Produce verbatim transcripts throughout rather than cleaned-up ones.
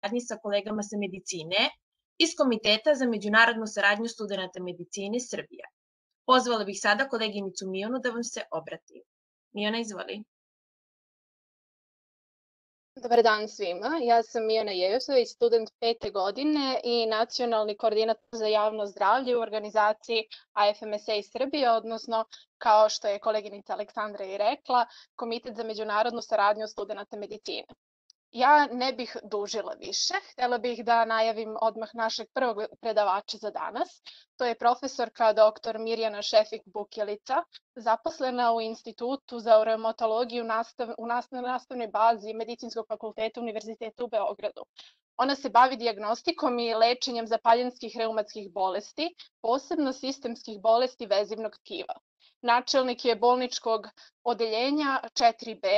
saradnji sa kolegama sa medicine iz Komiteta za međunarodnu saradnju studenata medicine Srbije. Pozvala bih sada koleginicu Mijonu da vam se obrati. Mijona, izvoli. Dobar dan svima, ja sam Mijona Jejosović, student pete godine i nacionalni koordinator za javno zdravlje u organizaciji A F M S A Srbije, odnosno, kao što je koleginica Aleksandra i rekla, Komitet za međunarodnu saradnju studenata medicine. Ja ne bih dužila više, htjela bih da najavim odmah našeg prvog predavača za danas. To je profesorka doktor Mirjana Šefik-Bukjelica, zaposlena u Institutu za reumatologiju nastav, u nastavnoj bazi Medicinskog fakulteta Univerziteta u Beogradu. Ona se bavi dijagnostikom i lečenjem zapaljenskih reumatskih bolesti, posebno sistemskih bolesti vezivnog tkiva. Načelnik je bolničkog odeljenja četiri B,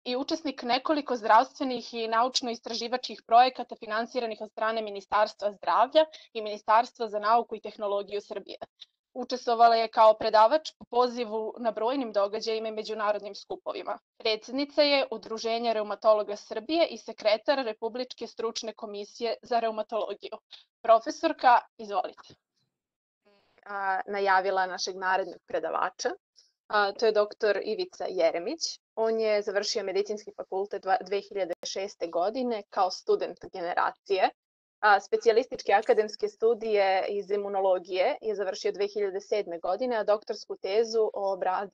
i učesnik nekoliko zdravstvenih i naučno-istraživačkih projekata finansiranih od strane Ministarstva zdravlja i Ministarstva za nauku i tehnologiju Srbije. Učestvovala je kao predavač po pozivu na brojnim događajima i međunarodnim skupovima. Predsjednica je Udruženja reumatologa Srbije i sekretar Republičke stručne komisije za reumatologiju. Profesorka, izvolite. A, najavila našeg narednog predavača. A, to je doktor Ivica Jeremić. On je završio medicinski fakultet dve hiljade šeste. godine kao student generacije. A, specijalističke akademske studije iz imunologije je završio dve hiljade sedme. godine, a doktorsku tezu obra,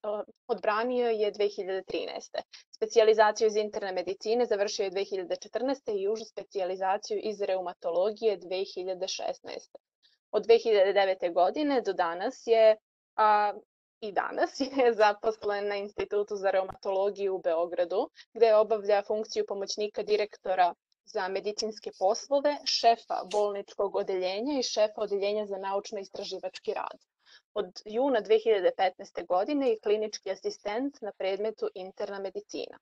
odbranio je dve hiljade trinaeste. Specijalizaciju iz interne medicine završio je dve hiljade četrnaeste. i užu specijalizaciju iz reumatologije dve hiljade šesnaeste. Od dve hiljade devete. godine do danas je a, i danas je zaposlen na Institutu za reumatologiju u Beogradu, gde obavlja funkciju pomoćnika direktora za medicinske poslove, šefa bolničkog odeljenja i šefa odeljenja za naučno-istraživački rad. Od juna dve hiljade petnaeste. godine je klinički asistent na predmetu interna medicina.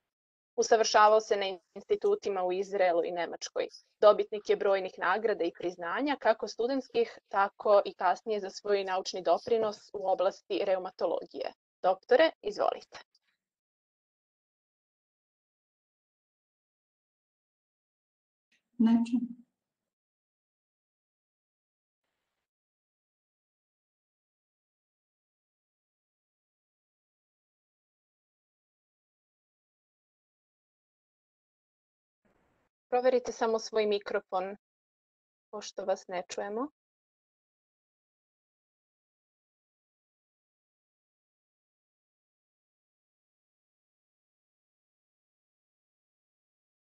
Usavršavao se na institutima u Izraelu i Nemačkoj. Dobitnik je brojnih nagrada i priznanja, kako studentskih, tako i kasnije za svoj naučni doprinos u oblasti reumatologije. Doktore, izvolite. Znači. Proverite samo svoj mikrofon, pošto vas ne čujemo.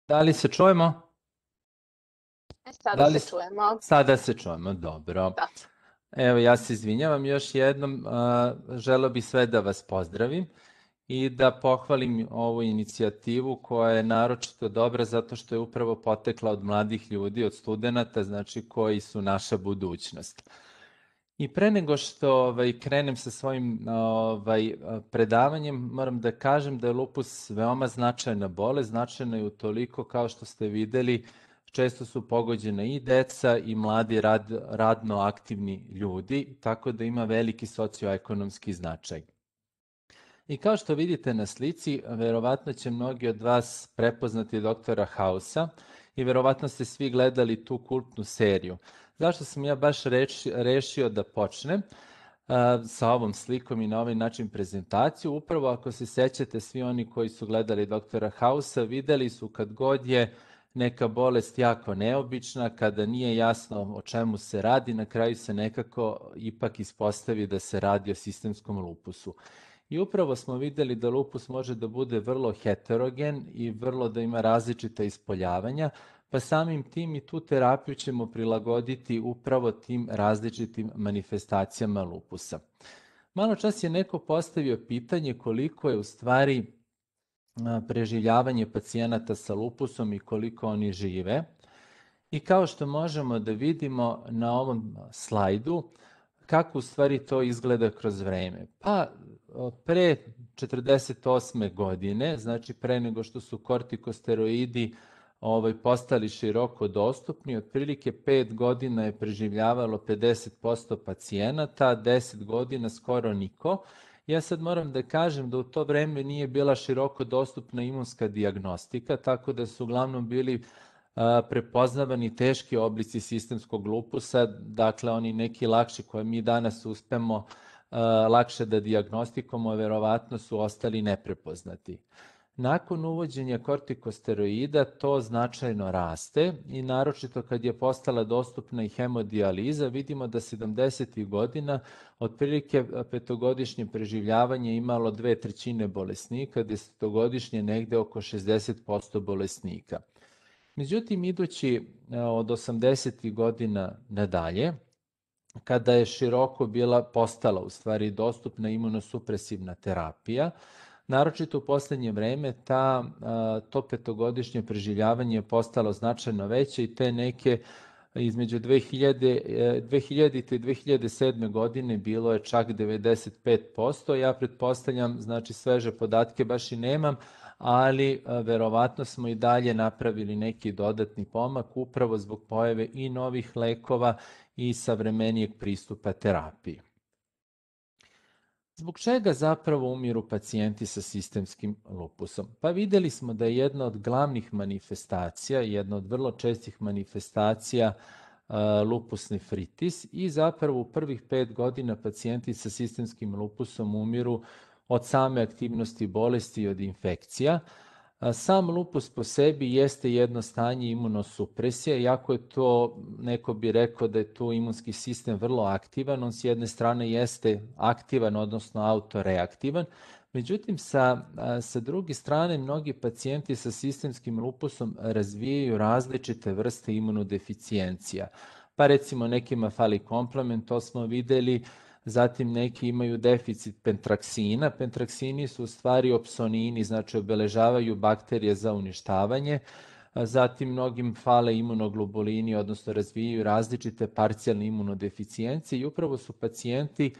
Da li se čujemo? E, sada da li... se čujemo. Sada se čujemo, dobro. Da. Evo, ja se izvinjavam još jednom, želeo bih sve da vas pozdravim i da pohvalim ovu inicijativu koja je naročito dobra zato što je upravo potekla od mladih ljudi, od studenta, znači koji su naša budućnost. I pre nego što ovaj, krenem sa svojim ovaj, predavanjem, moram da kažem da je lupus veoma značajna bolest, značajna je utoliko kao što ste videli, često su pogođena i deca i mladi rad, radno aktivni ljudi, tako da ima veliki socioekonomski značaj. I kao što vidite na slici, verovatno će mnogi od vas prepoznati doktora Hausa i verovatno ste svi gledali tu kultnu seriju. Zašto sam ja baš reči, rešio da počnem uh, sa ovom slikom i na ovaj način prezentaciju? Upravo ako se sećate, svi oni koji su gledali doktora Hausa videli su kad god je neka bolest jako neobična, kada nije jasno o čemu se radi, na kraju se nekako ipak ispostavi da se radi o sistemskom lupusu. I upravo smo videli da lupus može da bude vrlo heterogen i vrlo da ima različita ispoljavanja, pa samim tim i tu terapiju ćemo prilagoditi upravo tim različitim manifestacijama lupusa. Malo čas je neko postavio pitanje koliko je u stvari preživljavanje pacijenata sa lupusom i koliko oni žive. I kao što možemo da vidimo na ovom slajdu, kako u stvari to izgleda kroz vreme. Pa pre četrdeset osme. godine, znači pre nego što su kortikosteroidi ovaj, postali široko dostupni, otprilike pet godina je preživljavalo pedeset posto pacijenata, deset godina skoro niko. Ja sad moram da kažem da u to vreme nije bila široko dostupna imunska dijagnostika, tako da su uglavnom bili prepoznavani teški oblici sistemskog lupusa, dakle oni neki lakši koje mi danas uspemo lakše da dijagnostikujemo, verovatno su ostali neprepoznati. Nakon uvođenja kortikosteroida to značajno raste i naročito kad je postala dostupna i hemodijaliza, vidimo da sedamdesetih godina otprilike petogodišnje preživljavanje imalo dve trećine bolesnika, desetogodišnje negde oko šezdeset posto bolesnika. Međutim, idući od osamdesetih godina nadalje, kada je široko bila postala u stvari dostupna imunosupresivna terapija, naročito u poslednje vreme ta, to petogodišnje preživljavanje je postalo značajno veće i te neke između dve hiljadite i dve hiljade sedme godine bilo je čak devedeset pet posto. Ja pretpostavljam, znači sveže podatke baš i nemam, ali verovatno smo i dalje napravili neki dodatni pomak upravo zbog pojave i novih lekova i savremenijeg pristupa terapiji. Zbog čega zapravo umiru pacijenti sa sistemskim lupusom? Pa videli smo da je jedna od glavnih manifestacija, jedna od vrlo čestih manifestacija lupus nephritis i zapravo u prvih pet godina pacijenti sa sistemskim lupusom umiru od same aktivnosti bolesti i od infekcija. Sam lupus po sebi jeste jedno stanje imunosupresije, iako je to, neko bi rekao da je tu imunski sistem vrlo aktivan, on s jedne strane jeste aktivan, odnosno autoreaktivan, međutim sa, sa druge strane mnogi pacijenti sa sistemskim lupusom razvijaju različite vrste imunodeficijencija. Pa recimo nekima fali komplement, to smo videli, zatim neki imaju deficit pentraksina. Pentraksini su u stvari opsonini, znači obeležavaju bakterije za uništavanje. Zatim mnogim fale imunoglobulini, odnosno razvijaju različite parcijalne imunodeficijencije i upravo su pacijenti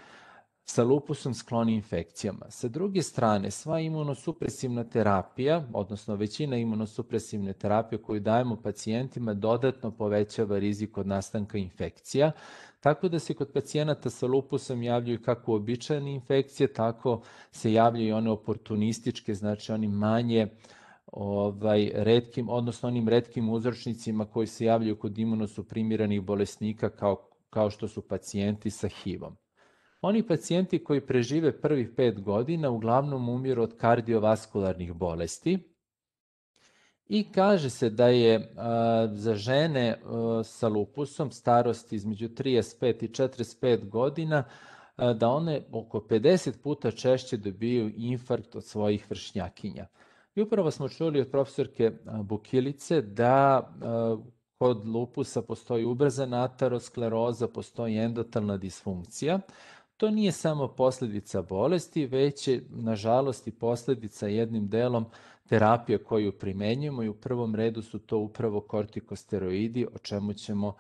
sa lupusom skloni infekcijama. Sa druge strane, sva imunosupresivna terapija, odnosno većina imunosupresivne terapije koju dajemo pacijentima dodatno povećava rizik od nastanka infekcija, tako da se kod pacijenata sa lupusom javljaju kako uobičajene infekcije, tako se javljaju i one oportunističke, znači oni manje ovaj, retkim, odnosno onim retkim uzročnicima koji se javljaju kod imunosuprimiranih bolesnika kao, kao što su pacijenti sa H I V-om. Oni pacijenti koji prežive prvih pet godina uglavnom umiru od kardiovaskularnih bolesti i kaže se da je a, za žene a, sa lupusom starosti između trideset pet i četrdeset pet godina a, da one oko pedeset puta češće dobiju infarkt od svojih vršnjakinja. I upravo smo čuli od profesorke Bukilice da a, kod lupusa postoji ubrzana ateroskleroza, postoji endotelna disfunkcija. To nije samo posledica bolesti, već je, nažalost, i posledica jednim delom terapije koju primenjujemo i u prvom redu su to upravo kortikosteroidi, o čemu ćemo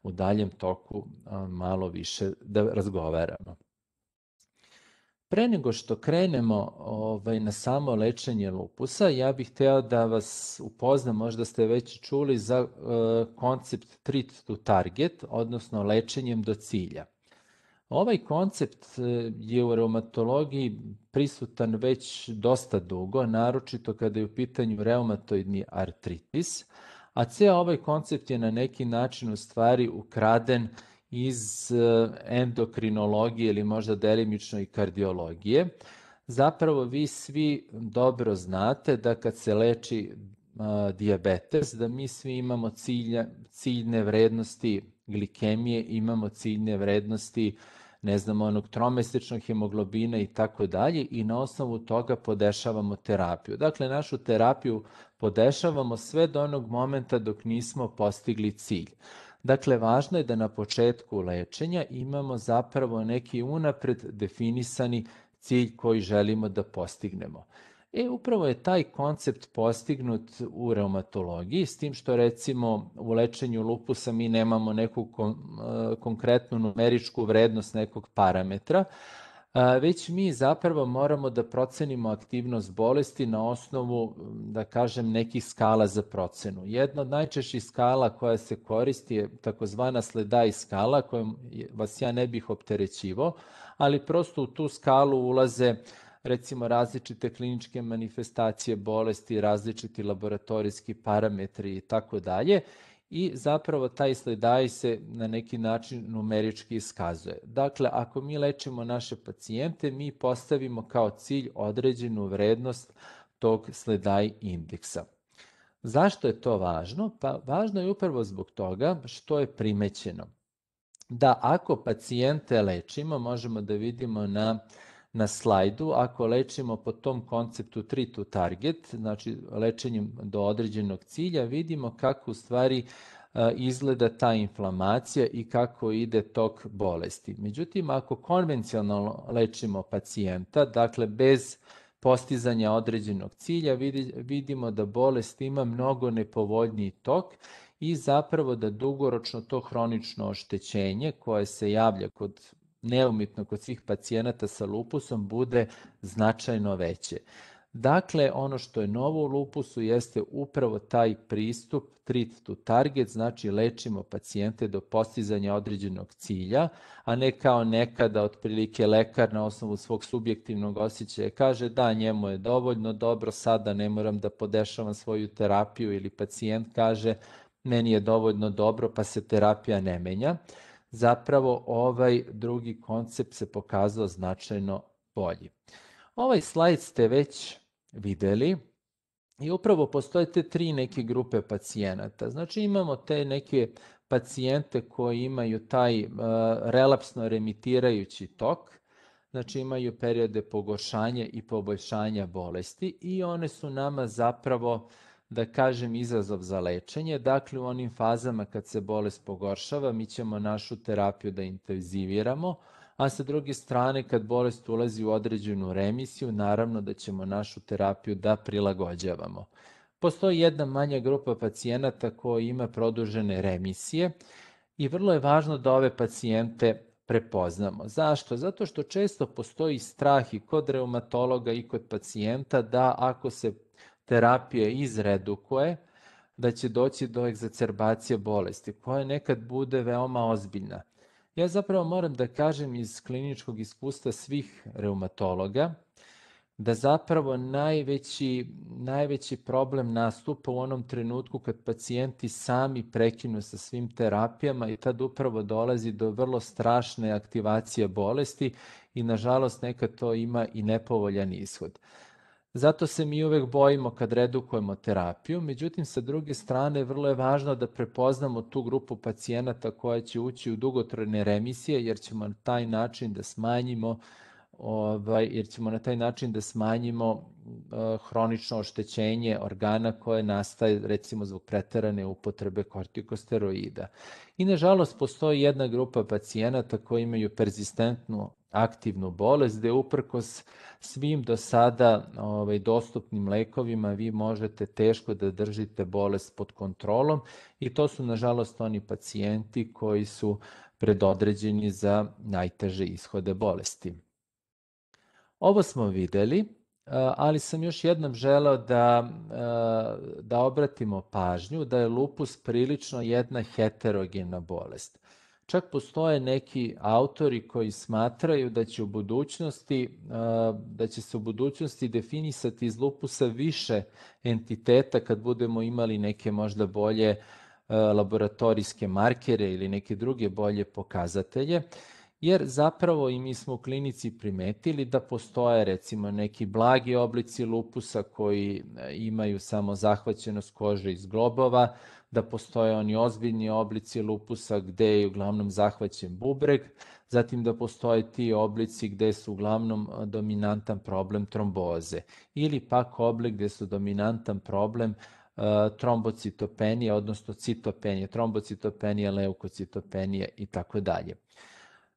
u daljem toku malo više da razgovaramo. Pre nego što krenemo ovaj, na samo lečenje lupusa, ja bih hteo da vas upoznam, možda ste već čuli za uh, koncept treat to target, odnosno lečenjem do cilja. Ovaj koncept je u reumatologiji prisutan već dosta dugo, naročito kada je u pitanju reumatoidni artritis, a ceo ovaj koncept je na neki način u stvari ukraden iz endokrinologije ili možda delimično i kardiologije. Zapravo vi svi dobro znate da kad se leči a, dijabetes, da mi svi imamo cilja, ciljne vrednosti glikemije, imamo ciljne vrednosti ne znam, onog tromesečnog hemoglobina i tako dalje i na osnovu toga podešavamo terapiju. Dakle, našu terapiju podešavamo sve do onog momenta dok nismo postigli cilj. Dakle, važno je da na početku lečenja imamo zapravo neki unapred definisani cilj koji želimo da postignemo. E, upravo je taj koncept postignut u reumatologiji, s tim što recimo u lečenju lupusa mi nemamo neku kon, konkretnu numeričku vrednost nekog parametra, već mi zapravo moramo da procenimo aktivnost bolesti na osnovu, da kažem, nekih skala za procenu. Jedna od najčešćih skala koja se koristi je takozvana SLEDAI skala, kojom vas ja ne bih opterećivao, ali prosto u tu skalu ulaze recimo različite kliničke manifestacije bolesti, različiti laboratorijski parametri i tako dalje. I zapravo taj sledaji se na neki način numerički iskazuje. Dakle, ako mi lečimo naše pacijente, mi postavimo kao cilj određenu vrednost tog sledaji indeksa. Zašto je to važno? Pa važno je upravo zbog toga što je primećeno da ako pacijente lečimo, možemo da vidimo na, na slajdu, ako lečimo po tom konceptu treat to target, znači lečenjem do određenog cilja, vidimo kako u stvari izgleda ta inflamacija i kako ide tok bolesti. Međutim, ako konvencionalno lečimo pacijenta, dakle bez postizanja određenog cilja, vidimo da bolest ima mnogo nepovoljniji tok i zapravo da dugoročno to hronično oštećenje koje se javlja kod neumitno kod svih pacijenata sa lupusom bude značajno veće. Dakle, ono što je novo u lupusu jeste upravo taj pristup treat to target, znači lečimo pacijente do postizanja određenog cilja, a ne kao nekada otprilike lekar na osnovu svog subjektivnog osjećaja kaže da njemu je dovoljno dobro, sada ne moram da podešavam svoju terapiju ili pacijent kaže meni je dovoljno dobro pa se terapija ne menja. Zapravo ovaj drugi koncept se pokazao značajno bolji. Ovaj slajd ste već videli i upravo postoje te tri neke grupe pacijenata. Znači imamo te neke pacijente koji imaju taj uh, relapsno remitirajući tok, znači imaju periode pogoršanja i poboljšanja bolesti i one su nama zapravo, da kažem, izazov za lečenje. Dakle, u onim fazama kad se bolest pogoršava, mi ćemo našu terapiju da intenziviramo, a sa druge strane, kad bolest ulazi u određenu remisiju, naravno da ćemo našu terapiju da prilagođavamo. Postoji jedna manja grupa pacijenata koji ima produžene remisije i vrlo je važno da ove pacijente prepoznamo. Zašto? Zato što često postoji strah i kod reumatologa i kod pacijenta da ako se terapija izredukuje, da će doći do egzacerbacije bolesti, koja nekad bude veoma ozbiljna. Ja zapravo moram da kažem iz kliničkog iskustva svih reumatologa, da zapravo najveći, najveći problem nastupa u onom trenutku kad pacijenti sami prekinu sa svim terapijama i tad upravo dolazi do vrlo strašne aktivacije bolesti i nažalost nekad to ima i nepovoljan ishod. Zato se mi uvek bojimo kad redukujemo terapiju, međutim sa druge strane vrlo je važno da prepoznamo tu grupu pacijenata koja će ući u dugotrajne remisije jer ćemo na taj način da smanjimo ovaj, jer ćemo na taj način da smanjimo uh, hronično oštećenje organa koje nastaje recimo zbog preterane upotrebe kortikosteroida. I nažalost postoji jedna grupa pacijenata koji imaju perzistentnu aktivnu bolest, gde uprkos svim do sada ovaj, dostupnim lekovima vi možete teško da držite bolest pod kontrolom i to su nažalost oni pacijenti koji su predodređeni za najteže ishode bolesti. Ovo smo videli, ali sam još jednom želeo da, da obratimo pažnju da je lupus prilično jedna heterogena bolest. Čak postoje neki autori koji smatraju da će u budućnosti, da će se u budućnosti definisati iz lupusa više entiteta kad budemo imali neke možda bolje laboratorijske markere ili neke druge bolje pokazatelje, jer zapravo i mi smo u klinici primetili da postoje recimo neki blagi oblici lupusa koji imaju samo zahvaćenost kože iz globova, da postoje oni ozbiljni oblici lupusa gde je uglavnom zahvaćen bubreg, zatim da postoje ti oblici gde su uglavnom dominantan problem tromboze ili pak oblik gde su dominantan problem uh, trombocitopenije, odnosno citopenije, trombocitopenije, leukocitopenije i tako dalje.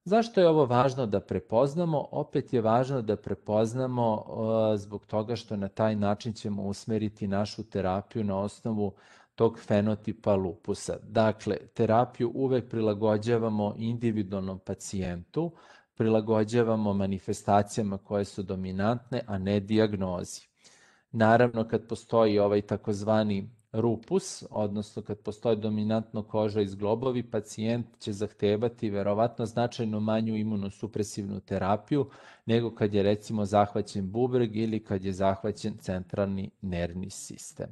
Zašto je ovo važno da prepoznamo? Opet je važno da prepoznamo uh, zbog toga što na taj način ćemo usmeriti našu terapiju na osnovu tog fenotipa lupusa. Dakle, terapiju uvek prilagođavamo individualnom pacijentu, prilagođavamo manifestacijama koje su dominantne, a ne dijagnozi. Naravno, kad postoji ovaj takozvani rupus, odnosno kad postoji dominantno koža i zglobovi, pacijent će zahtevati verovatno značajno manju imunosupresivnu terapiju nego kad je recimo zahvaćen bubreg ili kad je zahvaćen centralni nervni sistem.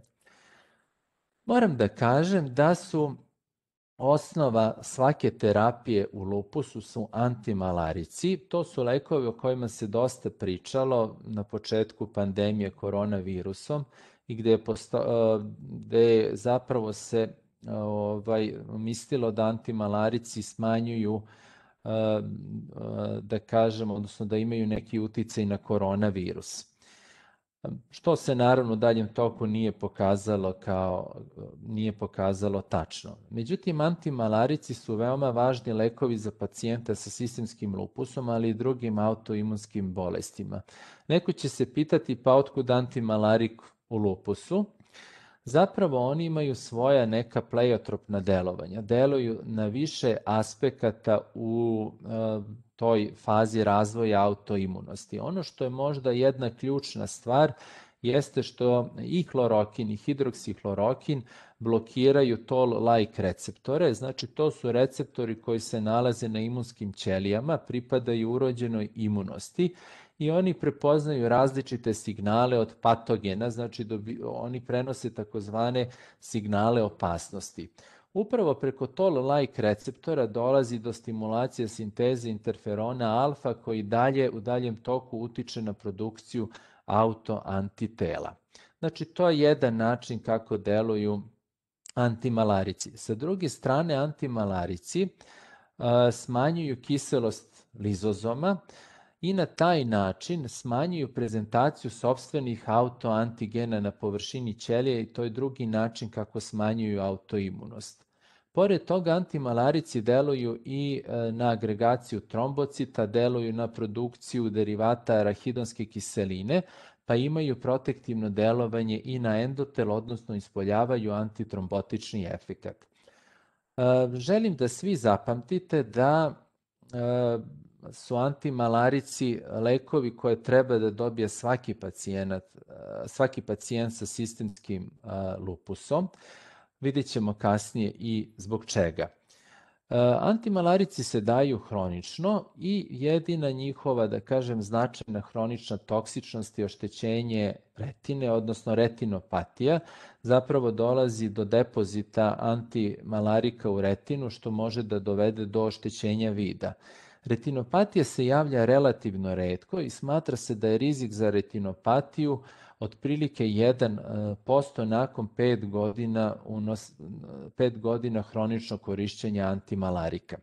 Moram da kažem da su osnova svake terapije u lupusu su antimalarici. To su lekovi o kojima se dosta pričalo na početku pandemije koronavirusom i gde je, posto, gde je zapravo se ovaj, mislilo da antimalarici smanjuju, da kažemo, odnosno da imaju neki uticaj na koronavirus. Što se naravno u daljem toku nije pokazalo kao nije pokazalo tačno. Međutim, antimalarici su veoma važni lekovi za pacijenta sa sistemskim lupusom, ali i drugim autoimunskim bolestima. Neko će se pitati pa otkud antimalarik u lupusu? Zapravo oni imaju svoja neka pleiotropna delovanja. Deluju na više aspekata u uh, toj fazi razvoja autoimunosti. Ono što je možda jedna ključna stvar jeste što i hlorokin i hidroksihlorokin blokiraju toll-like receptore, znači to su receptori koji se nalaze na imunskim ćelijama, pripadaju urođenoj imunosti i oni prepoznaju različite signale od patogena, znači dobi, oni prenose takozvane signale opasnosti. Upravo preko toll-like receptora dolazi do stimulacije sinteze interferona alfa koji dalje u daljem toku utiče na produkciju autoantitela. Znači to je jedan način kako deluju antimalarici. Sa druge strane, antimalarici uh, smanjuju kiselost lizozoma i na taj način smanjuju prezentaciju sopstvenih autoantigena na površini ćelije i to je drugi način kako smanjuju autoimunost. Pored toga, antimalarici deluju i na agregaciju trombocita, deluju na produkciju derivata arahidonske kiseline, pa imaju protektivno delovanje i na endotel, odnosno ispoljavaju antitrombotični efekat. Želim da svi zapamtite da su antimalarici lekovi koje treba da dobije svaki pacijent, svaki pacijent sa sistemskim lupusom. Vidjet ćemo kasnije i zbog čega. Antimalarici se daju hronično i jedina njihova, da kažem, značajna hronična toksičnost je oštećenje retine, odnosno retinopatija. Zapravo dolazi do depozita antimalarika u retinu, što može da dovede do oštećenja vida. Retinopatija se javlja relativno retko i smatra se da je rizik za retinopatiju otprilike jedan posto nakon pet godina, unos, pet godina hroničnog korišćenja antimalarika.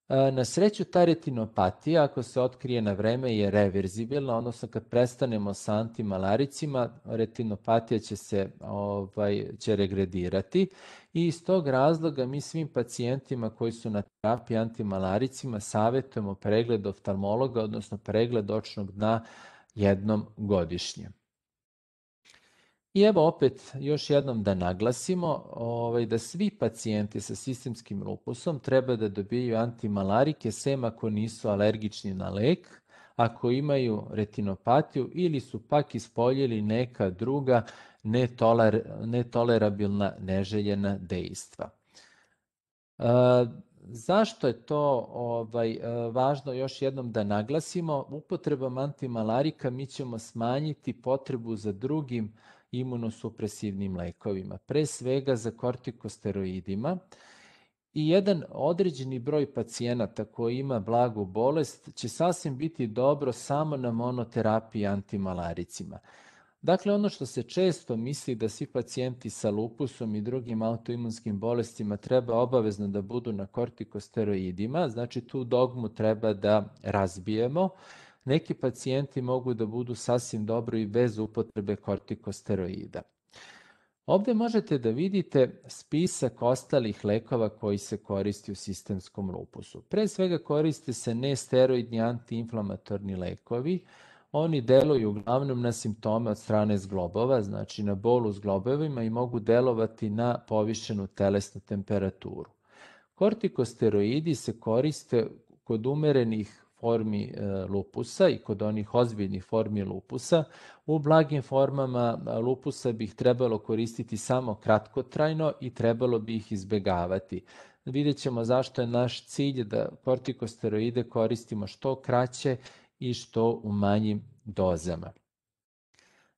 Na sreću, ta retinopatija, ako se otkrije na vreme, je reverzibilna, odnosno kad prestanemo sa antimalaricima, retinopatija će se ovaj, će regredirati i iz tog razloga mi svim pacijentima koji su na terapiji antimalaricima savjetujemo pregled oftalmologa, odnosno pregled očnog dna jednom godišnje. I evo opet još jednom da naglasimo ovaj, da svi pacijenti sa sistemskim lupusom treba da dobiju antimalarike sem ako nisu alergični na lek, ako imaju retinopatiju ili su pak ispoljili neka druga netoler, netolerabilna neželjena dejstva. E, Zašto je to ovaj, važno još jednom da naglasimo? Upotrebom antimalarika mi ćemo smanjiti potrebu za drugim imunosupresivnim lekovima, pre svega za kortikosteroidima i jedan određeni broj pacijenata koji ima blagu bolest će sasvim biti dobro samo na monoterapiji antimalaricima. Dakle, ono što se često misli da svi pacijenti sa lupusom i drugim autoimunskim bolestima treba obavezno da budu na kortikosteroidima, znači tu dogmu treba da razbijemo. Neki pacijenti mogu da budu sasvim dobro i bez upotrebe kortikosteroida. Ovde možete da vidite spisak ostalih lekova koji se koristi u sistemskom lupusu. Pre svega koriste se nesteroidni antiinflamatorni lekovi. Oni deluju uglavnom na simptome od strane zglobova, znači na bol u zglobovima i mogu delovati na povišenu telesnu temperaturu. Kortikosteroidi se koriste kod umerenih formi lupusa i kod onih ozbiljnih formi lupusa. U blagim formama lupusa bi ih trebalo koristiti samo kratkotrajno i trebalo bi ih izbegavati. Vidjet ćemo zašto je naš cilj da kortikosteroide koristimo što kraće i što u manjim dozama.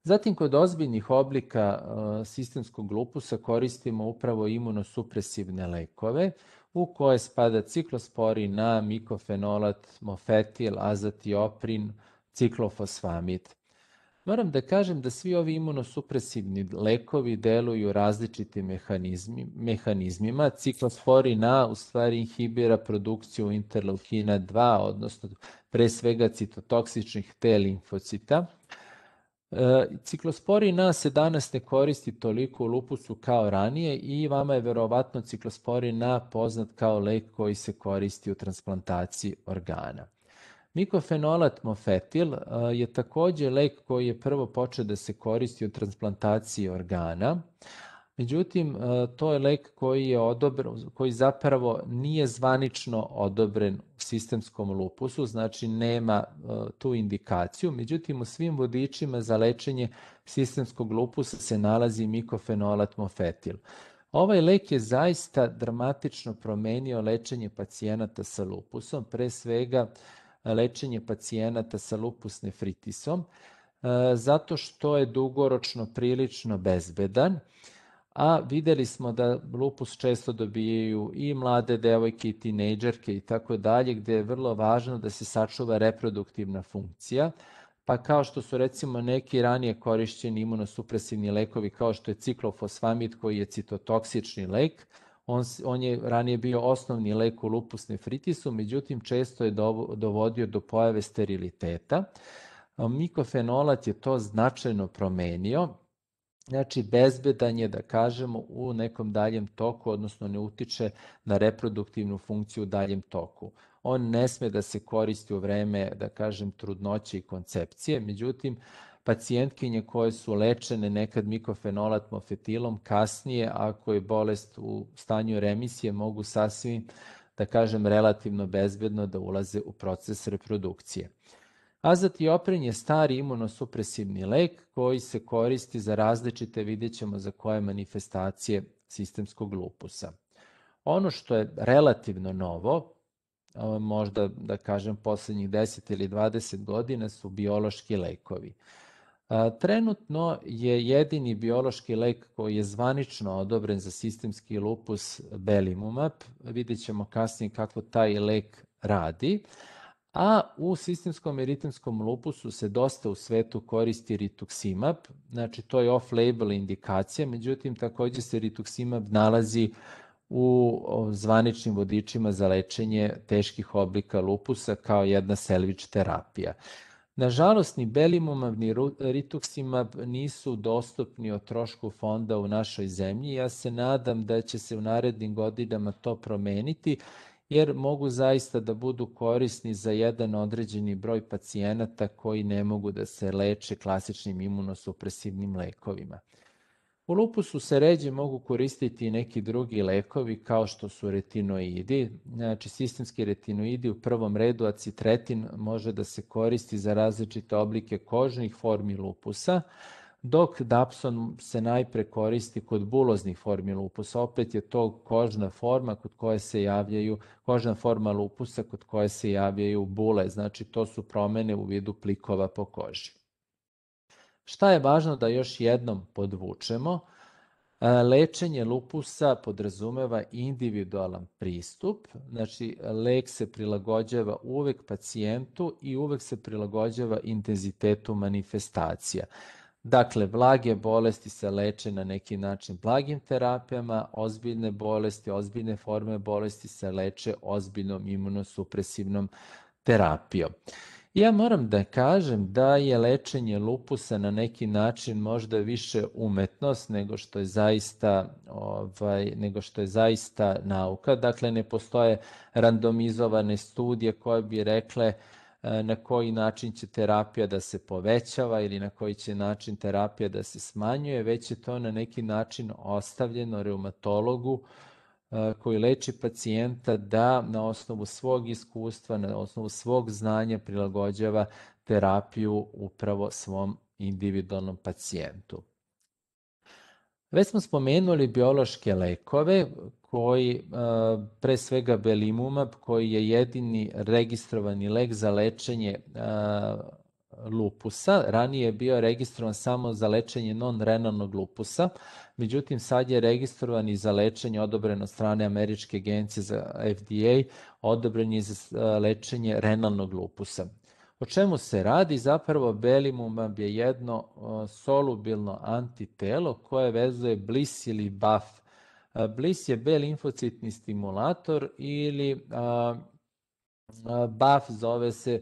Zatim, kod ozbiljnih oblika sistemskog lupusa koristimo upravo imunosupresivne lekove, u koje spada ciklosporin A, mikofenolat, mofetil, azatioprin, ciklofosfamid. Moram da kažem da svi ovi imunosupresivni lekovi deluju različitim mehanizmi, mehanizmima. Ciklosporin A u stvari inhibira produkciju interleukina dva, odnosno pre svega citotoksičnih T limfocita. Ciklosporin A se danas ne koristi toliko u lupusu kao ranije i vama je verovatno ciklosporin A poznat kao lek koji se koristi u transplantaciji organa. Mikofenolat mofetil je takođe lek koji je prvo počeo da se koristi u transplantaciji organa. Međutim, to je lek koji je odobren, koji zapravo nije zvanično odobren u sistemskom lupusu, znači nema tu indikaciju. Međutim, u svim vodičima za lečenje sistemskog lupusa se nalazi mikofenolat mofetil. Ovaj lek je zaista dramatično promenio lečenje pacijenata sa lupusom, pre svega lečenje pacijenata sa lupus nefritisom, zato što je dugoročno prilično bezbedan, a videli smo da lupus često dobijaju i mlade devojke i tinejdžerke i tako dalje, gde je vrlo važno da se sačuva reproduktivna funkcija, pa kao što su recimo neki ranije korišćeni imunosupresivni lekovi, kao što je ciklofosfamid koji je citotoksični lek, on, on je ranije bio osnovni lek u lupus nefritisu, međutim često je dovodio do pojave steriliteta. Mikofenolat je to značajno promenio, znači bezbedan je, da kažemo, u nekom daljem toku, odnosno ne utiče na reproduktivnu funkciju u daljem toku. On ne sme da se koristi u vreme, da kažem, trudnoće i koncepcije, međutim, pacijentkinje koje su lečene nekad mikofenolat mofetilom, kasnije, ako je bolest u stanju remisije, mogu sasvim, da kažem, relativno bezbedno da ulaze u proces reprodukcije. Azatioprin je stari imunosupresivni lek koji se koristi za različite, vidjet ćemo za koje manifestacije sistemskog lupusa. Ono što je relativno novo, možda da kažem poslednjih deset ili dvadeset godina, su biološki lekovi. Trenutno je jedini biološki lek koji je zvanično odobren za sistemski lupus belimumab. Vidjet ćemo kasnije kako taj lek radi. A u sistemskom eritemskom lupusu se dosta u svetu koristi rituximab, znači to je off-label indikacija, međutim takođe se rituximab nalazi u zvaničnim vodičima za lečenje teških oblika lupusa kao jedna selvič terapija. Nažalost, ni belimumab ni rituximab nisu dostupni o trošku fonda u našoj zemlji. Ja se nadam da će se u narednim godinama to promeniti, jer mogu zaista da budu korisni za jedan određeni broj pacijenata koji ne mogu da se leče klasičnim imunosupresivnim lekovima. U lupusu se ređe mogu koristiti i neki drugi lekovi kao što su retinoidi. Znači, sistemski retinoidi u prvom redu, acitretin može da se koristi za različite oblike kožnih formi lupusa, dok dapson se najpre koristi kod buloznih formi lupusa. Opet je to kožna forma kod koje se javljaju, kožna forma lupusa kod koje se javljaju bule, znači to su promene u vidu plikova po koži. Šta je važno da još jednom podvučemo? Lečenje lupusa podrazumeva individualan pristup, znači lek se prilagođava uvek pacijentu i uvek se prilagođava intenzitetu manifestacija. Dakle, blage bolesti se leče na neki način blagim terapijama, ozbiljne bolesti, ozbiljne forme bolesti se leče ozbiljnom imunosupresivnom terapijom. Ja moram da kažem da je lečenje lupusa na neki način možda više umetnost nego što je zaista, ovaj, nego što je zaista nauka. Dakle, ne postoje randomizovane studije koje bi rekle na koji način će terapija da se povećava ili na koji će način terapija da se smanjuje, već je to na neki način ostavljeno reumatologu koji leči pacijenta da na osnovu svog iskustva, na osnovu svog znanja prilagođava terapiju upravo svom individualnom pacijentu. Već smo spomenuli biološke lekove koji, pre svega belimumab, koji je jedini registrovani lek za lečenje lupusa. Ranije je bio registrovan samo za lečenje non-renalnog lupusa, međutim sad je registrovan i za lečenje odobren od strane Američke agencije za F D A, odobren je za lečenje renalnog lupusa. O čemu se radi? Zapravo belimumab je jedno solubilno antitelo koje vezuje Bliss ili B A F. Bliss je B limfocitni stimulator ili B A F zove se,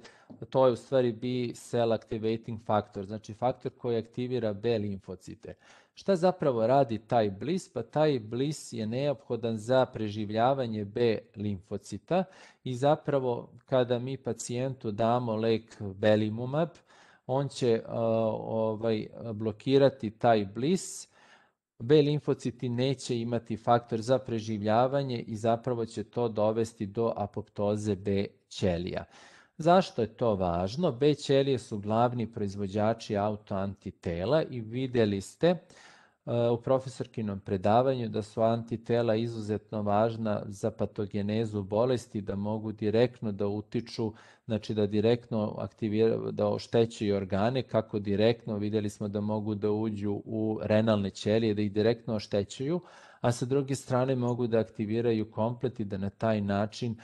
to je u stvari B cell activating factor, znači faktor koji aktivira B limfocite. Šta zapravo radi taj Bliss? Pa taj Bliss je neophodan za preživljavanje B limfocita i zapravo kada mi pacijentu damo lek belimumab, on će uh, ovaj, blokirati taj Bliss, B limfociti neće imati faktor za preživljavanje i zapravo će to dovesti do apoptoze B ćelija. Zašto je to važno? B ćelije su glavni proizvođači autoantitela i videli ste uh, u profesorkinom predavanju da su antitela izuzetno važna za patogenezu bolesti, da mogu direktno da utiču, znači da direktno aktiviraju, da oštećuju organe, kako direktno, vidjeli smo da mogu da uđu u renalne ćelije, da ih direktno oštećuju, a sa druge strane mogu da aktiviraju komplet i da na taj način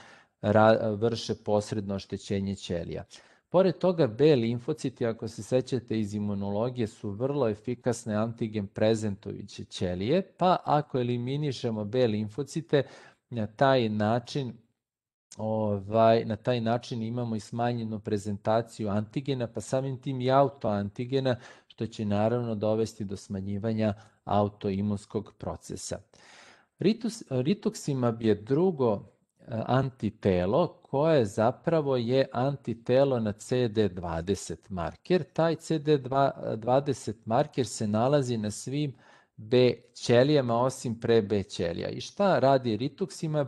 vrše posredno oštećenje ćelija. Pored toga, B limfociti, ako se sećate iz imunologije, su vrlo efikasne antigen prezentujuće ćelije, pa ako eliminišemo B limfocite, na taj način Ovaj, na taj način imamo i smanjenu prezentaciju antigena, pa samim tim i autoantigena, što će naravno dovesti do smanjivanja autoimunskog procesa. Ritus, rituximab je drugo antitelo koje zapravo je antitelo na C D dvadeset marker. Taj C D dvadeset marker se nalazi na svim B ćelijama osim pre B ćelija. I šta radi rituximab?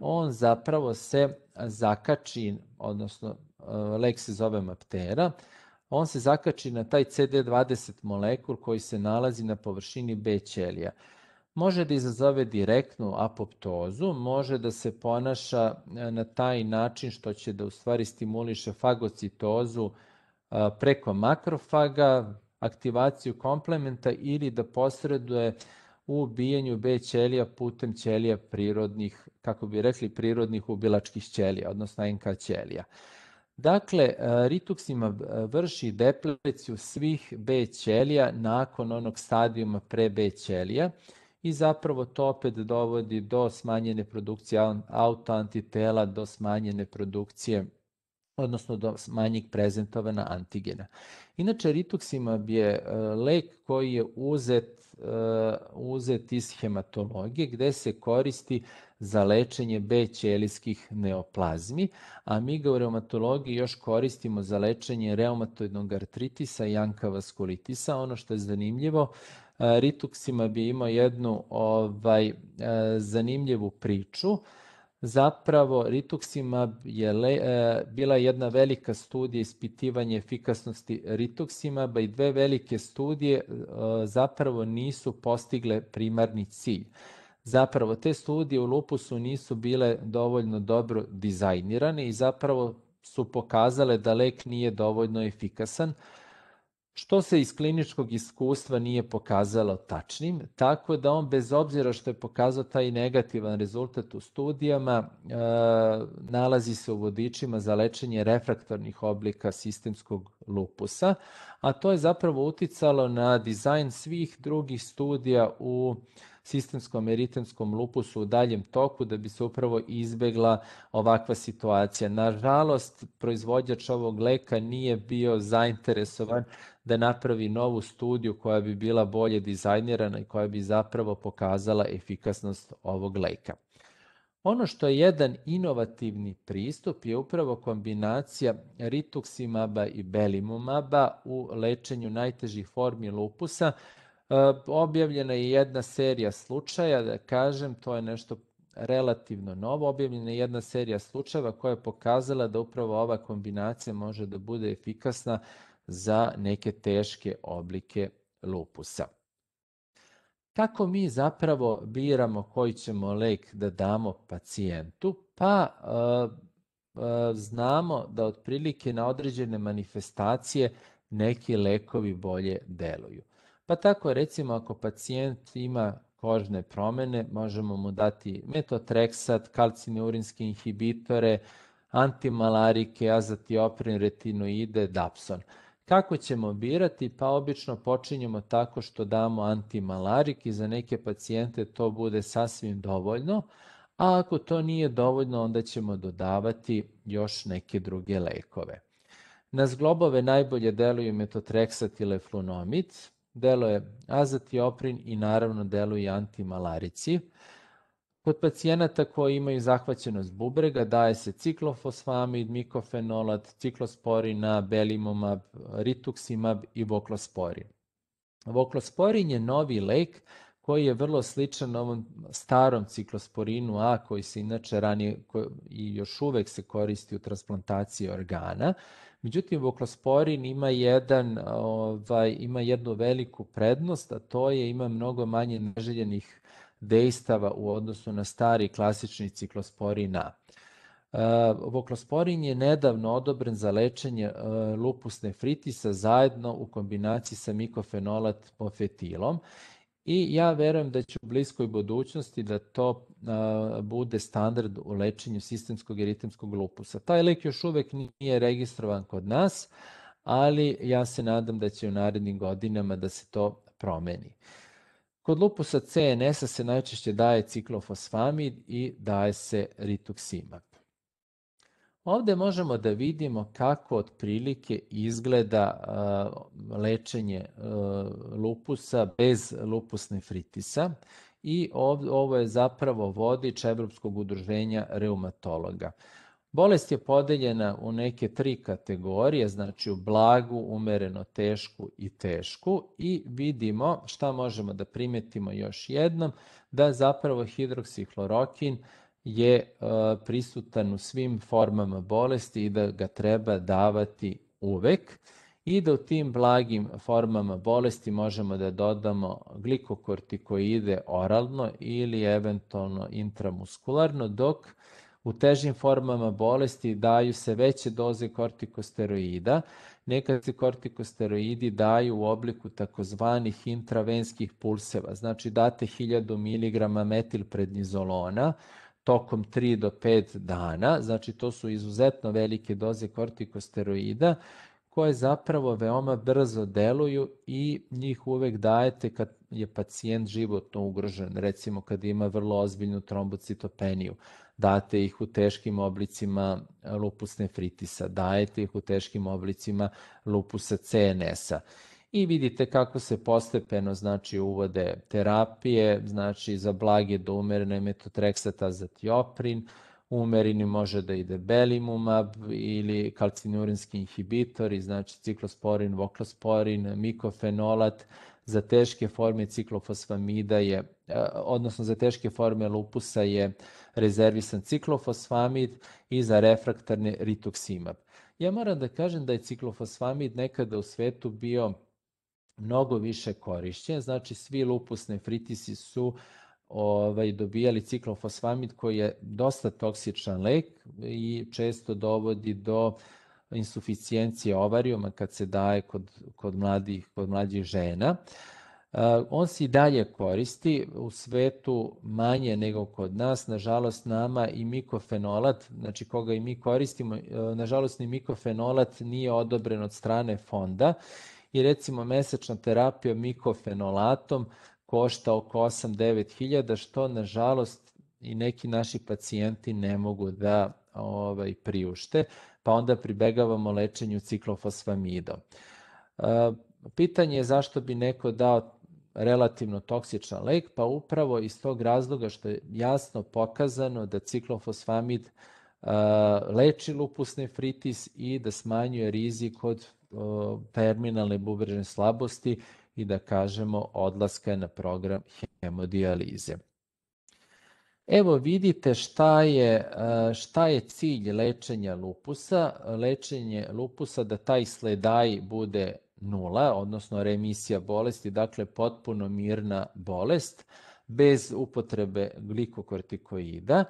On zapravo se zakači, odnosno lek se zove Maptera, on se zakači na taj C D dvadeset molekul koji se nalazi na površini B ćelija. Može da izazove direktnu apoptozu, može da se ponaša na taj način što će da u stvari stimuliše fagocitozu preko makrofaga, aktivaciju komplementa ili da posreduje u ubijanju B ćelija putem ćelija prirodnih, kako bi rekli, prirodnih ubilačkih ćelija, odnosno N K ćelija. Dakle, rituximab vrši depleciju svih B ćelija nakon onog stadijuma pre B ćelija i zapravo to opet dovodi do smanjene produkcije autoantitela, do smanjene produkcije, odnosno do manjeg prezentovana antigena. Inače, rituximab je lek koji je uzet, uzet iz hematologije, gde se koristi za lečenje B ćelijskih neoplazmi, a mi ga u reumatologiji još koristimo za lečenje reumatoidnog artritisa i ankavaskulitisa. Ono što je zanimljivo, rituximab je imao jednu ovaj, zanimljivu priču. Zapravo, rituximab je le, e, bila jedna velika studija ispitivanja efikasnosti rituximaba i dve velike studije e, zapravo nisu postigle primarni cilj. Zapravo, te studije u lupusu nisu bile dovoljno dobro dizajnirane i zapravo su pokazale da lek nije dovoljno efikasan, što se iz kliničkog iskustva nije pokazalo tačnim, tako da on bez obzira što je pokazao taj negativan rezultat u studijama, e, nalazi se u vodičima za lečenje refraktornih oblika sistemskog lupusa, a to je zapravo uticalo na dizajn svih drugih studija u sistemskom eritemskom lupusu u daljem toku da bi se upravo izbegla ovakva situacija. Nažalost, proizvođač ovog leka nije bio zainteresovan da napravi novu studiju koja bi bila bolje dizajnirana i koja bi zapravo pokazala efikasnost ovog leka. Ono što je jedan inovativni pristup je upravo kombinacija rituximaba i belimumaba u lečenju najtežih formi lupusa. Objavljena je jedna serija slučaja, da kažem, to je nešto relativno novo. Objavljena je jedna serija slučajeva koja je pokazala da upravo ova kombinacija može da bude efikasna za neke teške oblike lupusa. Kako mi zapravo biramo koji ćemo lek da damo pacijentu? Pa uh, uh, znamo da otprilike na određene manifestacije neki lekovi bolje deluju. Pa tako recimo ako pacijent ima kožne promene, možemo mu dati metotreksat, kalcineurinske inhibitore, antimalarike, azatioprin, retinoide, dapson. Kako ćemo birati? Pa obično počinjemo tako što damo antimalarik i za neke pacijente to bude sasvim dovoljno, a ako to nije dovoljno, onda ćemo dodavati još neke druge lekove. Na zglobove najbolje deluju metotreksat i leflunomid, deluje azatioprin i naravno deluju antimalarici. Kod pacijenata koji imaju zahvaćenost bubrega daje se ciklofosfamid, mikofenolat, ciklosporina, belimumab, rituximab i voklosporin. Voklosporin je novi lek koji je vrlo sličan ovom starom ciklosporinu A koji se inače ranije i još uvek se koristi u transplantaciji organa. Međutim, voklosporin ima, jedan, ovaj, ima jednu veliku prednost, a to je ima mnogo manje neželjenih dejstava u odnosu na stari klasični ciklosporin A. Uh, voklosporin je nedavno odobren za lečenje uh, lupus nefritisa zajedno u kombinaciji sa mikofenolat mofetilom i ja verujem da će u bliskoj budućnosti da to uh, bude standard u lečenju sistemskog eritemskog lupusa. Taj lek još uvek nije registrovan kod nas, ali ja se nadam da će u narednim godinama da se to promeni. Kod lupusa C N S-a se najčešće daje ciklofosfamid i daje se rituximab. Ovde možemo da vidimo kako otprilike izgleda uh, lečenje uh, lupusa bez lupus nefritisa i ov, ovo je zapravo vodič Evropskog udruženja reumatologa. Bolest je podeljena u neke tri kategorije, znači u blagu, umereno tešku i tešku i vidimo šta možemo da primetimo još jednom, da zapravo hidroksihlorokin je uh, prisutan u svim formama bolesti i da ga treba davati uvek i da u tim blagim formama bolesti možemo da dodamo glikokortikoide oralno ili eventualno intramuskularno, dok u težim formama bolesti daju se veće doze kortikosteroida. Nekad se kortikosteroidi daju u obliku takozvanih intravenskih pulseva, znači date hiljadu miligrama metilprednizolona tokom tri do pet dana, znači to su izuzetno velike doze kortikosteroida koje zapravo veoma brzo deluju i njih uvek dajete kad je pacijent životno ugrožen, recimo kad ima vrlo ozbiljnu trombocitopeniju. Date ih u teškim oblicima lupus nefritisa, dajete ih u teškim oblicima lupusa C N S-a. I vidite kako se postepeno znači uvode terapije, znači za blage do umerene metotreksat, azatioprin, umereni može da ide belimumab ili kalcineurinski inhibitori, znači ciklosporin, voklosporin, mikofenolat, za teške forme ciklofosfamida je, odnosno za teške forme lupusa je rezervisan ciklofosfamid i za refraktarne rituximab. Ja moram da kažem da je ciklofosfamid nekada u svetu bio mnogo više korišćen, znači svi lupus nefritisi su ovaj, dobijali ciklofosfamid koji je dosta toksičan lek i često dovodi do insuficijencije ovarijuma kad se daje kod, kod, mladih, kod mlađih žena. Uh, on se i dalje koristi, u svetu manje nego kod nas, nažalost nama i mikofenolat, znači koga i mi koristimo, uh, nažalost ni mikofenolat nije odobren od strane fonda i recimo mesečna terapija mikofenolatom košta oko osam do devet hiljada, što nažalost i neki naši pacijenti ne mogu da ovaj, priušte, pa onda pribegavamo lečenju ciklofosfamidom. Uh, pitanje je zašto bi neko dao relativno toksičan lek, pa upravo iz tog razloga što je jasno pokazano da ciklofosfamid uh, leči lupus nefritis i da smanjuje rizik od uh, terminalne bubrežne slabosti i da kažemo odlaska na program hemodijalize. Evo vidite šta je, šta je cilj lečenja lupusa. Lečenje lupusa da taj sledaj bude nula, odnosno remisija bolesti, dakle potpuno mirna bolest, bez upotrebe glikokortikoida,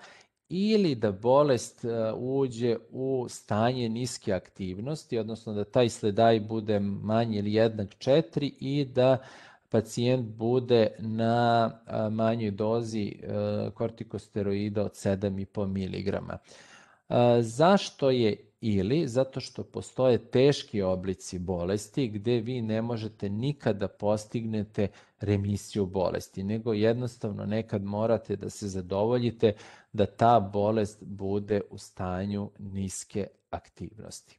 ili da bolest uđe u stanje niske aktivnosti, odnosno da taj sledaj bude manji ili jednak četiri i da pacijent bude na manjoj dozi kortikosteroida od sedam i po miligrama. Zašto je ili? Zato što postoje teški oblici bolesti gde vi ne možete nikada postignete remisiju bolesti, nego jednostavno nekad morate da se zadovoljite da ta bolest bude u stanju niske aktivnosti.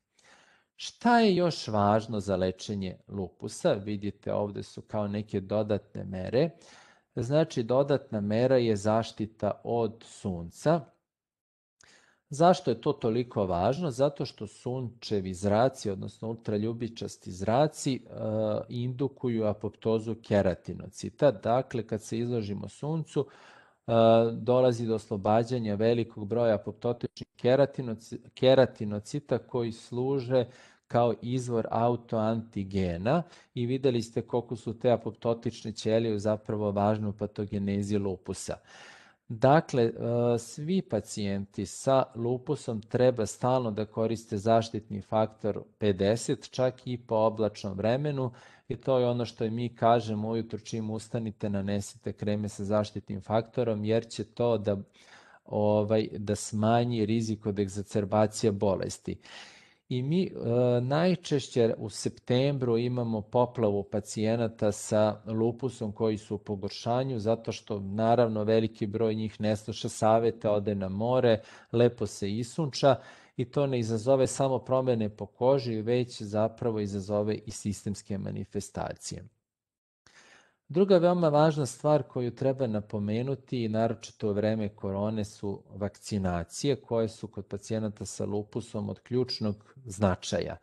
Šta je još važno za lečenje lupusa? Vidite, ovde su kao neke dodatne mere. Znači, dodatna mera je zaštita od sunca. Zašto je to toliko važno? Zato što sunčevi zraci, odnosno ultraljubičasti zraci, e, indukuju apoptozu keratinocita. Dakle, kad se izložimo suncu, e, dolazi do oslobađanja velikog broja apoptotičnih keratinocita koji služe kao izvor autoantigena i videli ste koliko su te apoptotične ćelije zapravo važne u patogenezi lupusa. Dakle, svi pacijenti sa lupusom treba stalno da koriste zaštitni faktor pedeset, čak i po oblačnom vremenu, i to je ono što mi kažemo ujutru čim ustanite, nanesite kreme sa zaštitnim faktorom, jer će to da, ovaj, da smanji rizik od egzacerbacije bolesti. I mi e, najčešće u septembru imamo poplavu pacijenata sa lupusom koji su u pogoršanju, zato što naravno veliki broj njih ne sluša savete, ode na more, lepo se isunča i to ne izazove samo promene po koži, već zapravo izazove i sistemske manifestacije. Druga veoma važna stvar koju treba napomenuti, naročito u vreme korone, su vakcinacije koje su kod pacijenata sa lupusom od ključnog značaja.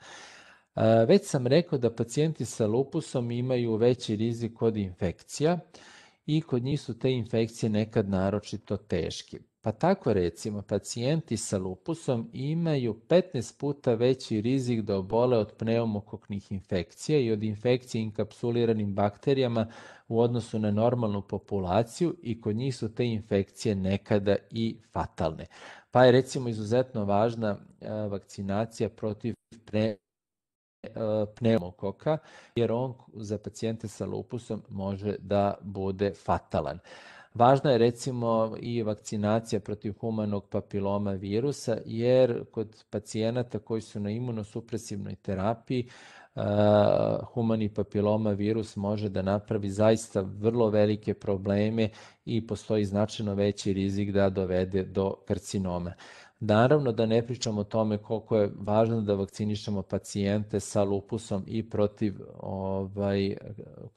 Već sam rekao da pacijenti sa lupusom imaju veći rizik od infekcija i kod njih su te infekcije nekad naročito teške. Pa tako recimo pacijenti sa lupusom imaju petnaest puta veći rizik da obole od pneumokoknih infekcija i od infekcije inkapsuliranim bakterijama u odnosu na normalnu populaciju i kod njih su te infekcije nekada i fatalne. Pa je recimo izuzetno važna vakcinacija protiv pre pneumokoka, jer on za pacijente sa lupusom može da bude fatalan. Važna je recimo i vakcinacija protiv humanog papiloma virusa, jer kod pacijenata koji su na imunosupresivnoj terapiji uh, humani papiloma virus može da napravi zaista vrlo velike probleme i postoji značajno veći rizik da dovede do karcinoma. Naravno da ne pričamo o tome koliko je važno da vakcinišemo pacijente sa lupusom i protiv ovaj,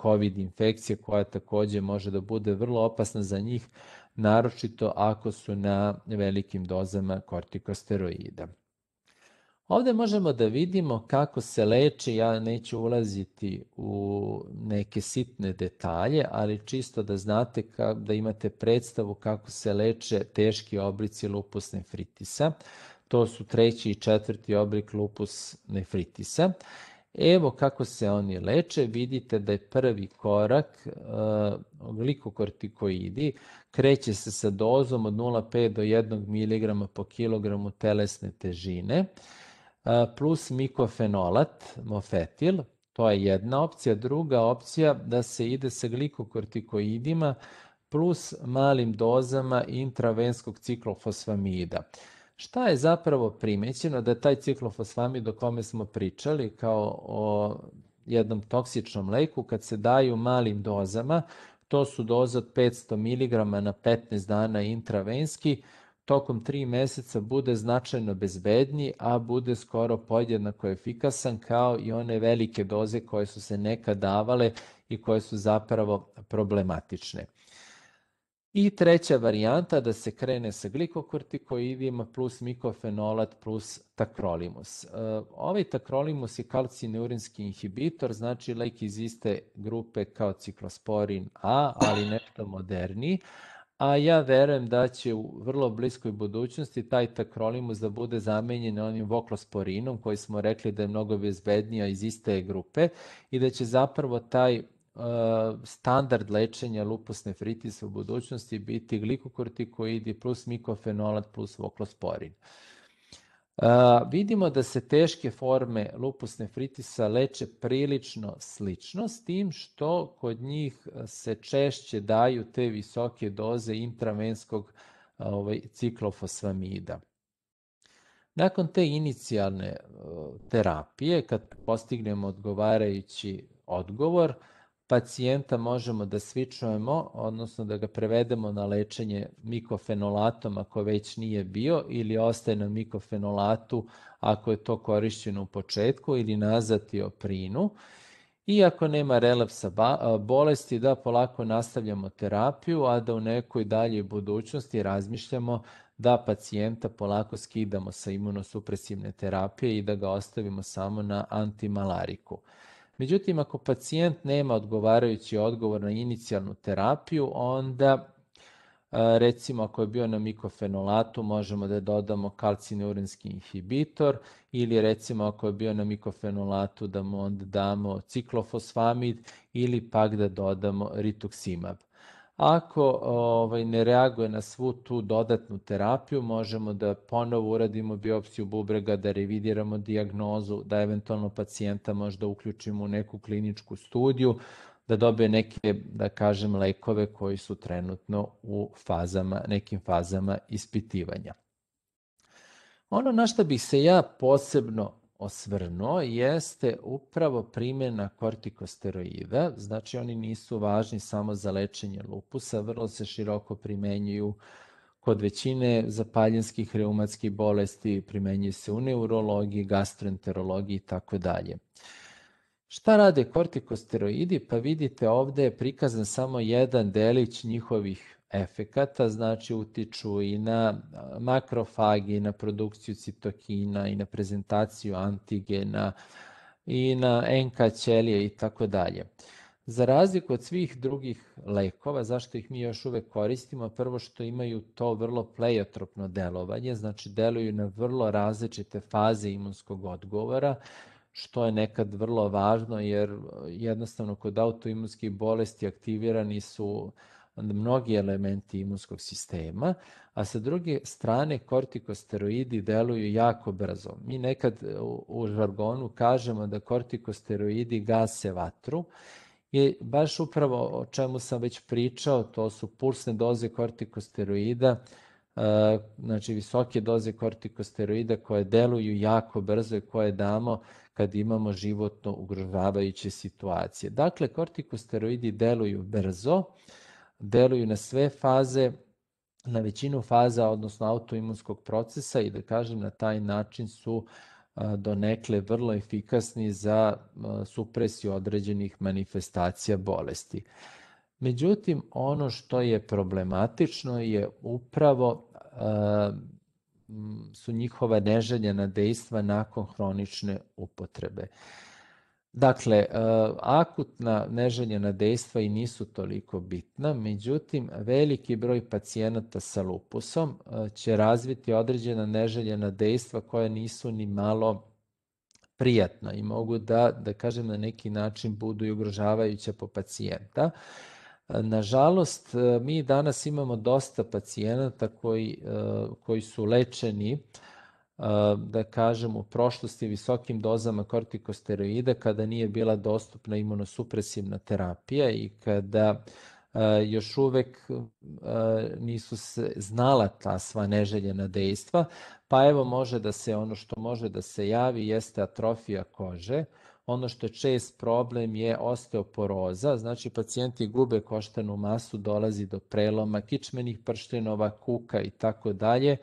COVID infekcije, koja takođe može da bude vrlo opasna za njih, naročito ako su na velikim dozama kortikosteroida. Ovde možemo da vidimo kako se leči, ja neću ulaziti u neke sitne detalje, ali čisto da znate, da imate predstavu kako se leče teški oblici lupus nefritisa. To su treći i četvrti oblik lupus nefritisa. Evo kako se oni leče, vidite da je prvi korak uh, glikokortikoidi, kreće se sa dozom od nula zarez pet do jedan miligram po kilogramu telesne težine, plus mikofenolat, mofetil, to je jedna opcija. Druga opcija da se ide sa glikokortikoidima plus malim dozama intravenskog ciklofosfamida. Šta je zapravo primećeno? Da je taj ciklofosfamid o kome smo pričali kao o jednom toksičnom leku, kad se daju malim dozama, to su doze od petsto miligrama na petnaest dana intravenski, tokom tri meseca bude značajno bezbedniji, a bude skoro podjednako efikasan kao i one velike doze koje su se nekad davale i koje su zapravo problematične. I treća varijanta da se krene sa glikokortikoidima plus mikofenolat plus takrolimus. Ovaj takrolimus je kalcineurinski inhibitor, znači lek iz iste grupe kao ciklosporin A, ali nešto moderniji, a ja verujem da će u vrlo bliskoj budućnosti taj takrolimus da bude zamenjen onim voklosporinom koji smo rekli da je mnogo bezbednija iz iste grupe i da će zapravo taj uh, standard lečenja lupus nephritisa u budućnosti biti glikokortikoidi plus mikofenolat plus voklosporin. Uh, vidimo da se teške forme lupus nephritisa leče prilično slično, s tim što kod njih se češće daju te visoke doze intravenskog ovaj, ciklofosfamida. Nakon te inicijalne uh, terapije, kad postignemo odgovarajući odgovor, pacijenta možemo da svičujemo, odnosno da ga prevedemo na lečenje mikofenolatom ako već nije bio ili ostaje na mikofenolatu ako je to korišćeno u početku ili na azatioprinu. I ako nema relapsa bolesti, da polako nastavljamo terapiju, a da u nekoj daljoj budućnosti razmišljamo da pacijenta polako skidamo sa imunosupresivne terapije i da ga ostavimo samo na antimalariku. Međutim, ako pacijent nema odgovarajući odgovor na inicijalnu terapiju, onda recimo ako je bio na mikofenolatu možemo da dodamo kalcineurinski inhibitor ili recimo ako je bio na mikofenolatu da mu onda damo ciklofosfamid ili pak da dodamo rituximab. Ako ovaj, ne reaguje na svu tu dodatnu terapiju, možemo da ponovo uradimo biopsiju bubrega, da revidiramo dijagnozu, da eventualno pacijenta možda uključimo u neku kliničku studiju, da dobije neke, da kažem, lekove koji su trenutno u fazama, nekim fazama ispitivanja. Ono na što bih se ja posebno osvrnuo jeste upravo primjena kortikosteroida, znači oni nisu važni samo za lečenje lupusa, vrlo se široko primenjuju kod većine zapaljenskih reumatskih bolesti, primenjuju se u neurologiji, gastroenterologiji i tako dalje. Šta rade kortikosteroidi? Pa vidite ovde je prikazan samo jedan delić njihovih efekata, znači utiču i na makrofagi, i na produkciju citokina, i na prezentaciju antigena, i na en ka ćelije i tako dalje. Za razliku od svih drugih lekova, zašto ih mi još uvek koristimo? Prvo što imaju to vrlo pleiotropno delovanje, znači deluju na vrlo različite faze imunskog odgovora, što je nekad vrlo važno jer jednostavno kod autoimunskih bolesti aktivirani su mnogi elementi imunskog sistema, a sa druge strane kortikosteroidi deluju jako brzo. Mi nekad u žargonu kažemo da kortikosteroidi gase vatru i baš upravo o čemu sam već pričao, to su pulsne doze kortikosteroida, znači visoke doze kortikosteroida koje deluju jako brzo i koje damo kad imamo životno ugrožavajuće situacije. Dakle, kortikosteroidi deluju brzo, deluju na sve faze, na većinu faza, odnosno autoimunskog procesa i da kažem na taj način su donekle vrlo efikasni za supresiju određenih manifestacija bolesti. Međutim, ono što je problematično je upravo su njihova neželjena dejstva nakon hronične upotrebe. Dakle, akutna neželjena dejstva i nisu toliko bitna, međutim, veliki broj pacijenata sa lupusom će razviti određena neželjena dejstva koja nisu ni malo prijatna i mogu da, da kažem, na neki način budu i ugrožavajuća po pacijenta. Nažalost, mi danas imamo dosta pacijenata koji, koji su lečeni, da kažem, u prošlosti visokim dozama kortikosteroida kada nije bila dostupna imunosupresivna terapija i kada još uvek nisu se znala ta sva neželjena dejstva, pa evo može da se, ono što može da se javi jeste atrofija kože. Ono što je čest problem je osteoporoza, znači pacijenti gube koštanu masu, dolazi do preloma kičmenih prštinova, kuka i tako dalje.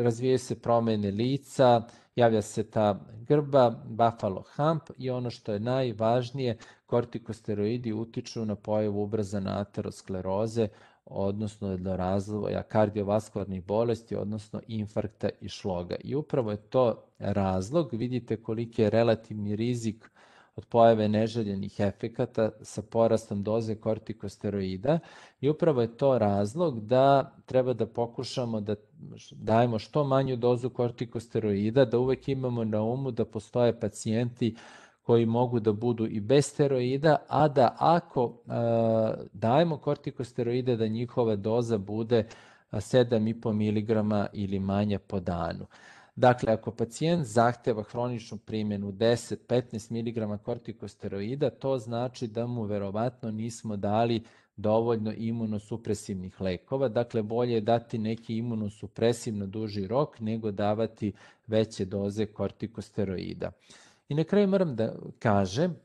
Razvijaju se promene lica, javlja se ta grba, buffalo hump i ono što je najvažnije, kortikosteroidi utiču na pojavu ubrzane ateroskleroze, odnosno do razvoja kardiovaskularnih bolesti, odnosno infarkta i šloga. I upravo je to razlog, vidite koliki je relativni rizik od pojave neželjenih efekata sa porastom doze kortikosteroida i upravo je to razlog da treba da pokušamo da dajemo što manju dozu kortikosteroida, da uvek imamo na umu da postoje pacijenti koji mogu da budu i bez steroida, a da ako a, dajemo kortikosteroide da njihova doza bude sedam i po miligrama ili manje po danu. Dakle, ako pacijent zahteva hroničnu primjenu deset do petnaest miligrama kortikosteroida, to znači da mu verovatno nismo dali dovoljno imunosupresivnih lekova. Dakle, bolje je dati neki imunosupresiv na duži rok nego davati veće doze kortikosteroida. I na kraju moram da kažem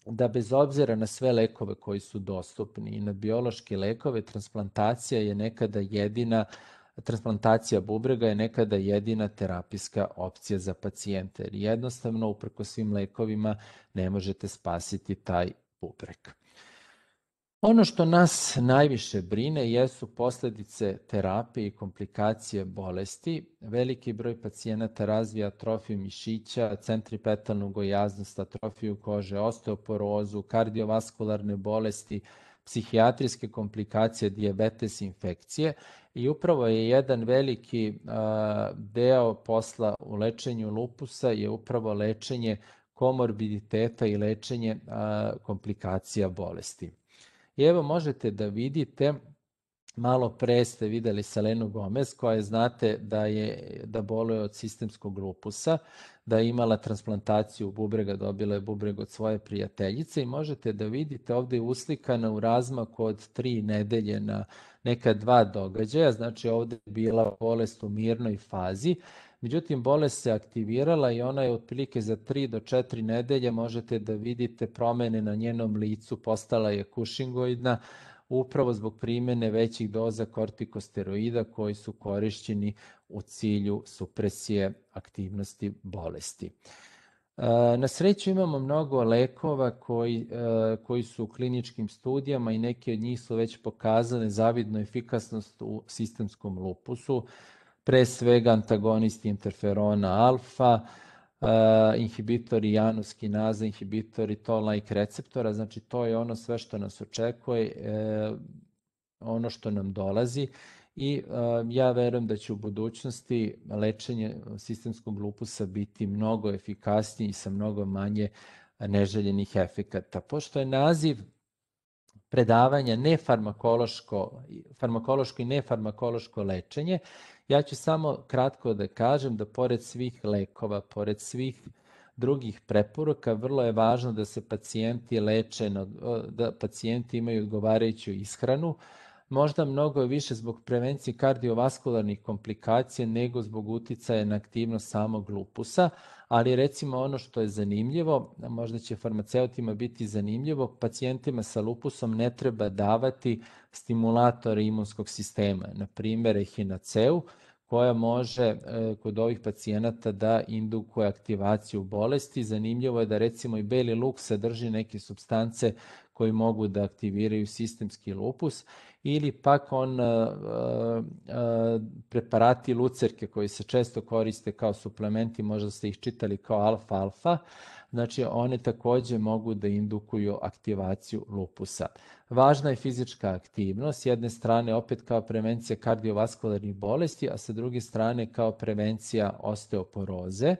da bez obzira na sve lekove koji su dostupni i na biološke lekove, transplantacija je nekada jedina transplantacija bubrega je nekada jedina terapijska opcija za pacijente. Jer jednostavno, uprkos svim lekovima, ne možete spasiti taj bubreg. Ono što nas najviše brine jesu posledice terapije i komplikacije bolesti. Veliki broj pacijenata razvija atrofiju mišića, centripetalnu gojaznost, atrofiju kože, osteoporozu, kardiovaskularne bolesti, psihijatrijske komplikacije, dijabetes, infekcije i upravo je jedan veliki a, deo posla u lečenju lupusa je upravo lečenje komorbiditeta i lečenje a, komplikacija bolesti. I evo možete da vidite, malo pre ste videli Selenu Gomez koja znate da, je, da boluje od sistemskog lupusa, da je imala transplantaciju bubrega, dobila je bubreg od svoje prijateljice i možete da vidite ovde je uslikana u razmaku od tri nedelje na neka dva događaja, znači ovde je bila bolest u mirnoj fazi, međutim bolest se aktivirala i ona je otprilike za tri do četiri nedelje možete da vidite promene na njenom licu, postala je kušingoidna, upravo zbog primjene većih doza kortikosteroida koji su korišćeni u cilju supresije aktivnosti bolesti. Na sreću imamo mnogo lekova koji, koji su u kliničkim studijama i neki od njih su već pokazali zavidnu efikasnost u sistemskom lupusu, pre svega antagonisti interferona alfa, Uh, inhibitori janus kinaza, inhibitori toll-like receptora, znači to je ono sve što nas očekuje, e, ono što nam dolazi i uh, ja verujem da će u budućnosti lečenje sistemskog lupusa biti mnogo efikasnije i sa mnogo manje neželjenih efekata. Pošto je naziv predavanja nefarmakološko, farmakološko i nefarmakološko lečenje, ja ću samo kratko da kažem da pored svih lekova, pored svih drugih preporuka, vrlo je važno da se pacijenti leče, da pacijenti imaju odgovarajuću ishranu, možda mnogo više zbog prevencije kardiovaskularnih komplikacija nego zbog uticaja na aktivnost samog lupusa, ali recimo ono što je zanimljivo, možda će farmaceutima biti zanimljivo, pacijentima sa lupusom ne treba davati stimulatore imunskog sistema, na primjer ehinaceu, koja može kod ovih pacijenata da indukuje aktivaciju bolesti. Zanimljivo je da recimo i beli luk sadrži neke supstance koji mogu da aktiviraju sistemski lupus ili pak on a, a, preparati lucerke koji se često koriste kao suplementi, možda ste ih čitali kao alfa-alfa, znači one takođe mogu da indukuju aktivaciju lupusa. Važna je fizička aktivnost, s jedne strane opet kao prevencija kardiovaskularnih bolesti, a sa druge strane kao prevencija osteoporoze.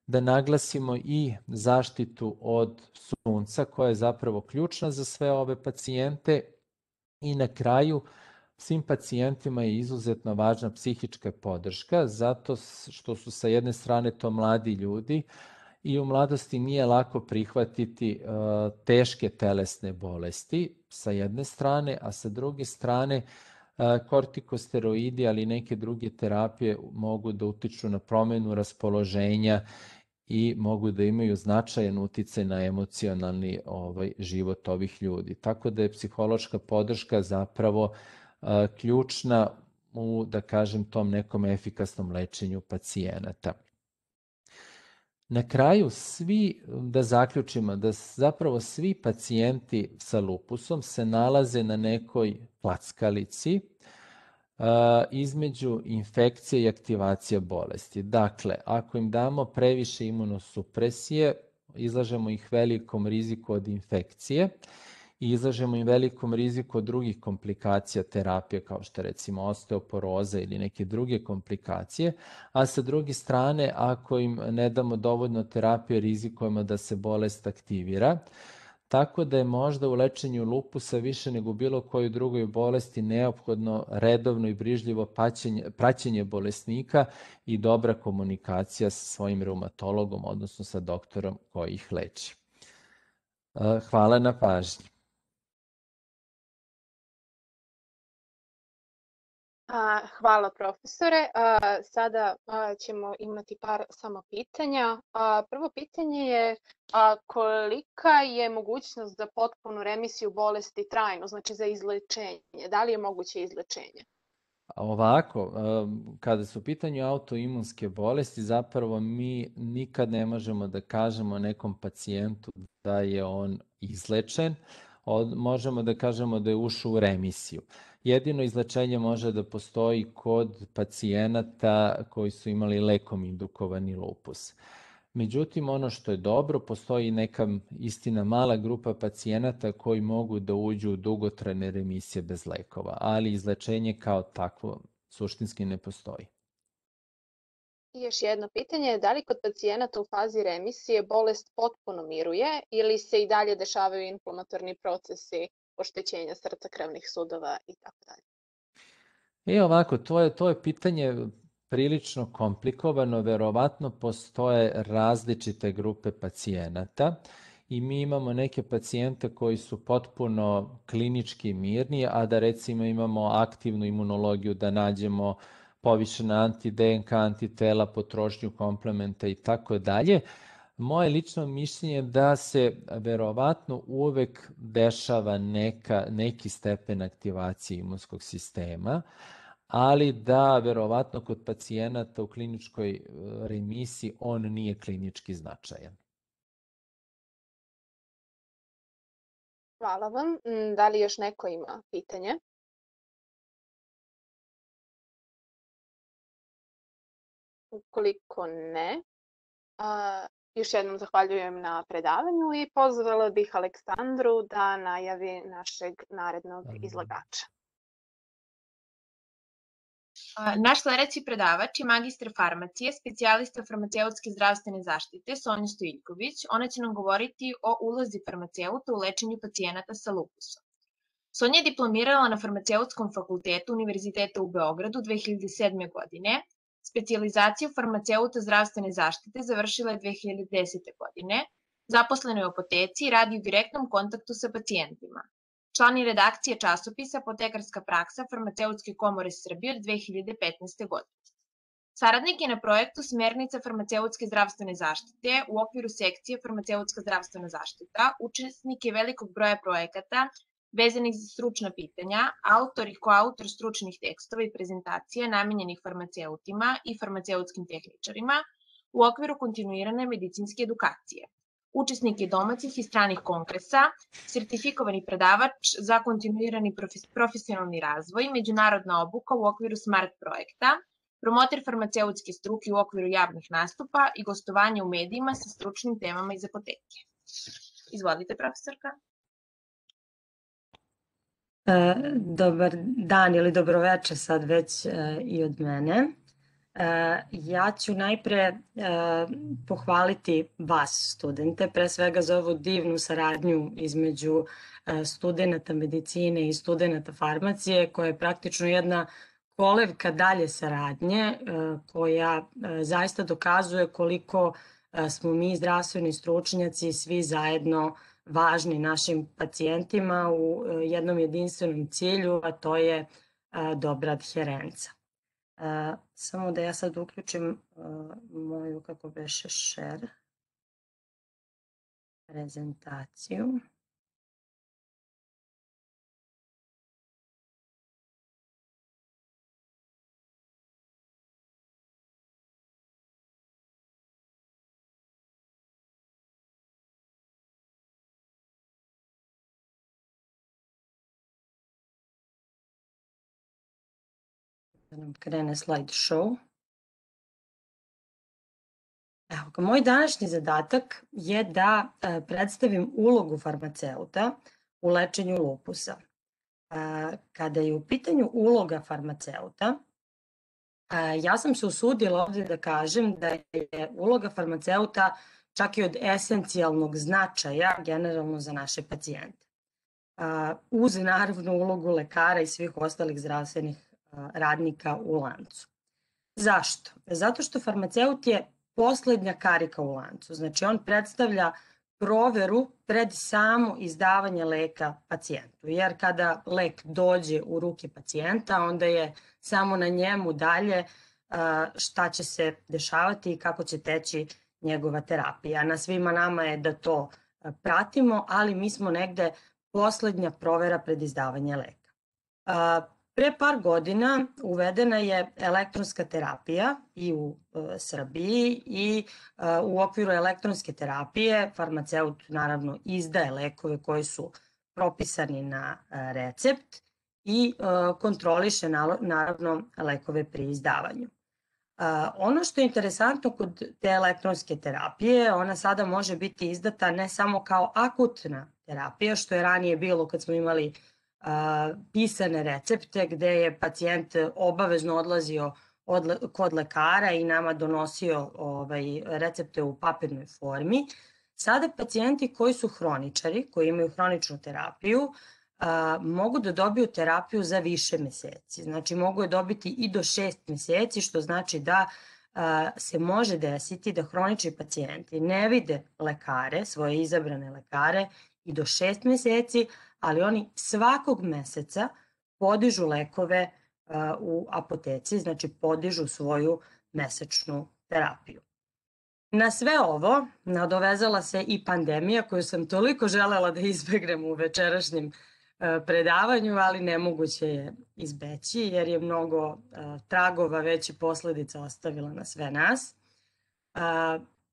Da naglasimo i zaštitu od sunca koja je zapravo ključna za sve ove pacijente i na kraju svim pacijentima je izuzetno važna psihička podrška zato što su sa jedne strane to mladi ljudi i u mladosti nije lako prihvatiti uh, teške telesne bolesti sa jedne strane, a sa druge strane uh, kortikosteroidi ali i neke druge terapije mogu da utiču na promenu raspoloženja i mogu da imaju značajan uticaj na emocionalni ovaj, život ovih ljudi. Tako da je psihološka podrška zapravo uh, ključna u, da kažem, tom nekom efikasnom lečenju pacijenata. Na kraju svi, da zaključimo, da zapravo svi pacijenti sa lupusom se nalaze na nekoj klackalici uh, između infekcije i aktivacije bolesti. Dakle, ako im damo previše imunosupresije, izlažemo ih velikom riziku od infekcije i izlažemo im velikom riziku od drugih komplikacija terapije, kao što je recimo osteoporoza ili neke druge komplikacije, a sa druge strane, ako im ne damo dovoljno terapije, rizikujemo da se bolest aktivira. Tako da je možda u lečenju lupusa više nego bilo kojoj drugoj bolesti neophodno redovno i brižljivo praćenje, praćenje bolesnika i dobra komunikacija sa svojim reumatologom, odnosno sa doktorom koji ih leči. Hvala na pažnji. Hvala profesore. Sada ćemo imati par samo pitanja. Prvo pitanje je kolika je mogućnost za potpunu remisiju bolesti trajno, znači za izlečenje? Da li je moguće izlečenje? Ovako, kada su u pitanju autoimunske bolesti, zapravo mi nikad ne možemo da kažemo nekom pacijentu da je on izlečen, možemo da kažemo da je ušao u remisiju. Jedino izlečenje može da postoji kod pacijenata koji su imali lekom indukovani lupus. Međutim, ono što je dobro, postoji neka istina mala grupa pacijenata koji mogu da uđu u dugotrajne remisije bez lekova, ali izlečenje kao takvo suštinski ne postoji. I još jedno pitanje, da li kod pacijenata u fazi remisije bolest potpuno miruje ili se i dalje dešavaju inflamatorni procesi oštećenja srca, krvnih sudova i tako dalje? E ovako, to je, to je pitanje prilično komplikovano, verovatno postoje različite grupe pacijenata i mi imamo neke pacijente koji su potpuno klinički mirni, a da recimo imamo aktivnu imunologiju, da nađemo povišena anti-D N K antitela, potrošnju komplementa i tako dalje. Moje lično mišljenje je da se verovatno uvek dešava neka, neki stepen aktivacije imunskog sistema, ali da verovatno kod pacijenata u kliničkoj remisiji on nije klinički značajan. Hvala vam. Da li još neko ima pitanje? Ukoliko ne, a, još jednom zahvaljujem na predavanju i pozvala bih Aleksandru da najavi našeg narednog izlagača. Naš sledeći predavač je magistar farmacije, specijalista farmaceutske zdravstvene zaštite Sonja Stojiljković. Ona će nam govoriti o ulozi farmaceuta u lečenju pacijenata sa lupusom. Sonja je diplomirala na Farmaceutskom fakultetu Univerziteta u Beogradu dve hiljade sedme. godine. Specijalizaciju farmaceuta zdravstvene zaštite završila je dve hiljade desete. godine. Zaposlena je u apoteci i radi u direktnom kontaktu sa pacijentima. Član je redakcije časopisa Apotekarska praksa Farmaceutske komore Srbije od dve hiljade petnaeste. godine. Saradnik je na projektu Smernica farmaceutske zdravstvene zaštite u okviru sekcije Farmaceutska zdravstvena zaštita, učesnik je velikog broja projekata vezanih za stručna pitanja, autor i koautor stručnih tekstova i prezentacija namenjenih farmaceutima i farmaceutskim tehničarima u okviru kontinuirane medicinske edukacije. Učesnik je domaćih i stranih kongresa, sertifikovani predavač za kontinuirani profesionalni razvoj, međunarodna obuka u okviru SMART projekta, promoter farmaceutske struke u okviru javnih nastupa i gostovanja u medijima sa stručnim temama iz apoteke. Izvolite, profesorka. Dobar dan ili dobroveče sad već i od mene. Ja ću najpre pohvaliti vas, studente, pre svega za ovu divnu saradnju između studenta medicine i studenta farmacije, koja je praktično jedna kolevka dalje saradnje, koja zaista dokazuje koliko smo mi zdravstveni stručnjaci svi zajedno važni našim pacijentima u jednom jedinstvenom cilju, a to je dobra adherenca. Samo da ja sad uključim moju, kako beše, share prezentaciju. Da nam krene slide show. Evo, moj današnji zadatak je da predstavim ulogu farmaceuta u lečenju lupusa. Kada je u pitanju uloga farmaceuta, ja sam se usudila ovde da kažem da je uloga farmaceuta čak i od esencijalnog značaja generalno za naše pacijente. Uz naravno ulogu lekara i svih ostalih zdravstvenih radnika u lancu. Zašto? Zato što farmaceut je poslednja karika u lancu. Znači on predstavlja proveru pred samo izdavanje leka pacijentu. Jer kada lek dođe u ruke pacijenta, onda je samo na njemu dalje šta će se dešavati i kako će teći njegova terapija. Na svima nama je da to pratimo, ali mi smo negde poslednja provera pred izdavanje leka. Pre par godina uvedena je elektronska terapija i u Srbiji i u okviru elektronske terapije farmaceut naravno izdaje lekove koji su propisani na recept i kontroliše naravno lekove pri izdavanju. Ono što je interesantno kod te elektronske terapije, ona sada može biti izdata ne samo kao akutna terapija, što je ranije bilo kad smo imali pisane recepte gde je pacijent obavezno odlazio kod lekara i nama donosio recepte u papirnoj formi. Sada pacijenti koji su hroničari, koji imaju hroničnu terapiju, mogu da dobiju terapiju za više meseci. Znači mogu je dobiti i do šest meseci, što znači da se može desiti da hronični pacijenti ne vide lekare, svoje izabrane lekare i do šest meseci, ali oni svakog meseca podižu lekove u apoteci, znači podižu svoju mesečnu terapiju. Na sve ovo nadovezala se i pandemija koju sam toliko želela da izbegnem u večerašnjem predavanju, ali nemoguće je izbeći jer je mnogo tragova već i posledica ostavila na sve nas.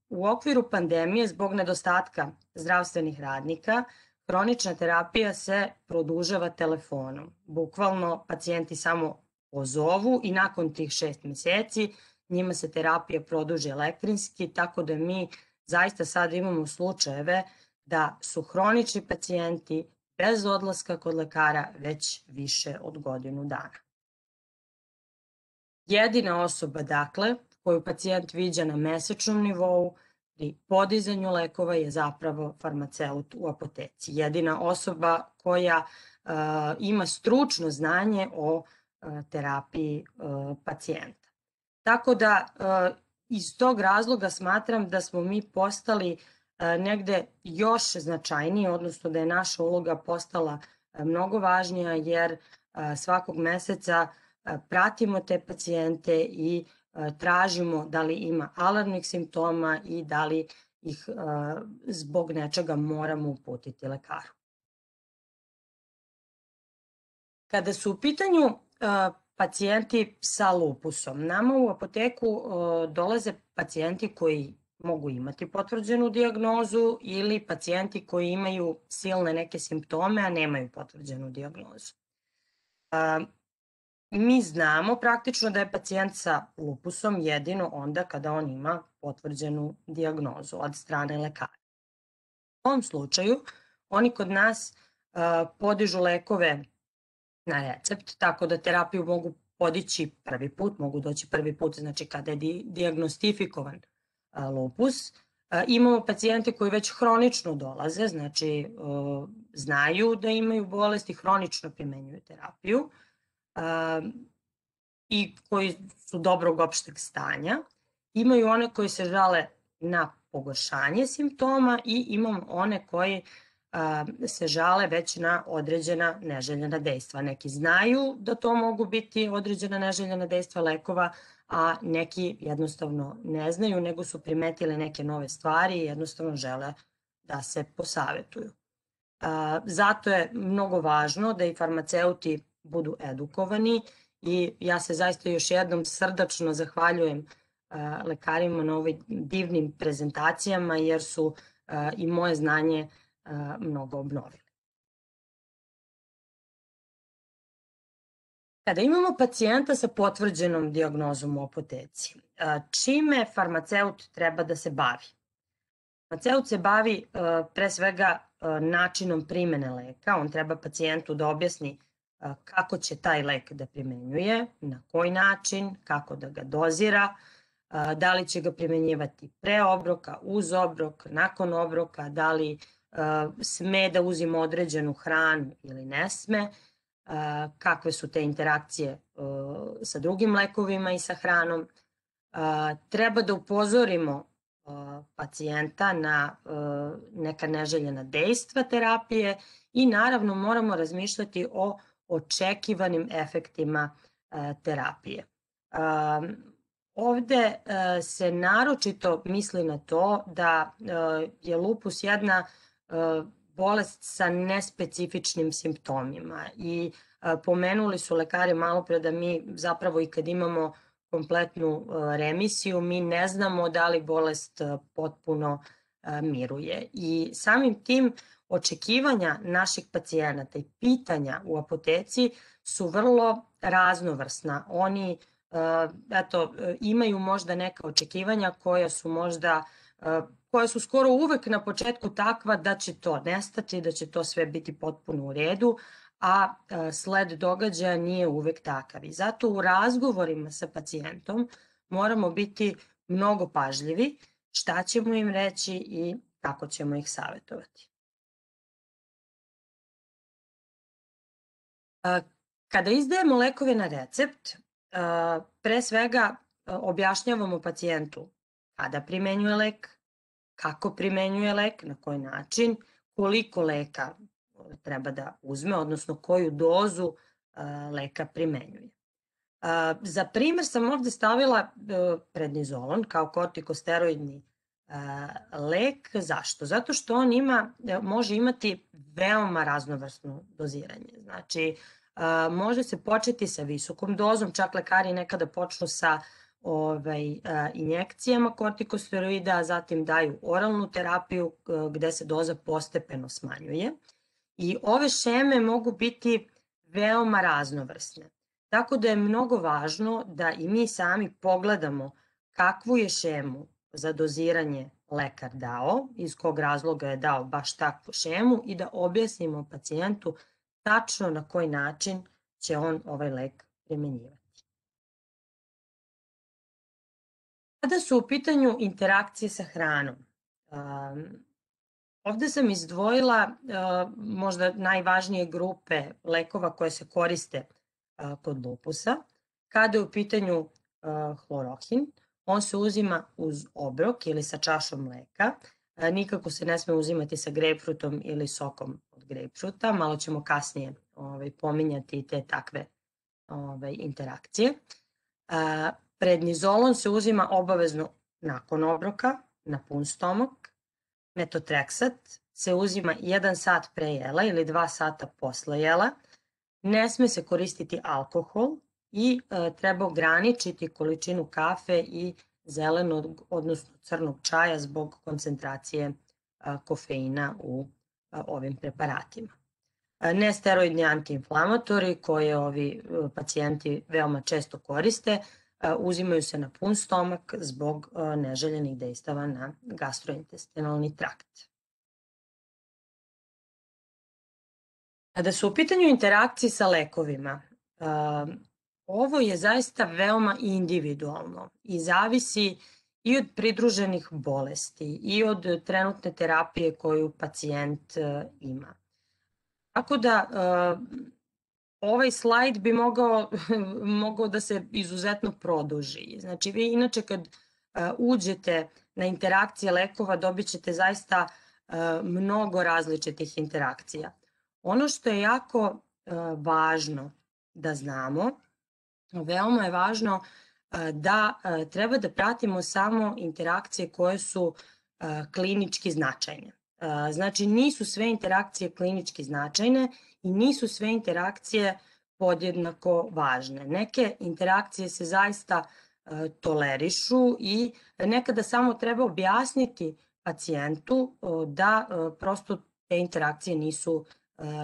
U okviru pandemije zbog nedostatka zdravstvenih radnika hronična terapija se produžava telefonom. Bukvalno pacijenti samo pozovu i nakon tih šest meseci njima se terapija produži elektrinski, tako da mi zaista sad imamo slučajeve da su hronični pacijenti bez odlaska kod lekara već više od godinu dana. Jedina osoba, dakle, koju pacijent viđa na mesečnom nivou pri podizanju lekova je zapravo farmaceut u apoteci. Jedina osoba koja ima stručno znanje o terapiji pacijenta. Tako da iz tog razloga smatram da smo mi postali negde još značajniji, odnosno da je naša uloga postala mnogo važnija jer svakog meseca pratimo te pacijente i tražimo da li ima alarmnih simptoma i da li ih zbog nečega moramo uputiti lekaru. Kada su u pitanju pacijenti sa lupusom, nama u apoteku dolaze pacijenti koji mogu imati potvrđenu dijagnozu ili pacijenti koji imaju silne neke simptome, a nemaju potvrđenu dijagnozu. Mi znamo praktično da je pacijent sa lupusom jedino onda kada on ima potvrđenu dijagnozu od strane lekara. U ovom slučaju oni kod nas podižu lekove na recept, tako da terapiju mogu podići prvi put, mogu doći prvi put, znači kada je dijagnostifikovan lupus. Imamo pacijente koji već hronično dolaze, znači znaju da imaju bolest i hronično primenjuju terapiju i koji su dobrog opšteg stanja. Imaju one koji se žale na pogoršanje simptoma i imamo one koji se žale već na određena neželjena dejstva. Neki znaju da to mogu biti određena neželjena dejstva lekova, a neki jednostavno ne znaju, nego su primetili neke nove stvari i jednostavno žele da se posavetuju. Zato je mnogo važno da i farmaceuti budu edukovani i ja se zaista još jednom srdačno zahvaljujem lekarima na ovim divnim prezentacijama jer su i moje znanje mnogo obnovili. Kada imamo pacijenta sa potvrđenom dijagnozom u apoteci, čime farmaceut treba da se bavi? Farmaceut se bavi pre svega načinom primene leka, on treba pacijentu da objasni kako će taj lek da primenjuje, na koji način, kako da ga dozira, da li će ga primenjivati pre obroka, uz obrok, nakon obroka, da li sme da uzima određenu hranu ili ne sme, kakve su te interakcije sa drugim lekovima i sa hranom. Treba da upozorimo pacijenta na neka neželjena dejstva terapije i naravno moramo razmišljati o očekivanim efektima terapije. Ovde se naročito misli na to da je lupus jedna bolest sa nespecifičnim simptomima i pomenuli su lekari malo pre da mi zapravo i kad imamo kompletnu remisiju, mi ne znamo da li bolest potpuno miruje. I samim tim očekivanja naših pacijenata i pitanja u apoteci su vrlo raznovrsna. Oni eto, imaju možda neka očekivanja koja su možda koja su skoro uvek na početku takva da će to nestati, da će to sve biti potpuno u redu, a sled događaja nije uvek takav. I zato u razgovorima sa pacijentom moramo biti mnogo pažljivi šta ćemo im reći i kako ćemo ih savjetovati. Kada izdajemo lekove na recept, pre svega objašnjavamo pacijentu kada primenjuje lek, kako primenjuje lek, na koji način, koliko leka treba da uzme, odnosno koju dozu leka primenjuje. Za primer sam ovde stavila prednizolon kao kortikosteroidni lek. Zašto? Zato što on ima, može imati veoma raznovrsno doziranje. Znači, može se početi sa visokom dozom, čak lekari nekada počnu sa Ovaj, injekcijama kortikosteroida, zatim daju oralnu terapiju gde se doza postepeno smanjuje. I ove šeme mogu biti veoma raznovrsne. Tako da je mnogo važno da i mi sami pogledamo kakvu je šemu za doziranje lekar dao, iz kog razloga je dao baš takvu šemu i da objasnimo pacijentu tačno na koji način će on ovaj lek primenjivati. Kada su u pitanju interakcije sa hranom, ovde sam izdvojila možda najvažnije grupe lekova koje se koriste kod lupusa. Kada je u pitanju hlorohin, on se uzima uz obrok ili sa čašom mleka. Nikako se ne sme uzimati sa grejpfrutom ili sokom od grejpfruta. Malo ćemo kasnije pominjati te takve interakcije. Prednizolon se uzima obavezno nakon obroka, na pun stomak. Metotreksat se uzima jedan sat pre jela ili dva sata posle jela. Ne sme se koristiti alkohol i treba ograničiti količinu kafe i zelenog, odnosno crnog čaja zbog koncentracije kofeina u ovim preparatima. Nesteroidni antiinflamatori koje ovi pacijenti veoma često koriste, uzimaju se na pun stomak zbog neželjenih dejstava na gastrointestinalni trakt. Kada su u pitanju interakcije sa lekovima, ovo je zaista veoma individualno i zavisi i od pridruženih bolesti i od trenutne terapije koju pacijent ima. Tako da ovaj slajd bi mogao, mogao da se izuzetno produži. Znači, vi inače kad uđete na interakcije lekova dobit ćete zaista mnogo različitih interakcija. Ono što je jako važno da znamo, veoma je važno da treba da pratimo samo interakcije koje su klinički značajne. Znači, nisu sve interakcije klinički značajne i nisu sve interakcije podjednako važne. Neke interakcije se zaista tolerišu i nekada samo treba objasniti pacijentu da prosto te interakcije nisu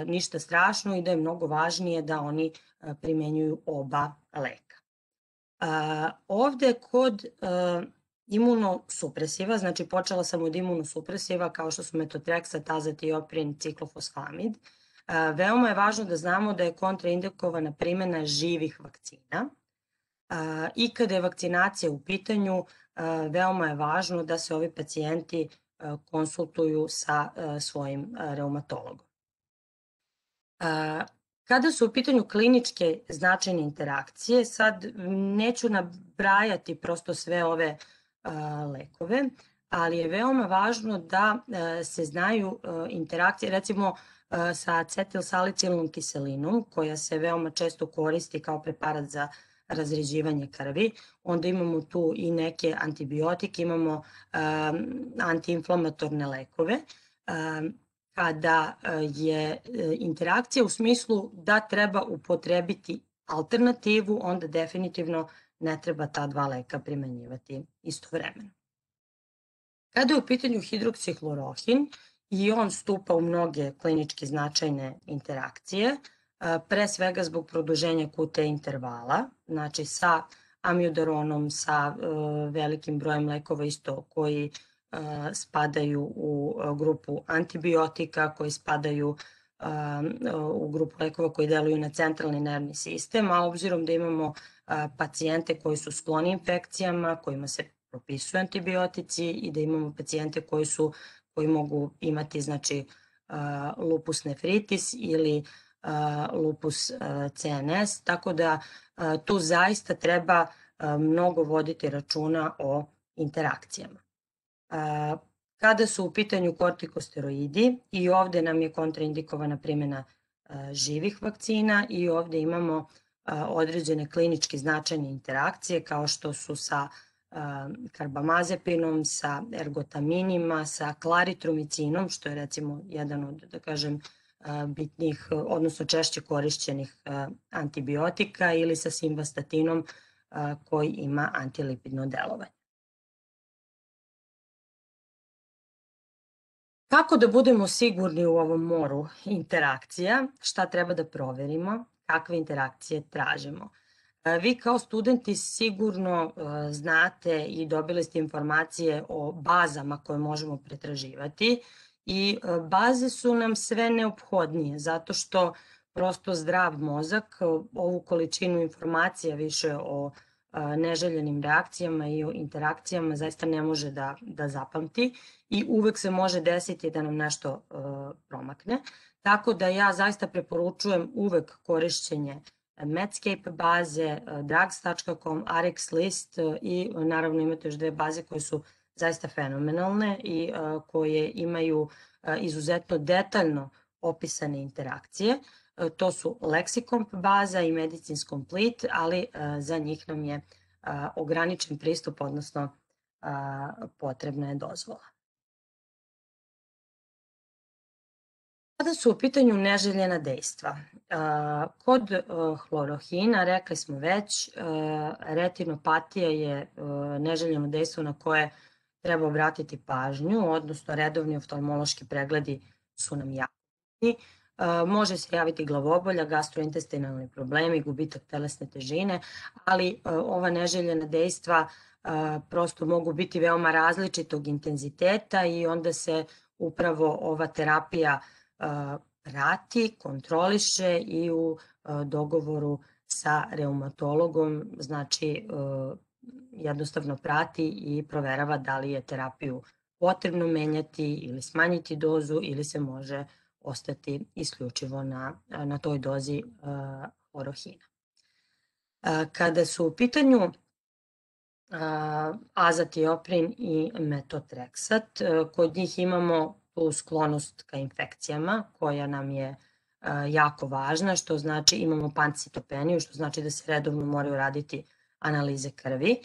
ništa strašno i da je mnogo važnije da oni primenjuju oba leka. Ovde kod imunosupresiva, znači počela sam od imunosupresiva kao što su metotrexat, azatioprin, ciklofosfamid. Veoma je važno da znamo da je kontraindikovana primjena živih vakcina i kada je vakcinacija u pitanju, veoma je važno da se ovi pacijenti konsultuju sa svojim reumatologom. Kada su u pitanju kliničke značajne interakcije, sad neću nabrajati prosto sve ove lekove, ali je veoma važno da se znaju interakcije, recimo sa acetilsalicilnom kiselinom, koja se veoma često koristi kao preparat za razređivanje krvi. Onda imamo tu i neke antibiotike, imamo antiinflamatorne lekove. Kada je interakcija u smislu da treba upotrebiti alternativu, onda definitivno ne treba ta dva leka primenjivati istovremeno. Kada je u pitanju hidroksihlorohin, i on stupa u mnoge klinički značajne interakcije, pre svega zbog produženja Q T intervala, znači sa amiodaronom, sa velikim brojem lekova isto koji spadaju u grupu antibiotika, koji spadaju u grupu lekova koji deluju na centralni nervni sistem, a obzirom da imamo pacijente koji su skloni infekcijama, kojima se propisuju antibiotici i da imamo pacijente koji su koji mogu imati znači lupus nefritis ili lupus C N S, tako da tu zaista treba mnogo voditi računa o interakcijama. Kada su u pitanju kortikosteroidi, i ovde nam je kontraindikovana primjena živih vakcina i ovde imamo određene klinički značajne interakcije kao što su sa karbamazepinom, sa ergotaminima, sa klaritromicinom, što je recimo jedan od, da kažem, bitnih, odnosno češće korišćenih antibiotika, ili sa simvastatinom koji ima antilipidno delovanje. Kako da budemo sigurni u ovom moru interakcija, šta treba da proverimo, kakve interakcije tražimo? Vi kao studenti sigurno znate i dobili ste informacije o bazama koje možemo pretraživati i baze su nam sve neophodnije zato što prosto zdrav mozak ovu količinu informacija više o neželjenim reakcijama i o interakcijama zaista ne može da, da zapamti i uvek se može desiti da nam nešto promakne. Tako da ja zaista preporučujem uvek korišćenje Medscape baze, drugs tačka com, RxList i naravno imate još dve baze koje su zaista fenomenalne i koje imaju izuzetno detaljno opisane interakcije. To su Lexicomp baza i Medicines Complete, ali za njih nam je ograničen pristup, odnosno potrebna je dozvola. Kada su u pitanju neželjena dejstva, kod hlorohina, rekli smo već, retinopatija je neželjeno dejstvo na koje treba obratiti pažnju, odnosno redovni oftalmološki pregledi su nam jako bitni. Može se javiti glavobolja, gastrointestinalni problemi, gubitak telesne težine, ali ova neželjena dejstva prosto mogu biti veoma različitog intenziteta i onda se upravo ova terapija prati, kontroliše i u dogovoru sa reumatologom, znači jednostavno prati i proverava da li je terapiju potrebno menjati ili smanjiti dozu ili se može ostati isključivo na, na toj dozi hlorohina. Kada su u pitanju azatioprin i metotrexat, kod njih imamo tu sklonost ka infekcijama koja nam je jako važna, što znači imamo pancitopeniju, što znači da se redovno moraju raditi analize krvi.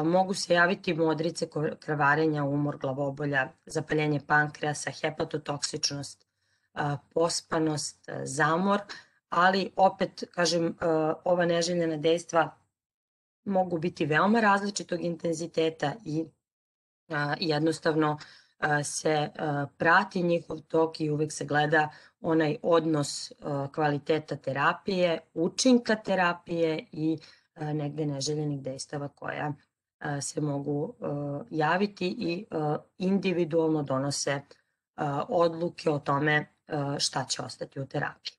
Mogu se javiti modrice krvarenja, umor, glavobolja, zapaljenje pankreasa, hepatotoksičnost, pospanost, zamor, ali opet, kažem, ova neželjena dejstva mogu biti veoma različitog intenziteta i jednostavno se prati njihov tok i uvek se gleda onaj odnos kvaliteta terapije, učinka terapije i negde neželjenih dejstava koja se mogu javiti i individualno donose odluke o tome šta će ostati u terapiji.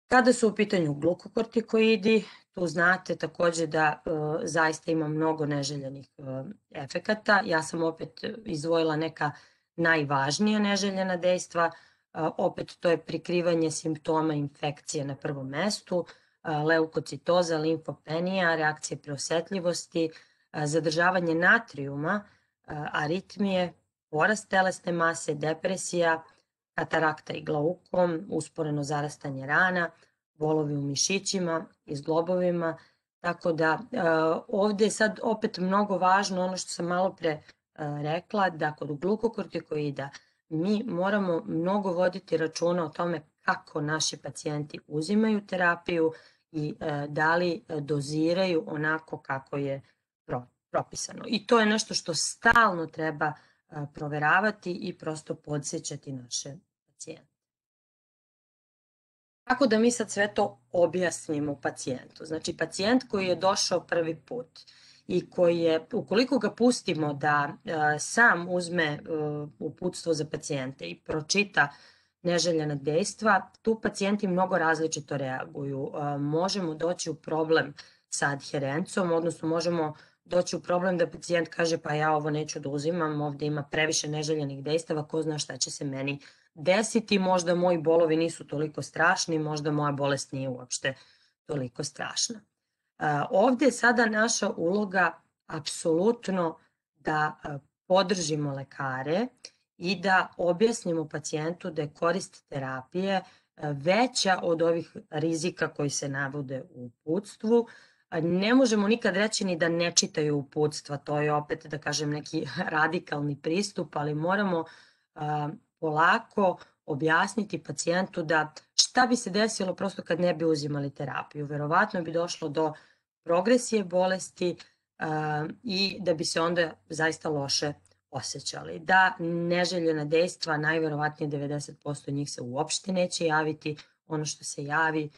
Kada su u pitanju glukokortikoidi, tu znate takođe da zaista ima mnogo neželjenih efekata. Ja sam opet izdvojila neka najvažnija neželjena dejstva. Opet to je prikrivanje simptoma infekcije na prvom mestu, leukocitoza, limfopenija, reakcije preosetljivosti, zadržavanje natrijuma, aritmije, porast telesne mase, depresija, katarakta i glaukom, usporeno zarastanje rana, bolovi u mišićima i zglobovima, tako da ovde je sad opet mnogo važno ono što sam malo pre rekla, da kod glukokortikoida mi moramo mnogo voditi računa o tome kako naši pacijenti uzimaju terapiju i da li doziraju onako kako je propisano. I to je nešto što stalno treba proveravati i prosto podsjećati naše pacijente. Kako da mi sad sve to objasnimo pacijentu? Znači, pacijent koji je došao prvi put i koji je, ukoliko ga pustimo da sam uzme uputstvo za pacijente i pročita neželjena dejstva, tu pacijenti mnogo različito reaguju. Možemo doći u problem sa adherencom, odnosno možemo doći u problem da pacijent kaže pa ja ovo neću da uzimam, ovde ima previše neželjenih dejstava, ko zna šta će se meni desiti, možda moji bolovi nisu toliko strašni, možda moja bolest nije uopšte toliko strašna. Ovde je sada naša uloga apsolutno da podržimo lekare i da objasnimo pacijentu da je korist terapije veća od ovih rizika koji se navode u uputstvu. Ne možemo nikad reći ni da ne čitaju uputstva, to je opet, da kažem, neki radikalni pristup, ali moramo polako objasniti pacijentu da šta bi se desilo prosto kad ne bi uzimali terapiju. Verovatno bi došlo do progresije bolesti i da bi se onda zaista loše osjećali. Da neželjena dejstva, najverovatnije devedeset posto njih se uopšte neće javiti, ono što se javi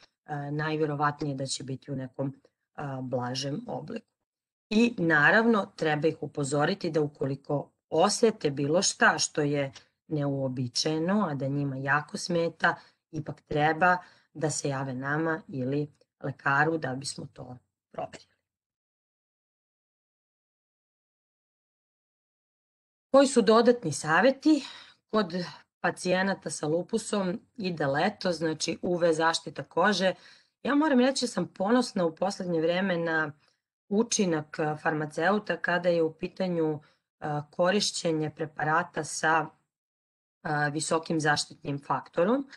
najverovatnije da će biti u nekom blažem obliku. I naravno treba ih upozoriti da ukoliko osete bilo šta što je neuobičajeno, a da njima jako smeta, ipak treba da se jave nama ili lekaru da bismo to proverili. Koji su dodatni saveti? Kod pacijenata sa lupusom ide leto, znači U V zaštita kože. Ja moram reći da sam ponosna u poslednje vreme na učinak farmaceuta kada je u pitanju korišćenje preparata sa visokim zaštitnim faktorom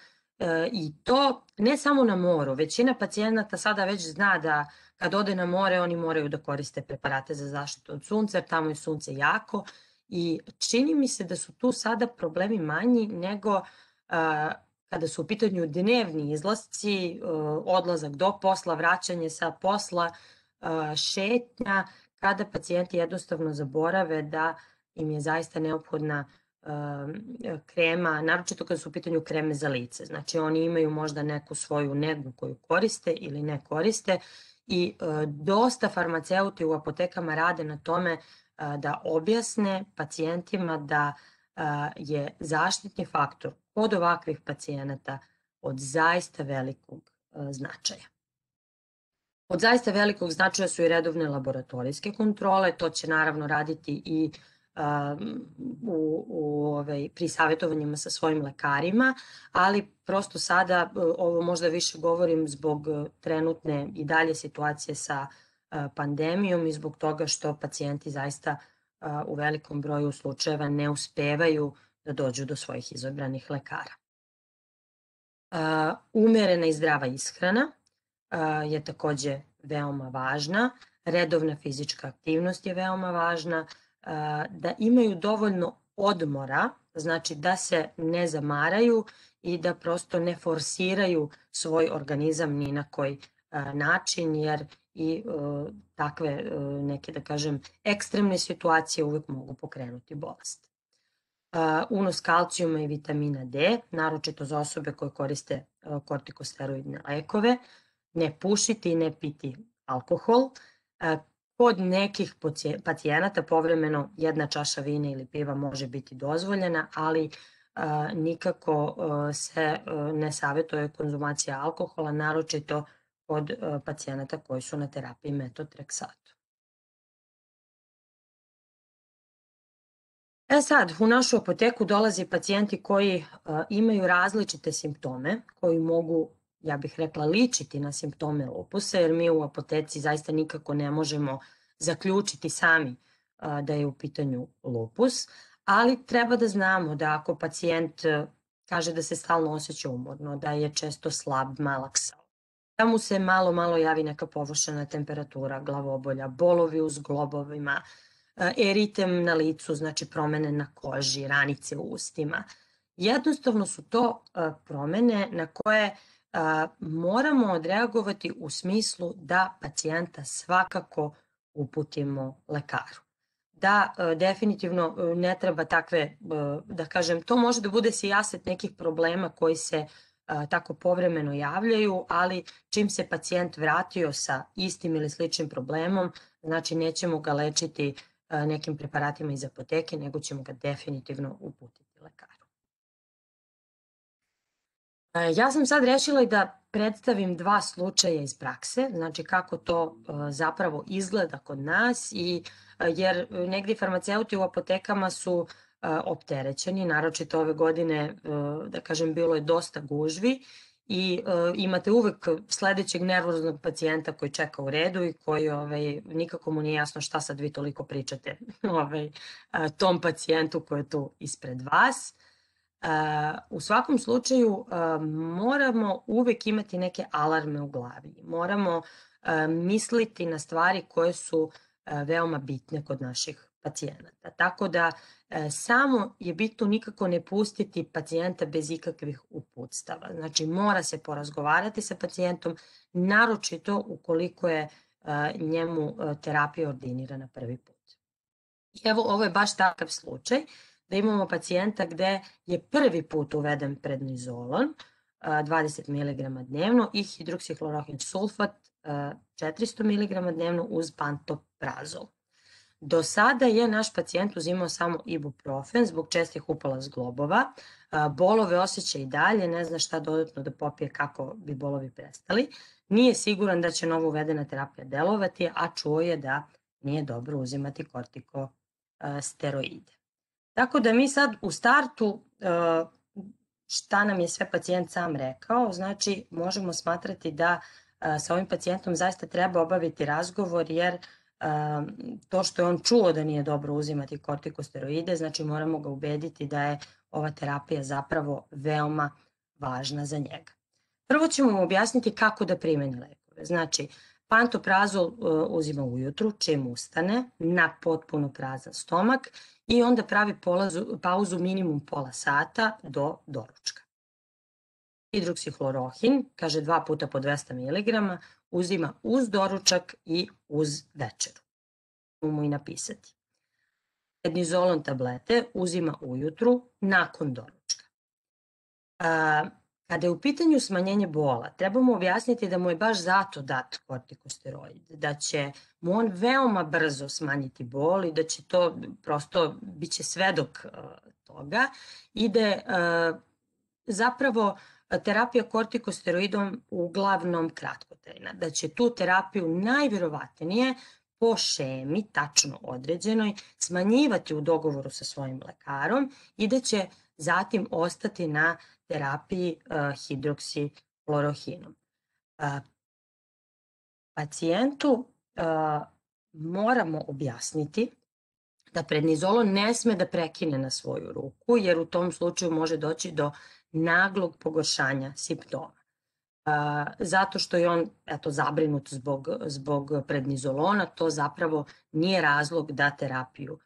i to ne samo na moru. Većina pacijenata sada već zna da kad ode na more oni moraju da koriste preparate za zaštitu od sunca jer tamo je sunce jako i čini mi se da su tu sada problemi manji nego kada su u pitanju dnevni izlasci, odlazak do posla, vraćanje sa posla, šetnja, kada pacijenti jednostavno zaborave da im je zaista neophodna krema, naročito kada su u pitanju kreme za lice. Znači oni imaju možda neku svoju negu koju koriste ili ne koriste i dosta farmaceuti u apotekama rade na tome da objasne pacijentima da je zaštitni faktor kod ovakvih pacijenata od zaista velikog značaja. Od zaista velikog značaja su i redovne laboratorijske kontrole, to će naravno raditi i u, u, ovaj, pri savjetovanjima sa svojim lekarima, ali prosto sada ovo možda više govorim zbog trenutne i dalje situacije sa pandemijom i zbog toga što pacijenti zaista u velikom broju slučajeva ne uspevaju da dođu do svojih izabranih lekara. Umerena i zdrava ishrana je takođe veoma važna, redovna fizička aktivnost je veoma važna, da imaju dovoljno odmora, znači da se ne zamaraju i da prosto ne forsiraju svoj organizam ni na koji način, jer i takve neke, da kažem, ekstremne situacije uvek mogu pokrenuti bolest. unos kalcijuma i vitamina D, naročito za osobe koje koriste kortikosteroidne lekove, ne pušiti i ne piti alkohol. Kod nekih pacijenata povremeno jedna čaša vina ili piva može biti dozvoljena, ali nikako se ne savjetuje konzumacija alkohola, naročito kod pacijenata koji su na terapiji metotreksatom. E sad, u našu apoteku dolaze pacijenti koji imaju različite simptome, koji mogu, ja bih rekla, ličiti na simptome lupusa, jer mi u apoteci zaista nikako ne možemo zaključiti sami da je u pitanju lupus, ali treba da znamo da ako pacijent kaže da se stalno osjeća umorno, da je često slab, malaksao, da mu se malo, malo javi neka površena temperatura, glavobolja, bolovi u zglobovima, eritem na licu, znači promene na koži, ranice u ustima. Jednostavno su to promene na koje moramo odreagovati u smislu da pacijenta svakako uputimo lekaru. Da definitivno ne treba takve, da kažem, to može da bude sijaset nekih problema koji se tako povremeno javljaju, ali čim se pacijent vratio sa istim ili sličnim problemom, znači nećemo ga lečiti nekim preparatima iz apoteke, nego ćemo ga definitivno uputiti lekaru. Ja sam sad rešila i da predstavim dva slučaja iz prakse, znači kako to zapravo izgleda kod nas, i jer negdje farmaceuti u apotekama su opterećeni, naročito ove godine, da kažem, bilo je dosta gužvi i imate uvek sledećeg nervoznog pacijenta koji čeka u redu i koji nikako mu nije jasno šta sad vi toliko pričate tom pacijentu koji je tu ispred vas. U svakom slučaju moramo uvek imati neke alarme u glavi, moramo misliti na stvari koje su veoma bitne kod naših pacijenata. Tako da samo je bitno nikako ne pustiti pacijenta bez ikakvih uputstava. Znači mora se porazgovarati sa pacijentom, naročito ukoliko je njemu terapija ordinirana prvi put. Evo, ovo je baš takav slučaj da imamo pacijenta gde je prvi put uveden prednizolon, dvadeset miligrama dnevno, i hidroksihlorohin sulfat četiristo miligrama dnevno uz pantoprazol. Do sada je naš pacijent uzimao samo ibuprofen zbog čestih upala zglobova, bolove osjeća i dalje, ne zna šta dodatno da popije kako bi bolovi prestali, nije siguran da će novo uvedena terapija delovati, a čuo je da nije dobro uzimati kortikosteroide. Tako da mi sad u startu, šta nam je sve pacijent sam rekao, znači možemo smatrati da sa ovim pacijentom zaista treba obaviti razgovor, jer to što je on čuo da nije dobro uzimati kortikosteroide, znači moramo ga ubediti da je ova terapija zapravo veoma važna za njega. Prvo ćemo mu objasniti kako da primeni lekove. Znači, pantoprazol uzima ujutru, čim ustane, na potpuno prazan stomak, i onda pravi pauzu minimum pola sata do doručka. Hidroksihlorohin, kaže dva puta po dvesta miligrama, uzima uz doručak i uz večeru. Možemo mu i napisati. Prednizolon tablete uzima ujutru nakon doručka. Kada je u pitanju smanjenje bola, trebamo objasniti da mu je baš zato dat kortikosteroid, da će mu on veoma brzo smanjiti bol i da će to prosto, bit će svedok toga, i da je zapravo terapija kortikosteroidom uglavnom kratkotrajna, da će tu terapiju najverovatnije po šemi, tačno određenoj, smanjivati u dogovoru sa svojim lekarom i da će zatim ostati na terapiji hidroksihlorohinom. Pacijentu moramo objasniti da prednizolon ne sme da prekine na svoju ruku, jer u tom slučaju može doći do naglog pogoršanja simptoma. Zato što je on zabrinut zbog prednizolona, to zapravo nije razlog da terapiju.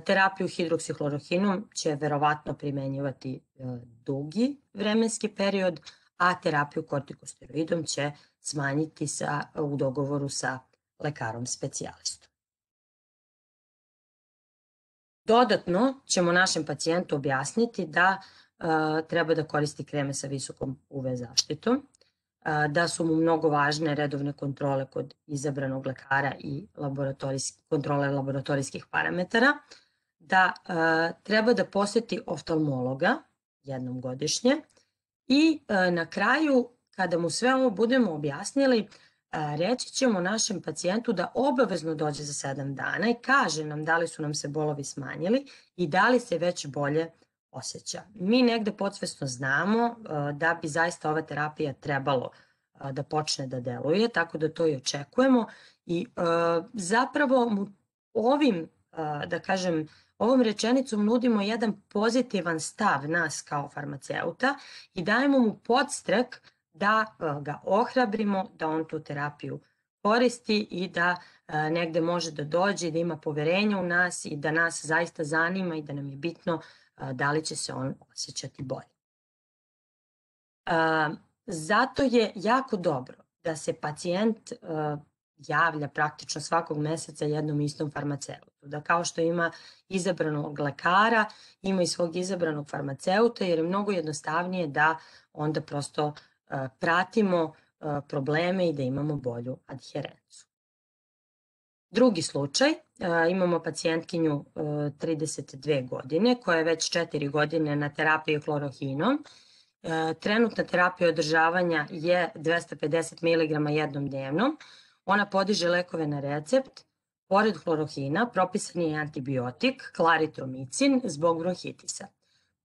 Terapiju hidroksihlorohinom će verovatno primenjivati dugi vremenski period, a terapiju kortikosteroidom će smanjiti u dogovoru sa lekarom specijalistom. Dodatno ćemo našem pacijentu objasniti da treba da koristi kreme sa visokom U V zaštitom, da su mu mnogo važne redovne kontrole kod izabranog lekara i kontrole laboratorijskih parametara, da treba da poseti oftalmologa jednom godišnje i na kraju, kada mu sve ovo budemo objasnili, reći ćemo našem pacijentu da obavezno dođe za sedam dana i kaže nam da li su nam se bolovi smanjili i da li se već bolje osjeća. Mi negde podsvesno znamo da bi zaista ova terapija trebalo da počne da deluje, tako da to i očekujemo i zapravo mu ovim, da kažem, ovom rečenicom nudimo jedan pozitivan stav nas kao farmaceuta i dajemo mu podstrek da ga ohrabrimo, da on tu terapiju koristi i da negde može da dođe i da ima poverenja u nas i da nas zaista zanima i da nam je bitno da li će se on osjećati bolje. Zato je jako dobro da se pacijent javlja praktično svakog meseca jednom istom farmaceutu. Da kao što ima izabranog lekara, ima i svog izabranog farmaceuta, jer je mnogo jednostavnije da onda prosto pratimo probleme i da imamo bolju adherencu. Drugi slučaj, imamo pacijentkinju trideset dve godine koja je već četiri godine na terapiji hlorohinom. Trenutna terapija održavanja je dvesta pedeset miligrama jednom dnevnom. Ona podiže lekove na recept. Pored hlorohina propisan je antibiotik klaritromicin zbog bronhitisa.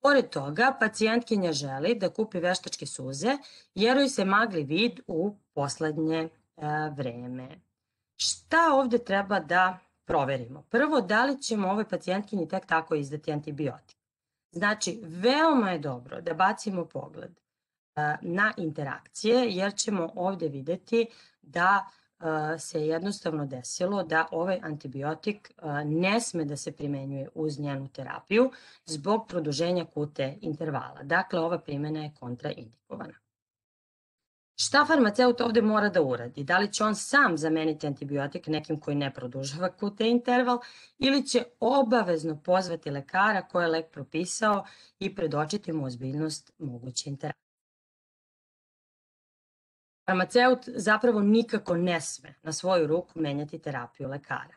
Pored toga, pacijentkinja želi da kupi veštačke suze jer joj se magli vid u poslednje vreme. Šta ovde treba da proverimo? Prvo, da li ćemo ovoj pacijentkinji tek tako izdati antibiotik? Znači, veoma je dobro da bacimo pogled na interakcije, jer ćemo ovde videti da se jednostavno desilo da ovaj antibiotik ne sme da se primenjuje uz njenu terapiju zbog produženja Q T intervala. Dakle, ova primjena je kontraindikovana. Šta farmaceut ovde mora da uradi? Da li će on sam zameniti antibiotik nekim koji ne produžava Q T interval ili će obavezno pozvati lekara koji je lek propisao i predočiti mu ozbiljnost moguće interakcije? Farmaceut zapravo nikako ne sme na svoju ruku menjati terapiju lekara.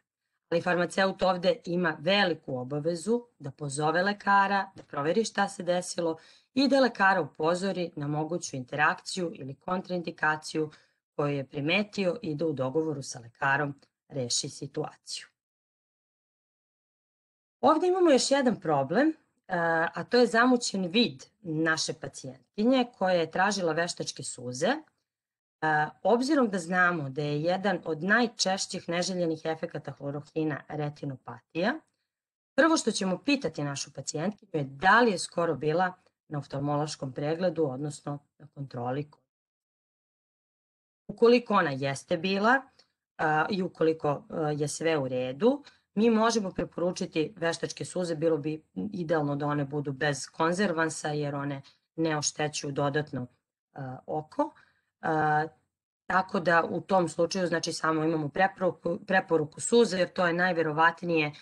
Ali farmaceut ovde ima veliku obavezu da pozove lekara, da proveri šta se desilo i da lekara upozori na moguću interakciju ili kontraindikaciju koju je primetio i da u dogovoru sa lekarom reši situaciju. Ovde imamo još jedan problem, a to je zamućen vid naše pacijentkinje koja je tražila veštačke suze. Obzirom da znamo da je jedan od najčešćih neželjenih efekata hlorohina retinopatija, prvo što ćemo pitati našu pacijentkinju je da li je skoro bila na oftalmološkom pregledu, odnosno na kontroli. Ukoliko ona jeste bila i ukoliko je sve u redu, mi možemo preporučiti veštačke suze, bilo bi idealno da one budu bez konzervansa jer one ne oštećuju dodatno oko. Tako da u tom slučaju znači samo imamo preporuku, preporuku suze jer to je najverovatnije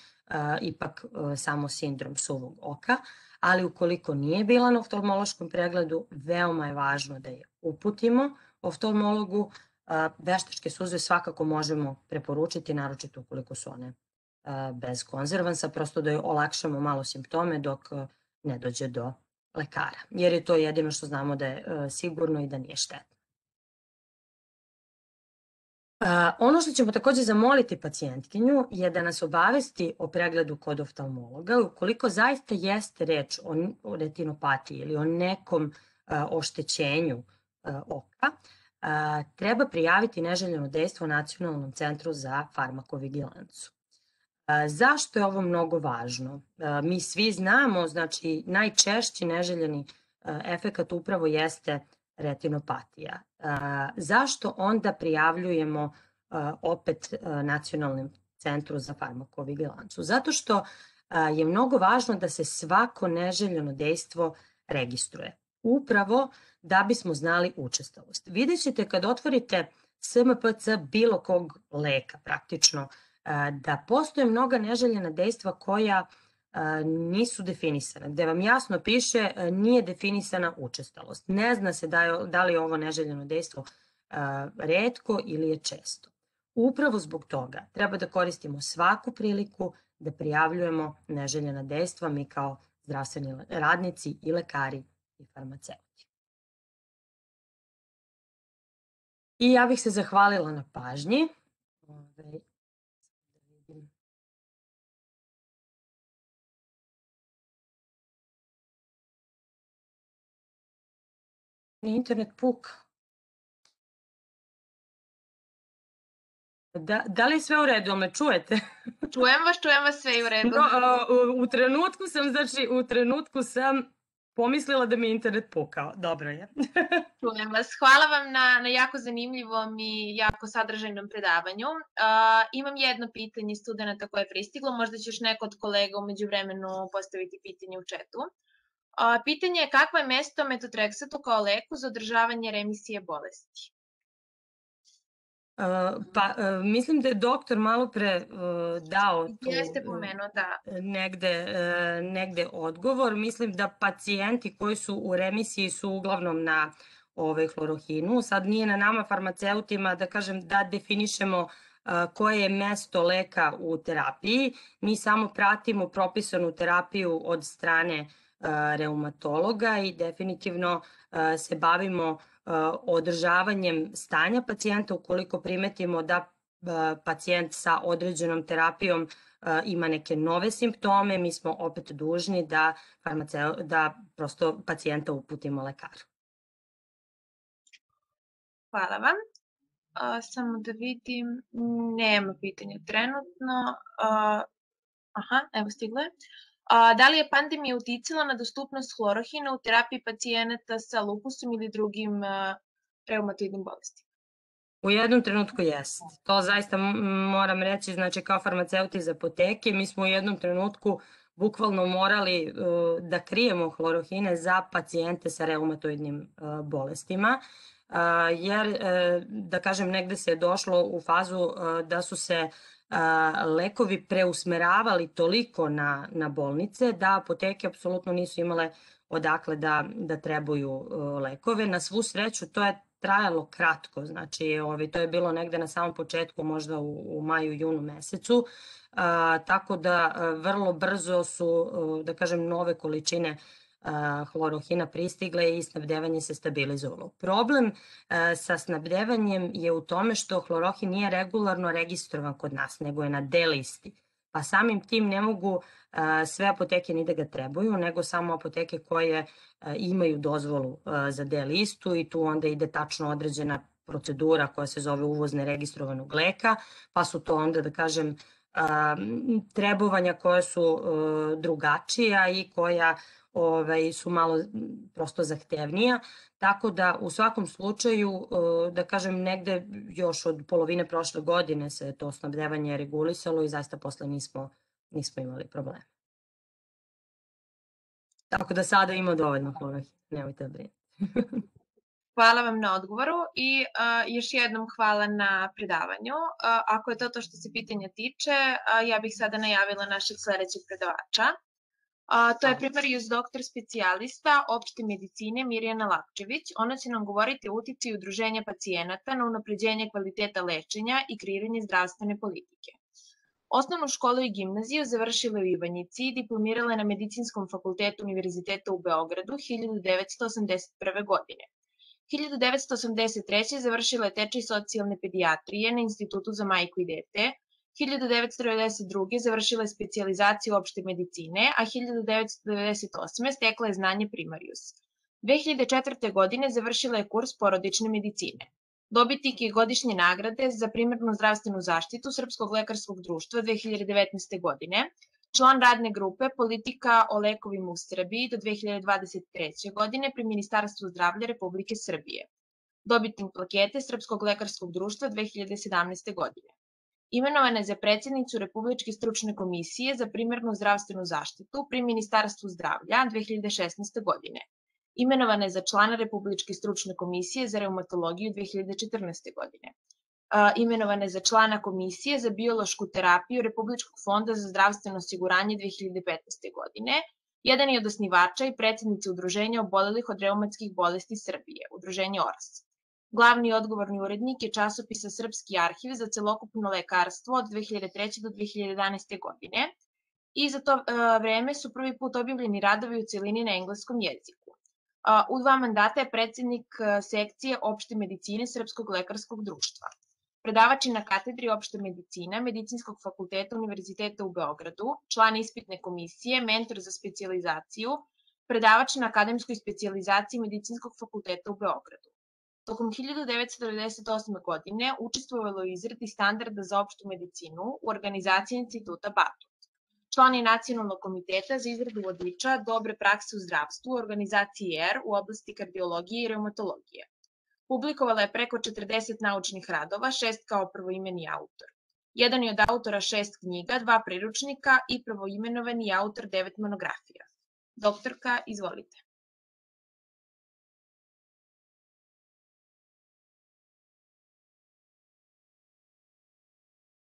ipak samo sindrom suvog oka, ali ukoliko nije bila na oftalmološkom pregledu, veoma je važno da je uputimo oftalmologu. Veštačke suze svakako možemo preporučiti, naročito ukoliko su one bez konzervansa, prosto da joj olakšamo malo simptome dok ne dođe do lekara, jer je to jedino što znamo da je sigurno i da nije štetno. Ono što ćemo takođe zamoliti pacijentkinju je da nas obavesti o pregledu kod oftalmologa. Ukoliko zaista jeste reč o retinopatiji ili o nekom oštećenju oka, treba prijaviti neželjeno dejstvo Nacionalnom centru za farmakovigilancu. Zašto je ovo mnogo važno? Mi svi znamo, znači najčešći neželjeni efekat upravo jeste retinopatija. Zašto onda prijavljujemo opet Nacionalnom centru za farmakovigilancu? Zato što je mnogo važno da se svako neželjeno dejstvo registruje. Upravo da bismo znali učestalost. Vidjet ćete kad otvorite S M P C bilo kog leka praktično, da postoje mnoga neželjena dejstva koja nisu definisane, gde vam jasno piše nije definisana učestalost. Ne zna se da li je ovo neželjeno dejstvo retko ili je često. Upravo zbog toga treba da koristimo svaku priliku da prijavljujemo neželjena dejstva mi kao zdravstveni radnici i lekari i farmaceuti. I ja bih se zahvalila na pažnji. Internet puka. Da, da li je sve u redu, ali me čujete? Čujem vas, čujem vas, sve u redu. No, u, u trenutku sam, znači, u trenutku sam pomislila da mi je internet pukao. Dobro je. Čujem vas. Hvala vam na, na jako zanimljivom i jako sadržajnom predavanju. Uh, imam jedno pitanje studenta koje je pristiglo, možda će još neko od kolega umeđu vremenu postaviti pitanje u četu. Uh, pitanje je kakvo je mesto metotreksatu kao leku za održavanje remisije bolesti? Uh, pa, uh, mislim da je doktor malo pre uh, dao tu Jeste pomenuo, da. negde, uh, negde odgovor. Mislim da pacijenti koji su u remisiji su uglavnom na ovaj, hlorohinu. Sad nije na nama farmaceutima da kažem da definišemo uh, koje je mesto leka u terapiji. Mi samo pratimo propisanu terapiju od strane uh, reumatologa i definitivno uh, se bavimo održavanjem stanja pacijenta ukoliko primetimo da pacijent sa određenom terapijom ima neke nove simptome, mi smo opet dužni da, da prosto pacijenta uputimo lekaru. Hvala vam. A, samo da vidim, nema pitanja trenutno. A, aha, evo stiglo je. A, da li je pandemija uticala na dostupnost hlorohina u terapiji pacijenata sa lupusom ili drugim a, reumatoidnim bolestima? U jednom trenutku jeste. To zaista moram reći, znači kao farmaceuti iz apoteke, mi smo u jednom trenutku bukvalno morali uh, da krijemo hlorohine za pacijente sa reumatoidnim uh, bolestima, uh, jer, uh, da kažem, negde se je došlo u fazu uh, da su se lekovi preusmeravali toliko na, na bolnice da apoteke apsolutno nisu imale odakle da, da trebaju lekove. Na svu sreću to je trajalo kratko, znači ovi, to je bilo negde na samom početku, možda u, u maju, junu mesecu, a, tako da vrlo brzo su, da kažem, nove količine hlorohina pristigle i snabdevanje se stabilizovalo. Problem sa snabdevanjem je u tome što hlorohin nije regularno registrovan kod nas, nego je na D listi. Pa samim tim ne mogu sve apoteke ni da ga trebaju, nego samo apoteke koje imaju dozvolu za D listu i tu onda ide tačno određena procedura koja se zove uvoz neregistrovanog leka, pa su to onda, da kažem, trebovanja koja su drugačija i koja Ove, su malo prosto zahtevnija, tako da u svakom slučaju, da kažem, negde još od polovine prošle godine se to snabdevanje regulisalo i zaista posle nismo, nismo imali problema. Tako da sada ima dovoljno hlorohina, nemojte da brinete. Hvala vam na odgovoru i uh, još jednom hvala na predavanju. Uh, ako je to to što se pitanja tiče, uh, ja bih sada najavila našeg sledećeg predavača. A, to je primarius doktor specijalista opšte medicine Mirjana Lapčević. Ona će nam govoriti o uticaju udruženja pacijenata na unapređenje kvaliteta lečenja i kreiranje zdravstvene politike. Osnovnu školu i gimnaziju završila u Ivanjici i diplomirala je na Medicinskom fakultetu Univerziteta u Beogradu hiljadu devetsto osamdeset prve. godine. hiljadu devetsto osamdeset treće. završila je tečaj socijalne pedijatrije na Institutu za majku i dete, hiljadu devetsto devedeset druge. završila je specijalizaciju opšte medicine, a hiljadu devetsto devedeset osme. stekla je znanje primarius. dve hiljade četvrte. godine završila je kurs porodične medicine. Dobitnik je godišnje nagrade za primarnu zdravstvenu zaštitu Srpskog lekarskog društva dve hiljade devetnaeste. godine, član radne grupe Politika o lekovima u Srbiji do dve hiljade dvadeset treće. godine pri Ministarstvu zdravlja Republike Srbije. Dobitnik plakete Srpskog lekarskog društva dve hiljade sedamnaeste. godine. Imenovana je za predsjednicu Republičke stručne komisije za primarnu zdravstvenu zaštitu pri Ministarstvu zdravlja dve hiljade šesnaeste. godine. Imenovana je za člana Republičke stručne komisije za reumatologiju dve hiljade četrnaeste. godine. imenovane za člana Komisije za biološku terapiju Republičkog fonda za zdravstveno osiguranje dve hiljade petnaeste. godine. Jedan je od osnivača i predsednica Udruženja obolelih od reumatskih bolesti Srbije, Udruženje O R A S. Glavni i odgovorni urednik je časopisa Srpski arhiv za celokupno lekarstvo od dve hiljade treće. do dve hiljade jedanaeste. godine i za to vreme su prvi put objavljeni radovi u celini na engleskom jeziku. U dva mandata je predsednik sekcije opšte medicine Srpskog lekarskog društva. Predavač je na katedri opšte medicine Medicinskog fakulteta Univerziteta u Beogradu, član ispitne komisije, mentor za specijalizaciju, predavač na akademskoj specijalizaciji Medicinskog fakulteta u Beogradu. Tokom hiljadu devetsto devedeset osme. godine učestvovalo u izradi standarda za opštu medicinu u organizaciji Instituta Batut. Član je Nacionalnog komiteta za izradu vodiča dobre prakse u zdravstvu u organizaciji E R u oblasti kardiologije i reumatologije. Publikovala je preko četrdeset naučnih radova, šest kao prvoimeni autor. Jedan je od autora šest knjiga, dva priručnika i prvoimenovani autor devet monografija. Doktorka, izvolite.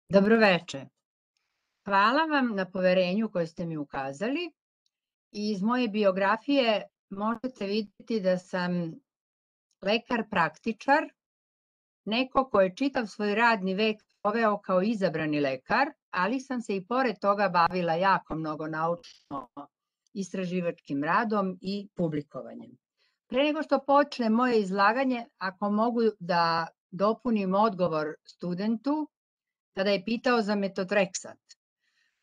Dobroveče. Hvala vam na poverenju koje ste mi ukazali. Iz moje biografije možete vidjeti da sam lekar praktičar, neko ko je čitav svoj radni vek proveo kao izabrani lekar, ali sam se i pored toga bavila jako mnogo naučno-istraživačkim radom i publikovanjem. Pre nego što počne moje izlaganje, ako mogu da dopunim odgovor studentu, kada je pitao za metotreksat.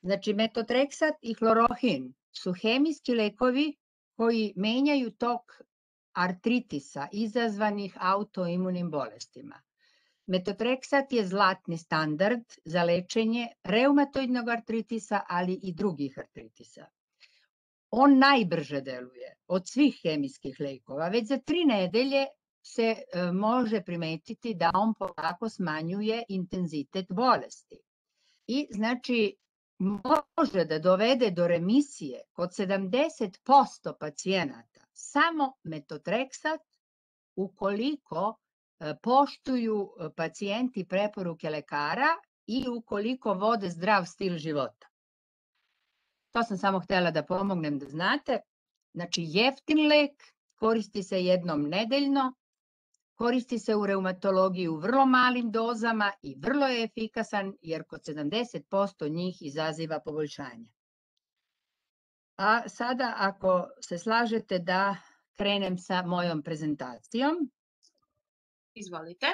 Znači, metotreksat i hlorohin su hemijski lekovi koji menjaju tok artritisa izazvanih autoimunim bolestima. Metotreksat je zlatni standard za lečenje reumatoidnog artritisa, ali i drugih artritisa. On najbrže deluje od svih hemijskih lekova. Već za tri nedelje se može primetiti da on polako smanjuje intenzitet bolesti. I znači može da dovede do remisije kod sedamdeset posto pacijenata samo metotreksat ukoliko poštuju pacijenti preporuke lekara i ukoliko vode zdrav stil života. To sam samo htela da pomognem da znate. Znači jeftin lek, koristi se jednom nedeljno, koristi se u reumatologiji u vrlo malim dozama i vrlo je efikasan jer kod sedamdeset posto njih izaziva poboljšanje. A sada ako se slažete da krenem sa mojom prezentacijom. Izvolite.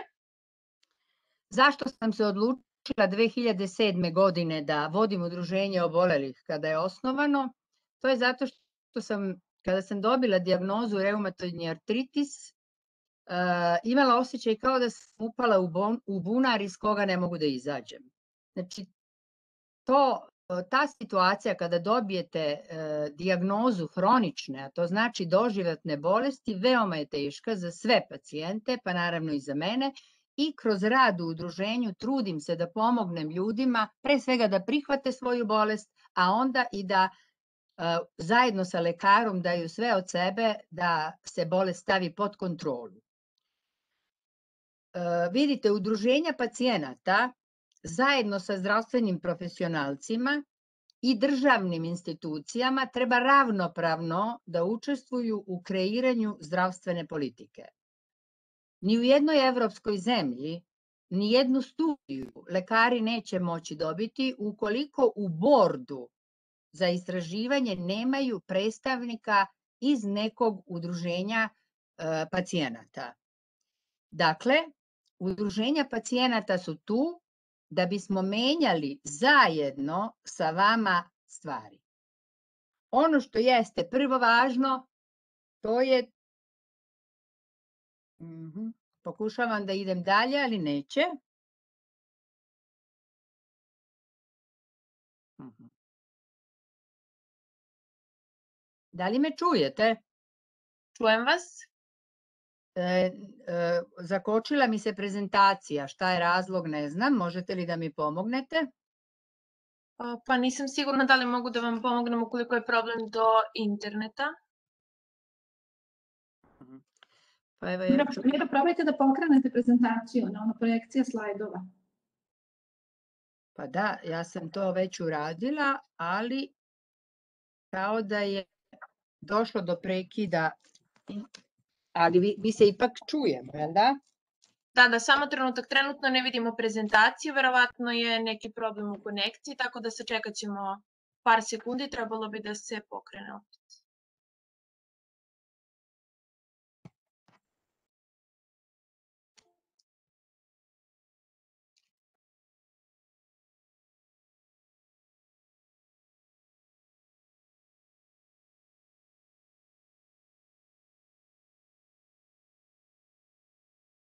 Zašto sam se odlučila dve hiljade sedme. godine da vodim udruženje obolelih kada je osnovano? To je zato što sam, kada sam dobila dijagnozu reumatoidni artritis, imala osjećaj kao da sam upala u bunar iz koga ne mogu da izađem. Znači, to, ta situacija kada dobijete dijagnozu hronične, a to znači doživotne bolesti, veoma je teška za sve pacijente, pa naravno i za mene, i kroz rad u udruženju trudim se da pomognem ljudima, pre svega da prihvate svoju bolest, a onda i da zajedno sa lekarom daju sve od sebe da se bolest stavi pod kontrolu. Vidite, udruženja pacijenata zajedno sa zdravstvenim profesionalcima i državnim institucijama treba ravnopravno da učestvuju u kreiranju zdravstvene politike. Ni u jednoj evropskoj zemlji, ni jednu studiju lekari neće moći dobiti ukoliko u bordu za istraživanje nemaju predstavnika iz nekog udruženja pacijenata. Dakle, udruženja pacijenata su tu da bismo menjali zajedno sa vama stvari. Ono što jeste prvo važno, to je, pokušavam da idem dalje, ali neće. Da li me čujete? Čujem vas. Zakočila mi se prezentacija, šta je razlog ne znam, možete li da mi pomognete? Pa nisam sigurna da li mogu da vam pomognem ukoliko je problem do interneta. Pa evo ja ću... Mira, probajte da pokrenete prezentaciju, ono projekcija slajdova. Pa da, ja sam to već uradila, ali kao da je došlo do prekida, ali vi, vi se ipak čujemo, jel da? Da, da, samo trenutak. Trenutno ne vidimo prezentaciju, verovatno je neki problem u konekciji, tako da sačekat ćemo par sekundi, trebalo bi da se pokrene opet.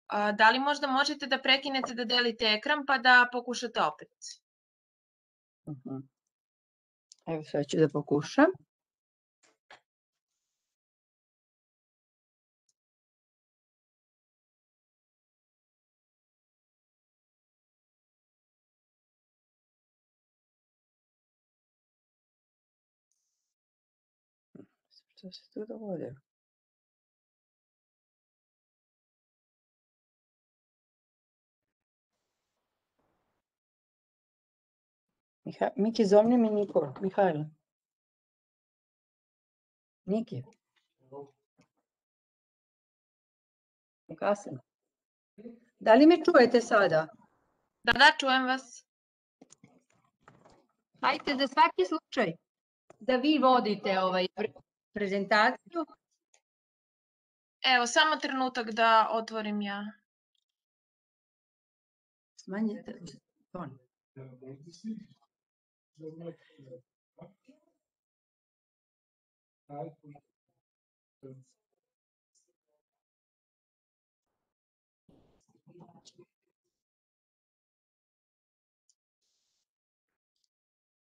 A, da li možda možete da prekinete da delite ekran pa da pokušate opet? Uh-huh. Evo sve ću da pokušam. Što se tu dogodilo? Miha, Miki, zovni mi Nikol, Mihajlo. Niki. Kasno. Da li me čujete sada? Da, da, čujem vas. Hajde za svaki slučaj da vi vodite ovaj prezentaciju. Evo, samo trenutak da otvorim ja. Smanjite ton.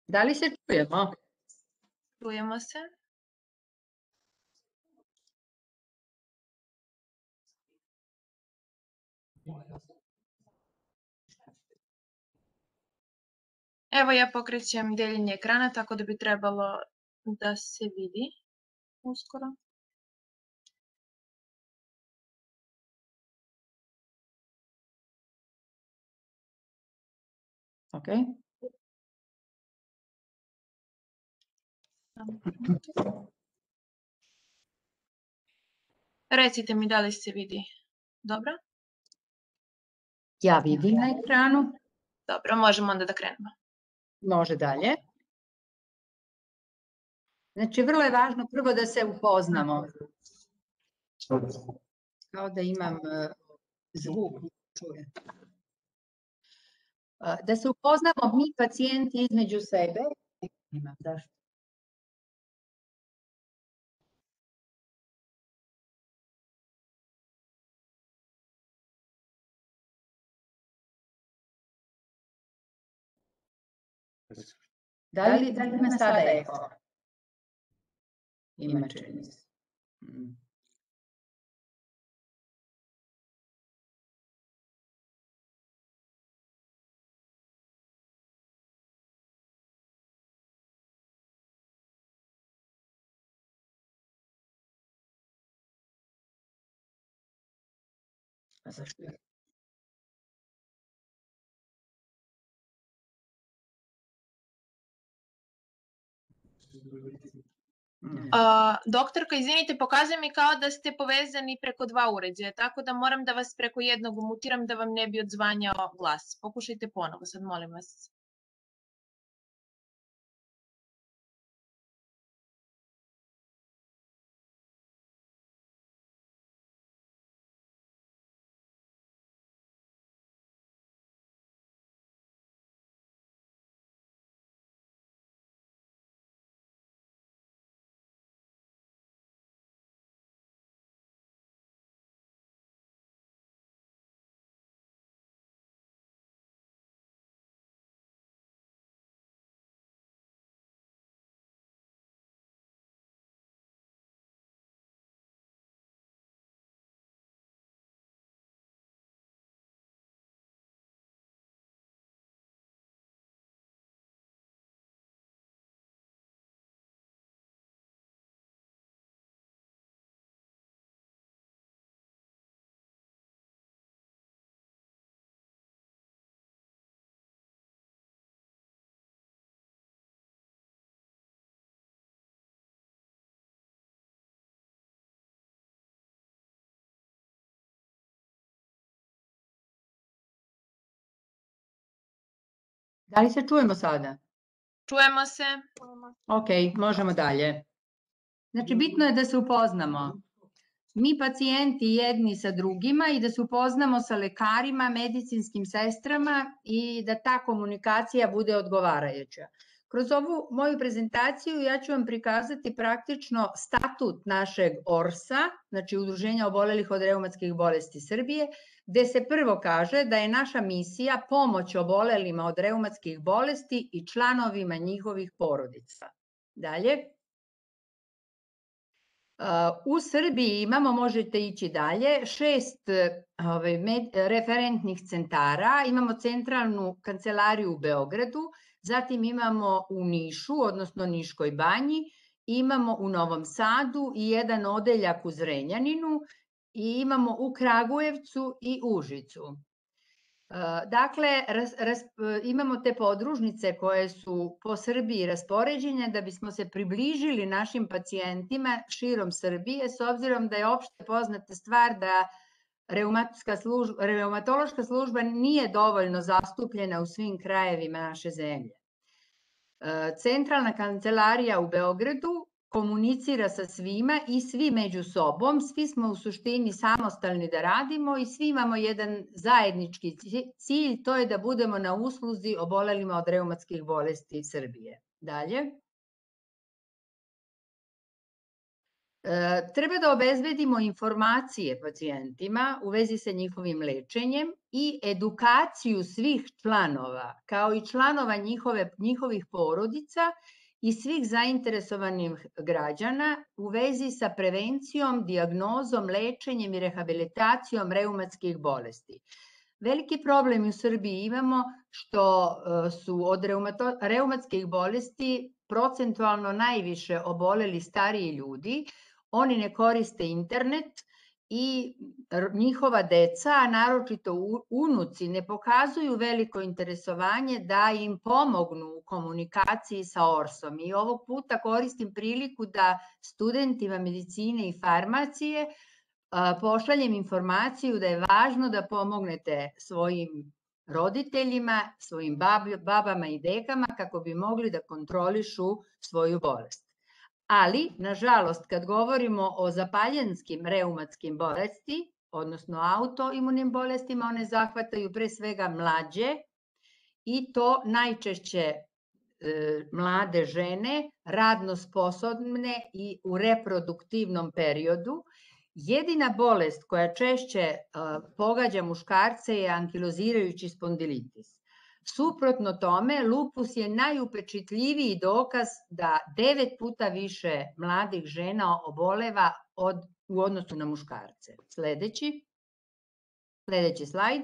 Da li se čujemo? Čujemo se. Evo ja pokrećem deljenje ekrana, tako da bi trebalo da se vidi uskoro. Ok. Recite mi da li se vidi. Dobro? Ja vidim na ekranu. Dobro, možemo onda da krenemo. Može dalje. Znači, vrlo je važno prvo da se upoznamo. Kao da imam uh, zvuk. Čuje. Uh, da se upoznamo mi pacijenti između sebe. Imam, zašto? Da li, da li ima sada eko? Ima čini se. Mm. A zašto? Uh, doktorka, izvinite, pokazuje mi kao da ste povezani preko dva uređaja, tako da moram da vas preko jednog mutiram da vam ne bi odzvanjao glas. Pokušajte ponovo, sad molim vas. Da li se čujemo sada? Čujemo se. Ok, možemo dalje. Znači, bitno je da se upoznamo. Mi pacijenti jedni sa drugima i da se upoznamo sa lekarima, medicinskim sestrama i da ta komunikacija bude odgovarajuća. Kroz ovu moju prezentaciju ja ću vam prikazati praktično statut našeg ORS-a, znači Udruženja obolelih od reumatskih bolesti Srbije, gde se prvo kaže da je naša misija pomoć obolelima od reumatskih bolesti i članovima njihovih porodica. Dalje. U Srbiji imamo, možete ići dalje, šest referentnih centara, imamo centralnu kancelariju u Beogradu, zatim imamo u Nišu, odnosno Niškoj banji, imamo u Novom Sadu i jedan odeljak u Zrenjaninu i imamo u Kragujevcu i Užicu. Dakle, imamo te podružnice koje su po Srbiji raspoređene da bismo se približili našim pacijentima širom Srbije, s obzirom da je opšte poznata stvar da reumatološka služba nije dovoljno zastupljena u svim krajevima naše zemlje. Centralna kancelarija u Beogradu komunicira sa svima i svi među sobom, svi smo u suštini samostalni da radimo i svi imamo jedan zajednički cilj, to je da budemo na usluzi obolelima od reumatskih bolesti Srbije. Dalje. Treba da obezbedimo informacije pacijentima u vezi sa njihovim lečenjem i edukaciju svih članova, kao i članova njihovih porodica i svih zainteresovanih građana u vezi sa prevencijom, dijagnozom, lečenjem i rehabilitacijom reumatskih bolesti. Veliki problem u Srbiji imamo što su od reumatskih bolesti procentualno najviše oboleli stariji ljudi, oni ne koriste internet i njihova deca, a naročito unuci, ne pokazuju veliko interesovanje da im pomognu u komunikaciji sa orsom. I ovog puta koristim priliku da studentima medicine i farmacije pošaljem informaciju da je važno da pomognete svojim roditeljima, svojim babama i dekama kako bi mogli da kontrolišu svoju bolest. Ali, nažalost, kad govorimo o zapaljenskim reumatskim bolesti, odnosno autoimunim bolestima, one zahvataju pre svega mlađe i to najčešće mlade žene, radno sposobne i u reproduktivnom periodu. Jedina bolest koja češće pogađa muškarce je ankilozirajući spondilitis. Suprotno tome, lupus je najupečitljiviji dokaz da devet puta više mladih žena oboleva u odnosu na muškarce. Sledeći. Sledeći slajd.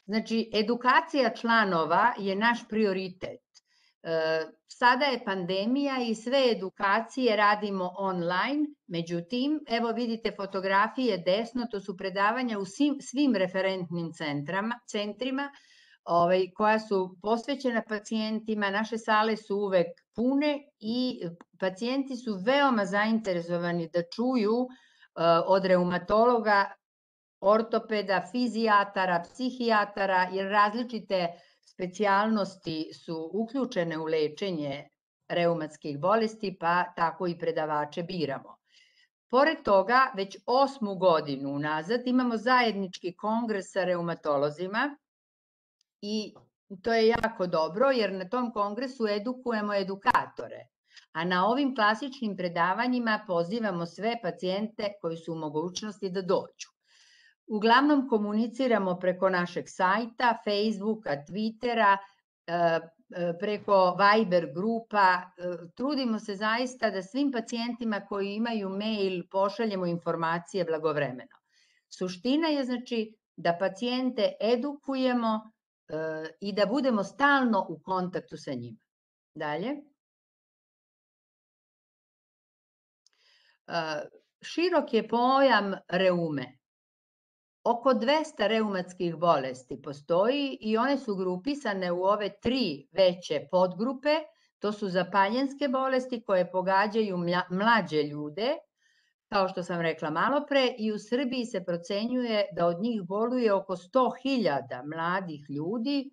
Znači, edukacija članova je naš prioritet. Sada je pandemija i sve edukacije radimo online, međutim, evo vidite fotografije desno, to su predavanja u svim referentnim centrima, koja su posvećena pacijentima, naše sale su uvek pune i pacijenti su veoma zainteresovani da čuju od reumatologa, ortopeda, fizijatara, psihijatara, jer različite specijalnosti su uključene u lečenje reumatskih bolesti, pa tako i predavače biramo. Pored toga, već osmu godinu unazad imamo zajednički kongres sa reumatolozima i to je jako dobro jer na tom kongresu edukujemo edukatore, a na ovim klasičnim predavanjima pozivamo sve pacijente koji su u mogućnosti da dođu. Uglavnom komuniciramo preko našeg sajta, Facebooka, Twittera, preko Viber grupa. Trudimo se zaista da svim pacijentima koji imaju mail pošaljemo informacije blagovremeno. Suština je znači da pacijente edukujemo i da budemo stalno u kontaktu sa njima. Dalje. Širok je pojam reume. Oko dvesta reumatskih bolesti postoji i one su grupisane u ove tri veće podgrupe. To su zapaljenske bolesti koje pogađaju mlađe ljude, kao što sam rekla malo pre, i u Srbiji se procenjuje da od njih boluje oko sto hiljada mladih ljudi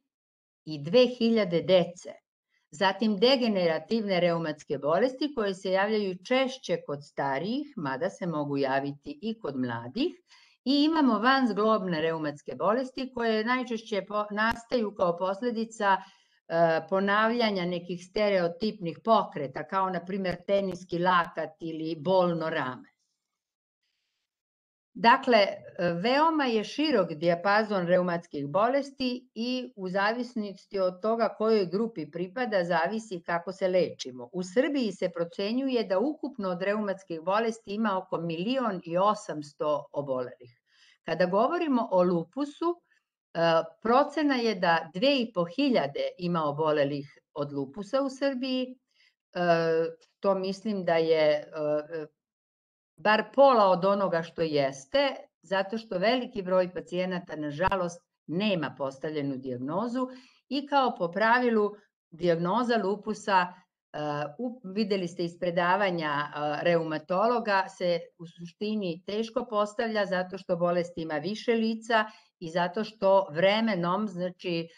i dve hiljade dece. Zatim degenerativne reumatske bolesti koje se javljaju češće kod starijih, mada se mogu javiti i kod mladih. I imamo vanzglobne reumatske bolesti koje najčešće nastaju kao posledica ponavljanja nekih stereotipnih pokreta, kao na primjer teniski lakat ili bolno rame. Dakle, veoma je širok dijapazon reumatskih bolesti i u zavisnosti od toga kojoj grupi pripada, zavisi kako se lečimo. U Srbiji se procenjuje da ukupno od reumatskih bolesti ima oko milion i osamsto obolelih. Kada govorimo o lupusu, procena je da dve i po hiljade ima obolelih od lupusa u Srbiji. To mislim da je bar pola od onoga što jeste, zato što veliki broj pacijenata, nažalost, nema postavljenu dijagnozu i kao po pravilu dijagnoza lupusa, videli ste iz predavanja reumatologa, se u suštini teško postavlja zato što bolest ima više lica i zato što vremenom, znači,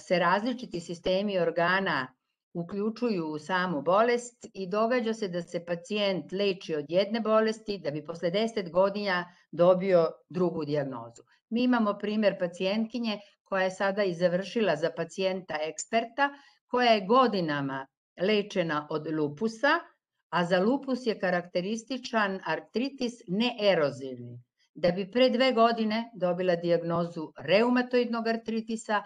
se različiti sistemi organa uključuju u samu bolest i događa se da se pacijent leči od jedne bolesti da bi posle deset godina dobio drugu dijagnozu. Mi imamo primjer pacijentkinje koja je sada i završila za pacijenta eksperta, koja je godinama lečena od lupusa, a za lupus je karakterističan artritis neerozivni. Da bi pre dve godine dobila dijagnozu reumatoidnog artritisa,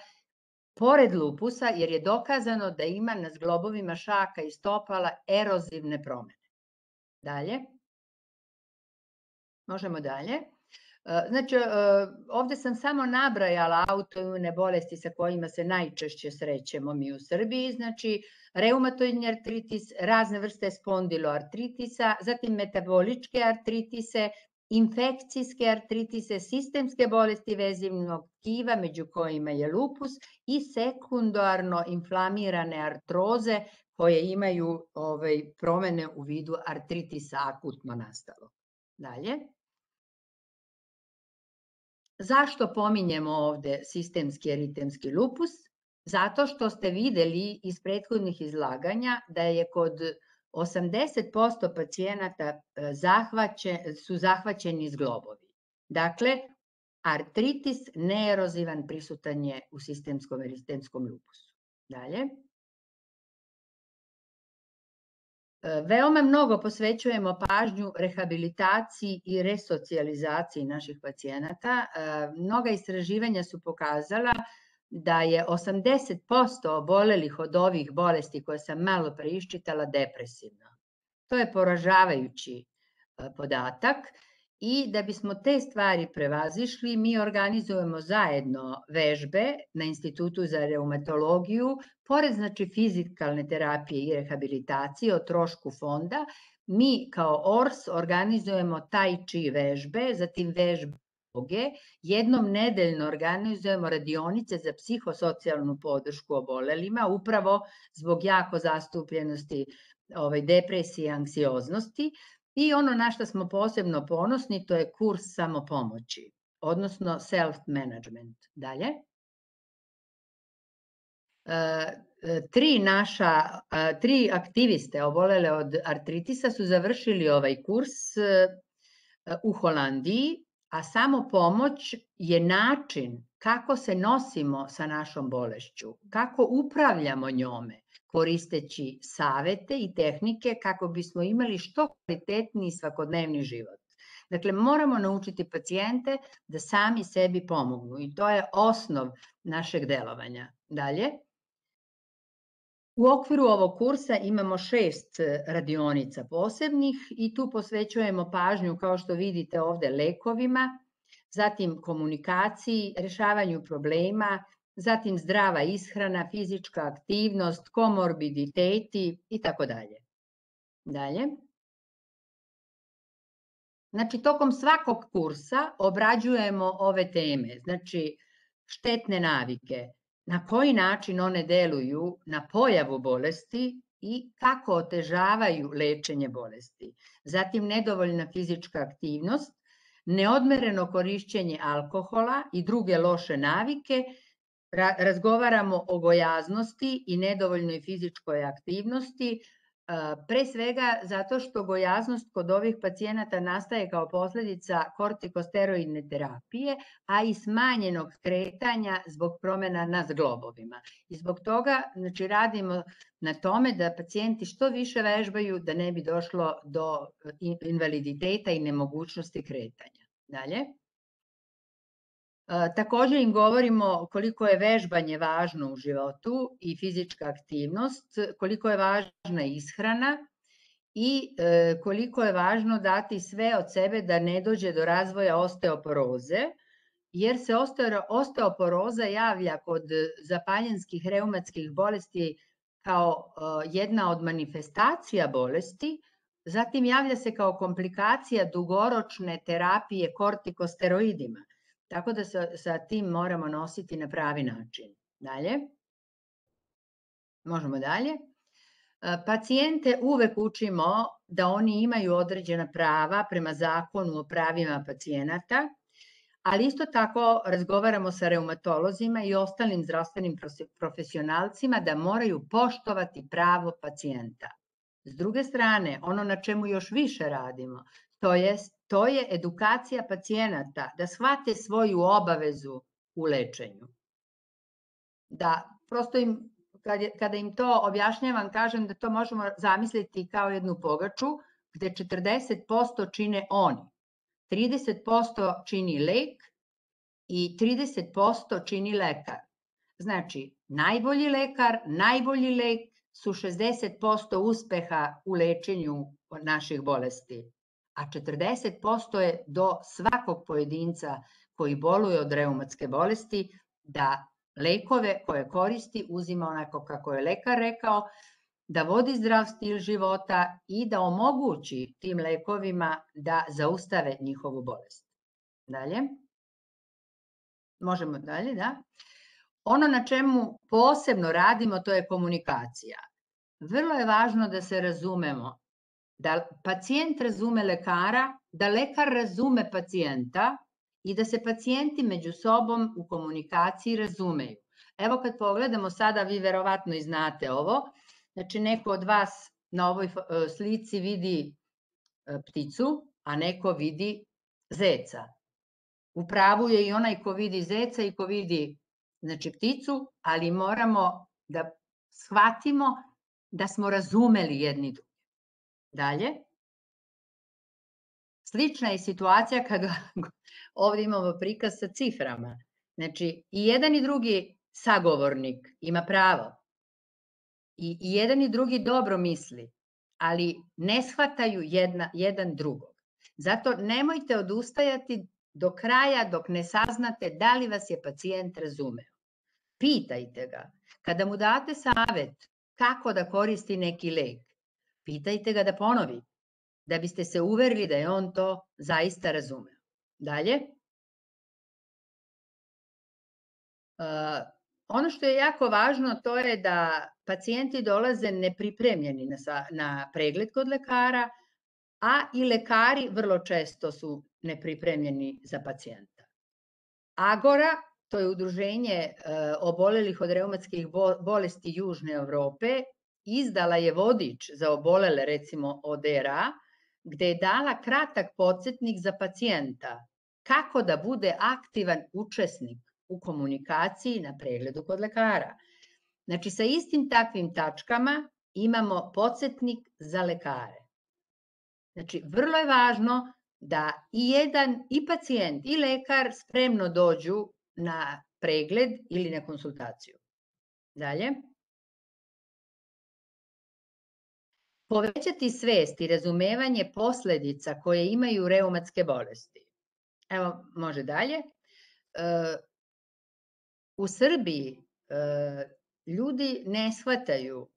pored lupusa, jer je dokazano da ima na zglobovima šaka i stopala erozivne promene. Dalje. Možemo dalje. Znači, ovde sam samo nabrajala autoimune bolesti sa kojima se najčešće srećemo mi u Srbiji, znači reumatoidni artritis, razne vrste spondiloartritisa, zatim metaboličke artritise, infekcijske artritise, sistemske bolesti vezivnog tkiva, među kojima je lupus, i sekundarno inflamirane artroze koje imaju promene u vidu artritisa akutno nastalog. Dalje. Zašto pominjemo ovde sistemski eritemski lupus? Zato što ste videli iz prethodnih izlaganja da je kod osamdeset posto pacijenata su zahvaćeni zglobovi. Dakle, artritis neerozivan prisutan je u sistemskom eritetskom lupusu. Dalje. Veoma mnogo posvećujemo pažnju rehabilitaciji i resocijalizaciji naših pacijenata. Mnoga istraživanja su pokazala da je osamdeset posto obolelih od ovih bolesti koje sam malo pre iščitala depresivno. To je poražavajući podatak i da bismo te stvari prevazišli, mi organizujemo zajedno vežbe na Institutu za reumatologiju, pored znači fizikalne terapije i rehabilitacije o trošku fonda, mi kao O R S organizujemo tai chi vežbe, zatim vežbe joge, jednom nedeljno organizujemo radionice za psihosocijalnu podršku obolelima, upravo zbog jako zastupljenosti depresije i anksioznosti. I ono na što smo posebno ponosni, to je kurs samopomoći, odnosno self-management. Dalje. Tri naša, tri aktiviste obolele od artritisa su završili ovaj kurs u Holandiji, a samopomoć je način kako se nosimo sa našom bolešću, kako upravljamo njome, koristeći savete i tehnike kako bismo imali što kvalitetniji svakodnevni život. Dakle, moramo naučiti pacijente da sami sebi pomognu i to je osnov našeg delovanja. Dalje. U okviru ovog kursa imamo šest radionica posebnih i tu posvećujemo pažnju, kao što vidite ovde, lekovima, zatim komunikaciji, rešavanju problema, zatim zdrava ishrana, fizička aktivnost, komorbiditeti i tako dalje. Dalje. Znači, tokom svakog kursa obrađujemo ove teme, znači štetne navike, na koji način one deluju na pojavu bolesti i kako otežavaju lečenje bolesti. Zatim nedovoljna fizička aktivnost, neodmereno korišćenje alkohola i druge loše navike razgovaramo o gojaznosti i nedovoljnoj fizičkoj aktivnosti, pre svega zato što gojaznost kod ovih pacijenata nastaje kao posledica kortikosteroidne terapije, a i smanjenog kretanja zbog promena na zglobovima. I zbog toga znači, radimo na tome da pacijenti što više vežbaju da ne bi došlo do invaliditeta i nemogućnosti kretanja. Dalje. Takođe im govorimo koliko je vežbanje važno u životu i fizička aktivnost, koliko je važna ishrana i koliko je važno dati sve od sebe da ne dođe do razvoja osteoporoze, jer se osteoporoza javlja kod zapaljenskih reumatskih bolesti kao jedna od manifestacija bolesti, zatim javlja se kao komplikacija dugoročne terapije kortikosteroidima. Tako da sa tim moramo nositi na pravi način. Dalje. Možemo dalje. Pacijente uvek učimo da oni imaju određena prava prema zakonu o pravima pacijenata, ali isto tako razgovaramo sa reumatolozima i ostalim zdravstvenim profesionalcima da moraju poštovati pravo pacijenta. S druge strane, ono na čemu još više radimo, to je To je edukacija pacijenata, da shvate svoju obavezu u lečenju. Da, prosto im, kada im to objašnjavam, kažem da to možemo zamisliti kao jednu pogaču, gde četrdeset posto čine oni, trideset posto čini lek i trideset posto čini lekar. Znači, najbolji lekar, najbolji lek su šezdeset posto uspeha u lečenju naših bolesti. A četrdeset posto je do svakog pojedinca koji boluje od reumatske bolesti da lekove koje koristi uzima onako kako je lekar rekao, da vodi zdrav stil života i da omogući tim lekovima da zaustave njihovu bolest. Dalje. Možemo dalje, da. Ono na čemu posebno radimo to je komunikacija. Vrlo je važno da se razumemo, da pacijent razume lekara, da lekar razume pacijenta i da se pacijenti među sobom u komunikaciji razumeju. Evo kad pogledamo sada, vi verovatno i znate ovo, znači neko od vas na ovoj slici vidi pticu, a neko vidi zeca. U pravu je i onaj ko vidi zeca i ko vidi znači, pticu, ali moramo da shvatimo da smo razumeli jedni drugi. Dalje. Slična je situacija kada ovdje imamo prikaz sa ciframa. Znači, i jedan i drugi sagovornik ima pravo. I jedan i drugi dobro misli, ali ne shvataju jedan drugog. Zato nemojte odustajati do kraja dok ne saznate da li vas je pacijent razumeo. Pitajte ga. Kada mu date savet kako da koristi neki lek, pitajte ga da ponovi, da biste se uverili da je on to zaista razumeo. Dalje. Ono što je jako važno to je da pacijenti dolaze nepripremljeni na pregled kod lekara, a i lekari vrlo često su nepripremljeni za pacijenta. Agora, to je udruženje obolelih od reumatskih bolesti Južne Evrope, izdala je vodič za obolele, recimo od R A, gde je dala kratak podsjetnik za pacijenta kako da bude aktivan učesnik u komunikaciji na pregledu kod lekara. Znači, sa istim takvim tačkama imamo podsjetnik za lekare. Znači, vrlo je važno da i jedan, i pacijent, i lekar spremno dođu na pregled ili na konsultaciju. Dalje. Povećati svest i razumevanje posledica koje imaju reumatske bolesti. Evo, može dalje. U Srbiji ljudi ne shvataju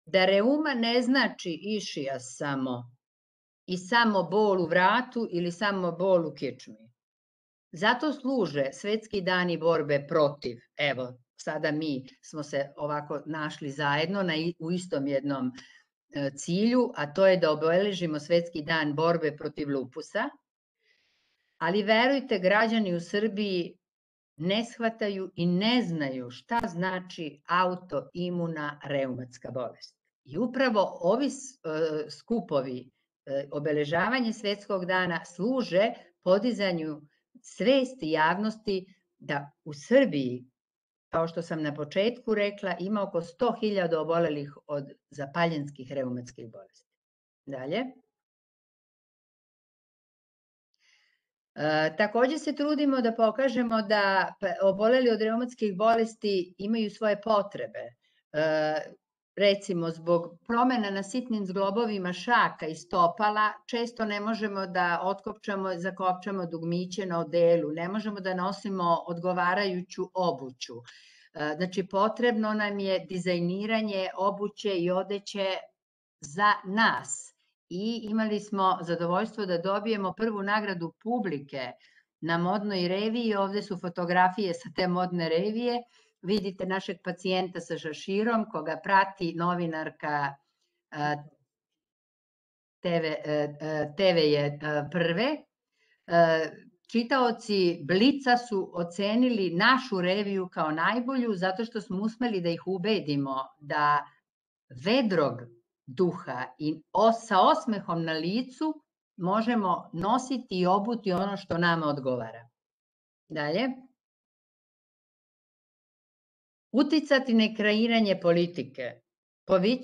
da reuma ne znači išijas samo i samo bol u vratu ili samo bol u kičmi. Zato služe svetski dani borbe protiv. Evo, sada mi smo se ovako našli zajedno u istom jednom cilju, a to je da obeležimo svetski dan borbe protiv lupusa, ali verujte, građani u Srbiji ne shvataju i ne znaju šta znači autoimuna reumatska bolest. I upravo ovi skupovi, obeležavanje Svetskog dana, služe podizanju svesti javnosti da u Srbiji, kao što sam na početku rekla, ima oko sto hiljada obolelih od zapaljenskih reumatskih bolesti. Dalje. E, takođe se trudimo da pokažemo da oboleli od reumatskih bolesti imaju svoje potrebe. E, recimo, zbog promena na sitnim zglobovima šaka i stopala, često ne možemo da otkopčamo, zakopčamo dugmiće na odelu, ne možemo da nosimo odgovarajuću obuću. E, znači, potrebno nam je dizajniranje obuće i odeće za nas. I imali smo zadovoljstvo da dobijemo prvu nagradu publike na modnoj reviji. Ovde su fotografije sa te modne revije. Vidite našeg pacijenta sa šaširom, koga prati novinarka te ve je Prve. Čitaoci Blica su ocenili našu reviju kao najbolju zato što smo uspeli da ih ubedimo da vedrog duha i sa osmehom na licu možemo nositi i obuti ono što nama odgovara. Dalje. Uticati na kreiranje politike,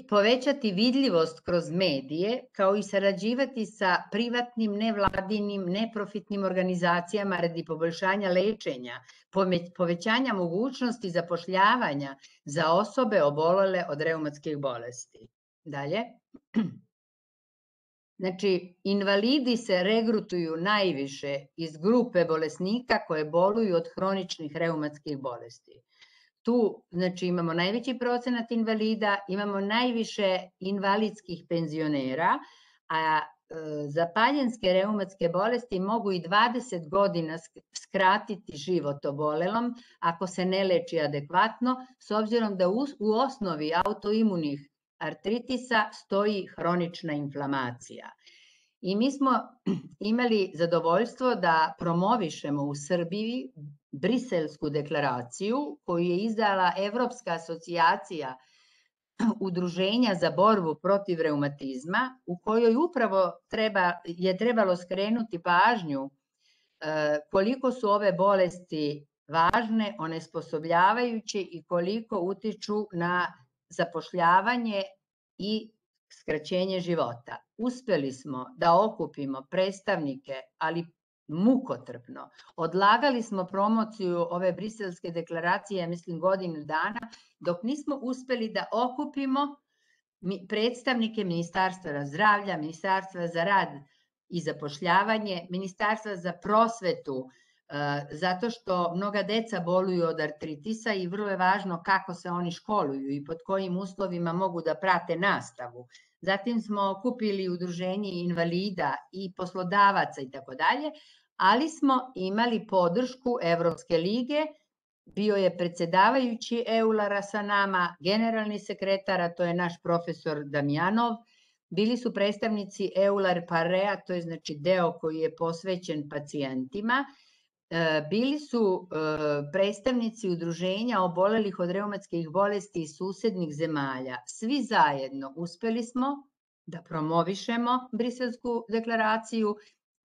povećati vidljivost kroz medije, kao i sarađivati sa privatnim, nevladinim, neprofitnim organizacijama radi poboljšanja lečenja, povećanja mogućnosti zapošljavanja za osobe obolele od reumatskih bolesti. Dalje. Znači, invalidi se regrutuju najviše iz grupe bolesnika koje boluju od hroničnih reumatskih bolesti. Tu, znači, imamo najveći procenat invalida, imamo najviše invalidskih penzionera, a zapaljenske reumatske bolesti mogu i dvadeset godina skratiti život obolelom ako se ne leči adekvatno, s obzirom da u osnovi autoimunih artritisa stoji hronična inflamacija. I mi smo imali zadovoljstvo da promovišemo u Srbiji Briselsku deklaraciju koju je izdala Evropska asocijacija udruženja za borbu protiv reumatizma, u kojoj upravo je trebalo skrenuti pažnju koliko su ove bolesti važne, onesposobljavajuće i koliko utiču na zapošljavanje i skraćenje života. Uspeli smo da okupimo predstavnike, ali mukotrpno. Odlagali smo promociju ove Briselske deklaracije, mislim, godinu dana, dok nismo uspeli da okupimo predstavnike Ministarstva zdravlja, Ministarstva za rad i zapošljavanje, Ministarstva za prosvetu, zato što mnoga deca boluju od artritisa i vrlo je važno kako se oni školuju i pod kojim uslovima mogu da prate nastavu. Zatim smo okupili udruženje invalida i poslodavaca i tako dalje, ali smo imali podršku Evropske lige, bio je predsedavajući Eulara sa nama, generalni sekretar, a to je naš profesor Damjanov, bili su predstavnici Eular Parea, to je znači deo koji je posvećen pacijentima, bili su predstavnici udruženja obolelih od reumatskih bolesti iz susednih zemalja. Svi zajedno uspeli smo da promovišemo Briselsku deklaraciju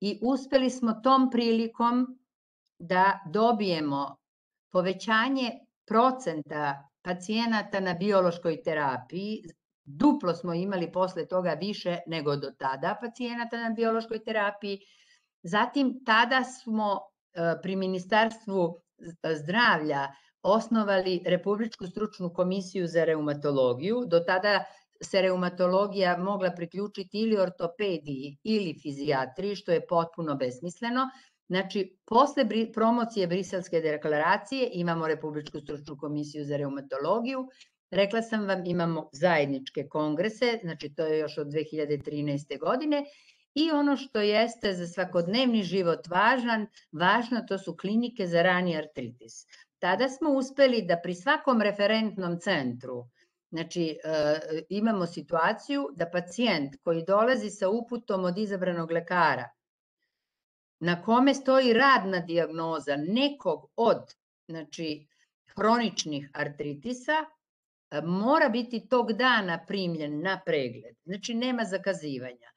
i uspeli smo tom prilikom da dobijemo povećanje procenta pacijenata na biološkoj terapiji. Duplo smo imali posle toga više nego do tada pacijenata na biološkoj terapiji. Zatim, tada smo pri Ministarstvu zdravlja osnovali Republičku stručnu komisiju za reumatologiju. Do tada se reumatologija mogla priključiti ili ortopediji ili fizijatriji, što je potpuno besmisleno. Znači, posle promocije Briselske deklaracije imamo Republičku stručnu komisiju za reumatologiju. Rekla sam vam, imamo zajedničke kongrese, znači to je još od dve hiljade trinaeste. godine. I ono što jeste za svakodnevni život važan, važno to su klinike za rani artritis. Tada smo uspeli da pri svakom referentnom centru, znači imamo situaciju da pacijent koji dolazi sa uputom od izabranog lekara, na kome stoji radna dijagnoza nekog od znači hroničnih artritisa, mora biti tog dana primljen na pregled, znači nema zakazivanja.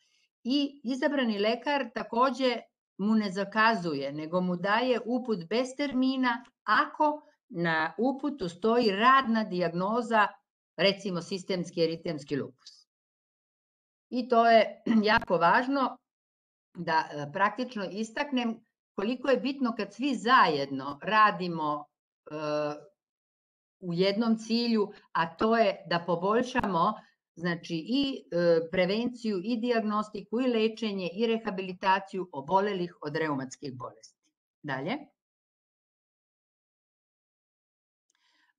I izabrani lekar takođe mu ne zakazuje, nego mu daje uput bez termina ako na uputu stoji radna dijagnoza, recimo sistemski eritemski lupus. I to je jako važno da praktično istaknem koliko je bitno kad svi zajedno radimo u jednom cilju, a to je da poboljšamo znači i prevenciju i dijagnostiku i lečenje i rehabilitaciju obolelih od reumatskih bolesti. Dalje.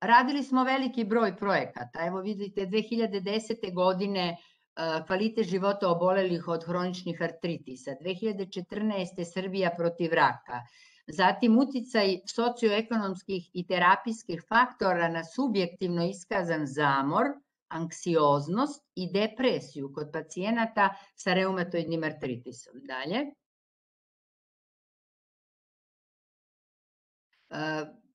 Radili smo veliki broj projekata. Evo vidite, dve hiljade desete. godine kvalitet života obolelih od hroničnih artritisa, dve hiljade četrnaeste. Srbija protiv raka, zatim uticaj socioekonomskih i terapijskih faktora na subjektivno iskazan zamor, anksioznost i depresiju kod pacijenata sa reumatoidnim artritisom. Dalje.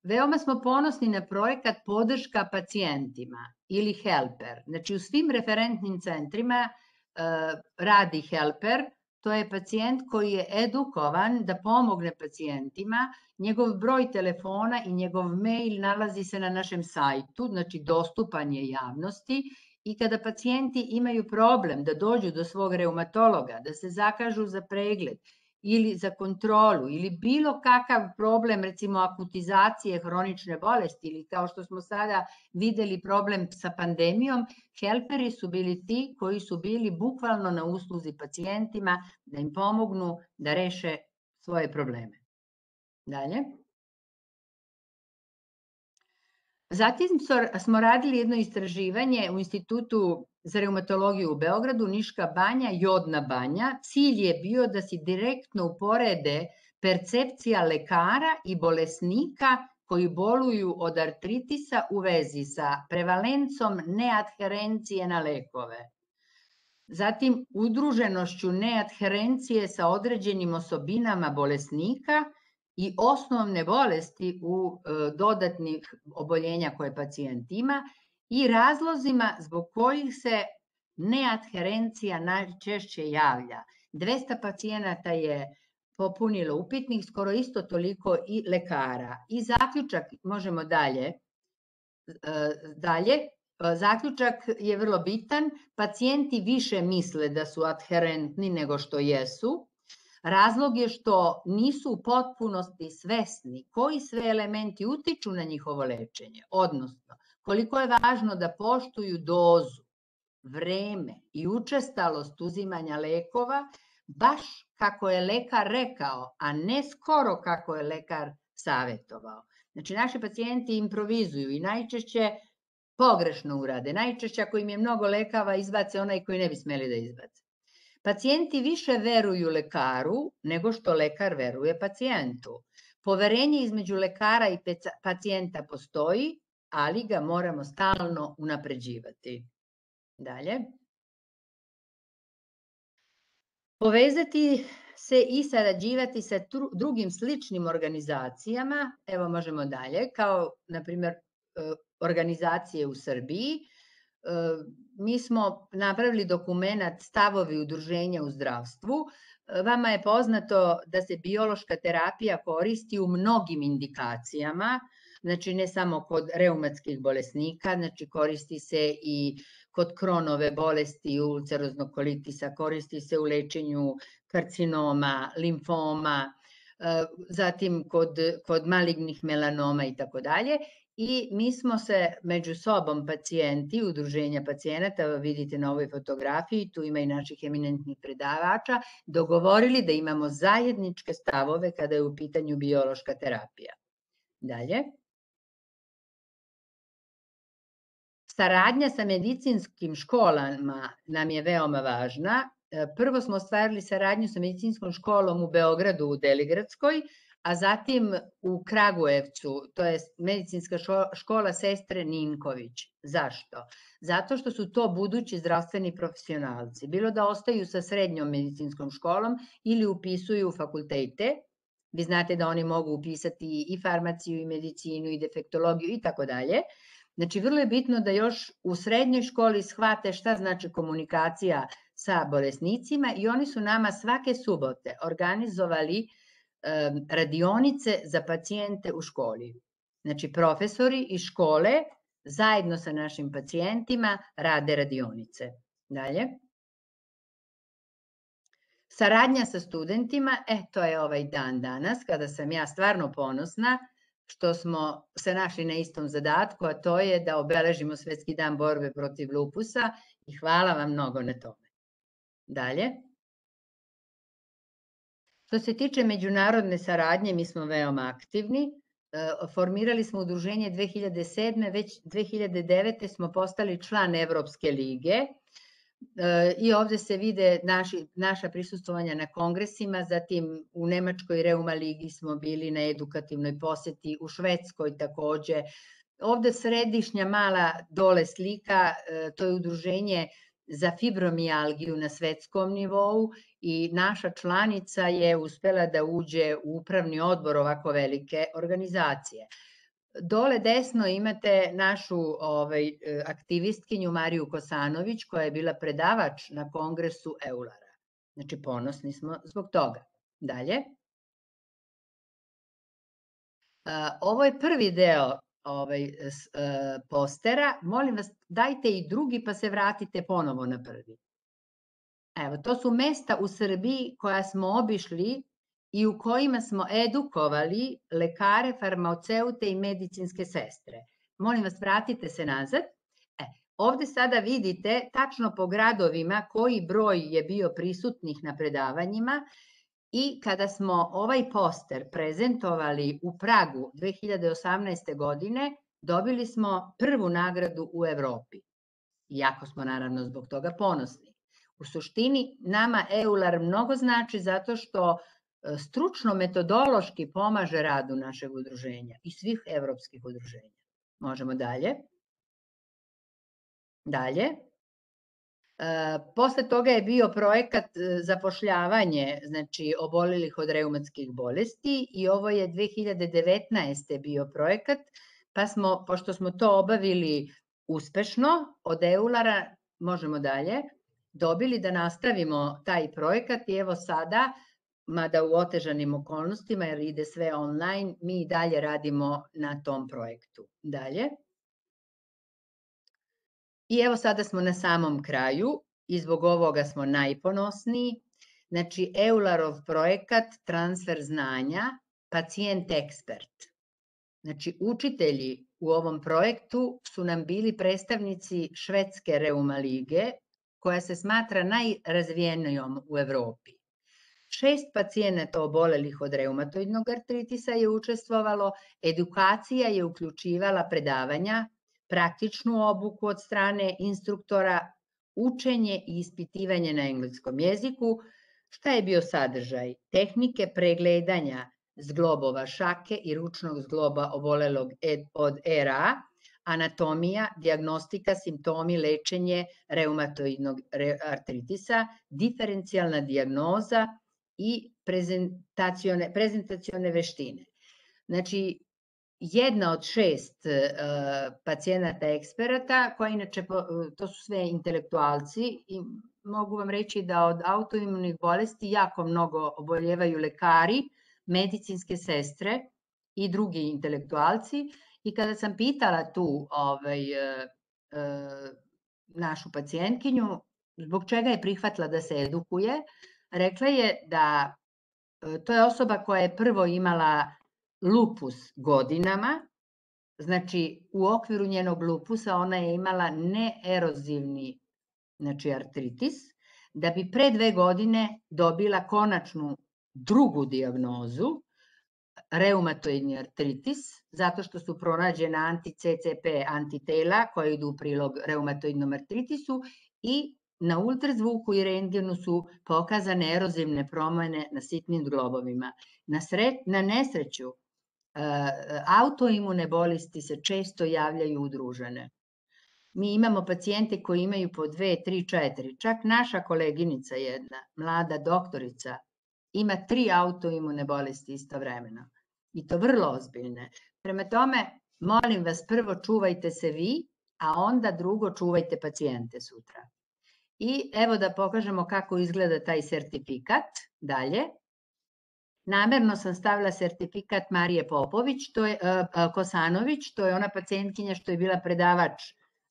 Veoma smo ponosni na projekat podrška pacijentima ili helper. Znači u svim referentnim centrima radi helper, to je pacijent koji je edukovan da pomogne pacijentima, njegov broj telefona i njegov mail nalazi se na našem sajtu, znači dostupan je javnosti i kada pacijenti imaju problem da dođu do svog reumatologa, da se zakažu za pregled ili za kontrolu ili bilo kakav problem, recimo akutizacije hronične bolesti ili kao što smo sada videli problem sa pandemijom, helperi su bili ti koji su bili bukvalno na usluzi pacijentima da im pomognu da reše svoje probleme. Dalje. Zatim smo radili jedno istraživanje u Institutu za reumatologiju u Beogradu, Niška banja, Jodna banja. Cilj je bio da se direktno uporede percepcija lekara i bolesnika koji boluju od artritisa u vezi sa prevalencom neadherencije na lekove. Zatim udruženošću neadherencije sa određenim osobinama bolesnika i osnovne bolesti u dodatnih oboljenja koje pacijent ima i razlozima zbog kojih se neadherencija najčešće javlja. dvesta pacijenata je popunilo upitnik, skoro isto toliko i lekara. I zaključak, možemo dalje, dalje, zaključak je vrlo bitan, pacijenti više misle da su adherentni nego što jesu. Razlog je što nisu u potpunosti svesni koji sve elementi utiču na njihovo lečenje, odnosno koliko je važno da poštuju dozu, vreme i učestalost uzimanja lekova, baš kako je lekar rekao, a ne skoro kako je lekar savetovao. Znači, naši pacijenti improvizuju i najčešće pogrešno urade. Najčešće ako im je mnogo lekava, izbace onaj koji ne bi smeli da izbace. Pacijenti više veruju lekaru nego što lekar veruje pacijentu. Poverenje između lekara i pacijenta postoji, ali ga moramo stalno unapređivati. Dalje. Povezati se i sarađivati sa drugim sličnim organizacijama, evo možemo dalje, kao na primjer organizacije u Srbiji. Mi smo napravili dokument Stavovi udruženja u zdravstvu. Vama je poznato da se biološka terapija koristi u mnogim indikacijama, znači ne samo kod reumatskih bolesnika, znači koristi se i kod Kronove bolesti, ulceroznog kolitisa, koristi se u lečenju karcinoma, limfoma, zatim kod, kod malignih melanoma i tako dalje. I mi smo se među sobom pacijenti, udruženja pacijenata, vidite na ovoj fotografiji, tu ima i naših eminentnih predavača, dogovorili da imamo zajedničke stavove kada je u pitanju biološka terapija. Dalje. Saradnja sa medicinskim školama nam je veoma važna. Prvo smo ostvarili saradnju sa medicinskom školom u Beogradu, u Deligradskoj, a zatim u Kragujevcu, to je medicinska škola sestre Ninković. Zašto? Zato što su to budući zdravstveni profesionalci. Bilo da ostaju sa srednjom medicinskom školom ili upisuju fakultete, Vi znate da oni mogu upisati i farmaciju, i medicinu, i defektologiju i tako dalje. Znači, vrlo je bitno da još u srednjoj školi shvate šta znači komunikacija sa bolesnicima i oni su nama svake subote organizovali um, radionice za pacijente u školi. Znači, profesori iz škole zajedno sa našim pacijentima rade radionice. Dalje. Saradnja sa studentima, e, to je ovaj dan danas, kada sam ja stvarno ponosna što smo se našli na istom zadatku, a to je da obeležimo Svetski dan borbe protiv lupusa i hvala vam mnogo na tome. Dalje. Što se tiče međunarodne saradnje, mi smo veoma aktivni. Formirali smo udruženje dve hiljade sedme, već dve hiljade devete smo postali član Evropske lige i ovde se vide naši, naša prisustvovanja na kongresima, zatim u Nemačkoj Reuma ligi smo bili na edukativnoj poseti, u Švedskoj takođe. Ovde središnja mala dole slika, to je udruženje za fibromijalgiju na svetskom nivou i naša članica je uspela da uđe u upravni odbor ovako velike organizacije. Dole desno imate našu ovaj, aktivistkinju Mariju Kosanović koja je bila predavač na kongresu Eulara. Znači ponosni smo zbog toga. Dalje. Ovo je prvi deo ovaj, postera. Molim vas, dajte i drugi pa se vratite ponovo na prvi. Evo, to su mesta u Srbiji koja smo obišli i u kojima smo edukovali lekare, farmaceute i medicinske sestre. Molim vas, vratite se nazad. E, ovde sada vidite tačno po gradovima koji broj je bio prisutnih na predavanjima i kada smo ovaj poster prezentovali u Pragu dve hiljade osamnaeste. godine, dobili smo prvu nagradu u Evropi. Iako smo naravno zbog toga ponosni. U suštini, nama EULAR mnogo znači zato što stručno metodološki pomaže radu našeg udruženja i svih evropskih udruženja. Možemo dalje. Dalje. Posle toga je bio projekat zapošljavanje, znači obolelih od reumatskih bolesti i ovo je dve hiljade devetnaeste. bio projekat, pa smo, pošto smo to obavili uspešno od EULAR-a, možemo dalje, dobili da nastavimo taj projekat i evo sada, mada u otežanim okolnostima jer ide sve online, mi dalje radimo na tom projektu. Dalje. I evo sada smo na samom kraju i zbog ovoga smo najponosniji. Znači, EULAR-ov projekat transfer znanja, pacijent ekspert. Znači, učitelji u ovom projektu su nam bili predstavnici Švedske Reuma lige, koja se smatra najrazvijenijom u Evropi. Šest pacijenata obolelih od reumatoidnog artritisa je učestvovalo, edukacija je uključivala predavanja, praktičnu obuku od strane instruktora, učenje i ispitivanje na engleskom jeziku. Šta je bio sadržaj? Tehnike pregledanja zglobova šake i ručnog zgloba obolelog od R A, anatomija, dijagnostika, simptomi, lečenje reumatoidnog artritisa, diferencijalna dijagnoza i prezentacione, prezentacione veštine. Znači, jedna od šest uh, pacijenata eksperata, koja inače, to su sve intelektualci i mogu vam reći da od autoimunih bolesti jako mnogo oboljevaju lekari, medicinske sestre i drugi intelektualci. I kada sam pitala tu ovaj, uh, uh, našu pacijentkinju zbog čega je prihvatila da se edukuje, rekla je da uh, to je osoba koja je prvo imala lupus godinama, znači u okviru njenog lupusa ona je imala neerozivni znači artritis, da bi pre dve godine dobila konačnu drugu dijagnozu, reumatoidni artritis, zato što su pronađena anti-C C P antitela koje idu u prilog reumatoidnom artritisu i na ultrazvuku i rentgenu su pokazane erozivne promene na sitnim zglobovima. Na, sre, na nesreću, autoimune bolesti se često javljaju udružene. Mi imamo pacijente koji imaju po dve, tri, četiri. Čak naša koleginica jedna, mlada doktorica, ima tri autoimune bolesti istovremeno. I to vrlo ozbiljne. Prema tome, molim vas, prvo čuvajte se vi, a onda drugo čuvajte pacijente sutra. I evo da pokažemo kako izgleda taj sertifikat. Dalje. Namerno sam stavila sertifikat Marije Popović, to je Kosanović, to je ona pacijentkinja što je bila predavač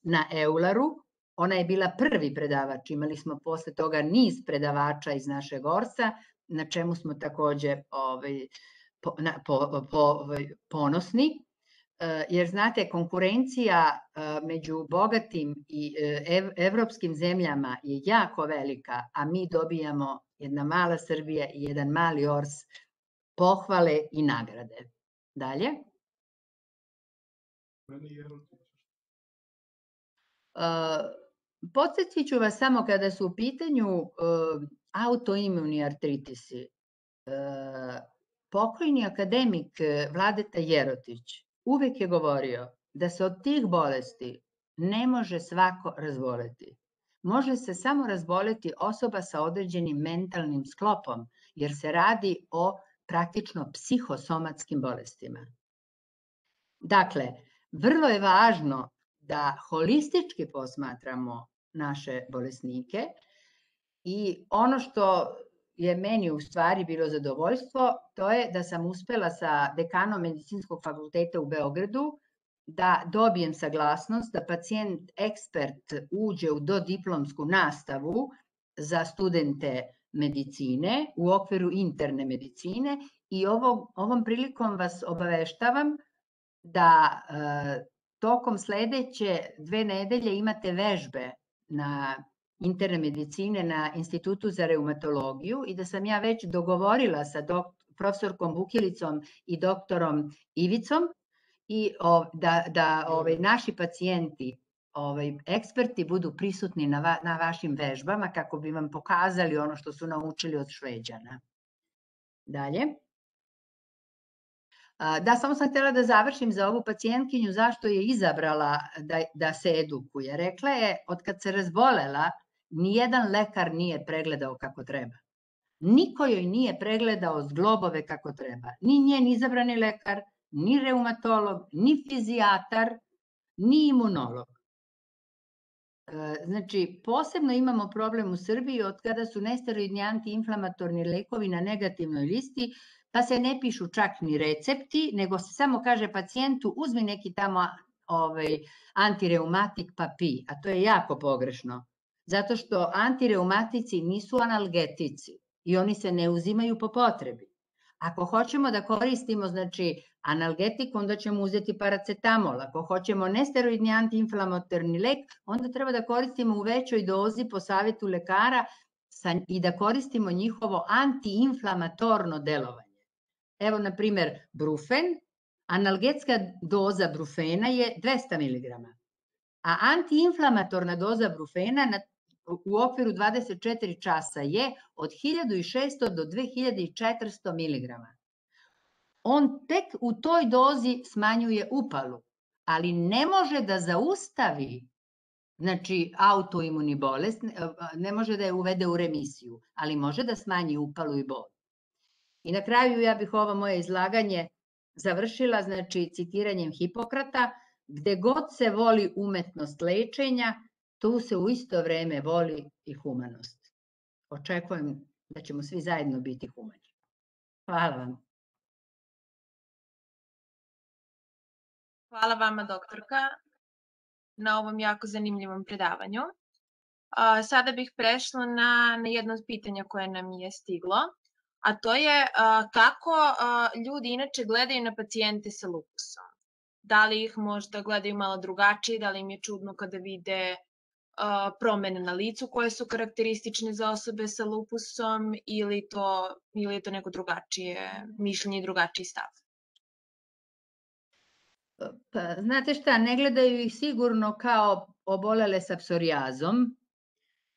na Eularu. Ona je bila prvi predavač, imali smo posle toga niz predavača iz našeg Orsa, na čemu smo takođe ovaj, po, na, po, po, ovaj, ponosni. Jer znate, konkurencija među bogatim i ev, evropskim zemljama je jako velika, a mi dobijamo, jedna mala Srbija i jedan mali Ors, pohvale i nagrade. Dalje. Podsjetit ću vas samo kada su u pitanju autoimuni artritisi. Pokojni akademik Vladeta Jerotić uvek je govorio da se od tih bolesti ne može svako razboleti. Može se samo razboleti osoba sa određenim mentalnim sklopom, jer se radi o praktično psihosomatskim bolestima. Dakle, vrlo je važno da holistički posmatramo naše bolesnike i ono što je meni u stvari bilo zadovoljstvo, to je da sam uspela sa dekanom Medicinskog fakulteta u Beogradu da dobijem saglasnost da pacijent ekspert uđe u dodiplomsku nastavu za studente medicine u okviru interne medicine i ovom, ovom prilikom vas obaveštavam da e, tokom sledeće dve nedelje imate vežbe na interne medicine na Institutu za reumatologiju i da sam ja već dogovorila sa dok, profesorkom Vukilicom i doktorom Ivicom i o, da, da ovaj, naši pacijenti, ovaj, eksperti budu prisutni na, va, na vašim vežbama kako bi vam pokazali ono što su naučili od Šveđana. Dalje. Da, samo sam htjela da završim za ovu pacijentkinju zašto je izabrala da, da se edukuje. Rekla je, od kad se razbolela, nijedan lekar nije pregledao kako treba. Niko joj nije pregledao zglobove kako treba. Ni njen izabrani lekar, ni reumatolog, ni fizijatar, ni imunolog. Znači, posebno imamo problem u Srbiji od kada su nesteroidni antiinflamatorni lekovi na negativnoj listi, pa se ne pišu čak ni recepti, nego se samo kaže pacijentu uzmi neki tamo ovaj, antireumatik pa pi, a to je jako pogrešno. Zato što antireumatici nisu analgetici i oni se ne uzimaju po potrebi. Ako hoćemo da koristimo znači, analgetik, onda ćemo uzeti paracetamol. Ako hoćemo nesteroidni antiinflamatorni lek, onda treba da koristimo u većoj dozi po savjetu lekara i da koristimo njihovo antiinflamatorno delovanje. Evo, na primer, brufen, analgetska doza brufena je dvesta miligrama, a antiinflamatorna doza brufena na, u okviru dvadeset četiri časa je od hiljadu šesto do dve hiljade četiristo miligrama. On tek u toj dozi smanjuje upalu, ali ne može da zaustavi znači autoimuni bolest, ne može da je uvede u remisiju, ali može da smanji upalu i bol. I na kraju ja bih ovo moje izlaganje završila, znači citiranjem Hipokrata, gde god se voli umetnost lečenja, tu se u isto vreme voli i humanost. Očekujem da ćemo svi zajedno biti humani. Hvala vam. Hvala vama, doktorka, na ovom jako zanimljivom predavanju. Sada bih prešla na, na jedno od pitanja koje nam je stiglo, a to je kako ljudi inače gledaju na pacijente sa lupusom. Da li ih možda gledaju malo drugačije, da li im je čudno kada vide promene na licu koje su karakteristične za osobe sa lupusom ili, to, ili je to neko drugačije mišljenje i drugačiji stav? Pa, znate šta, ne gledaju ih sigurno kao obolele sa psorijazom,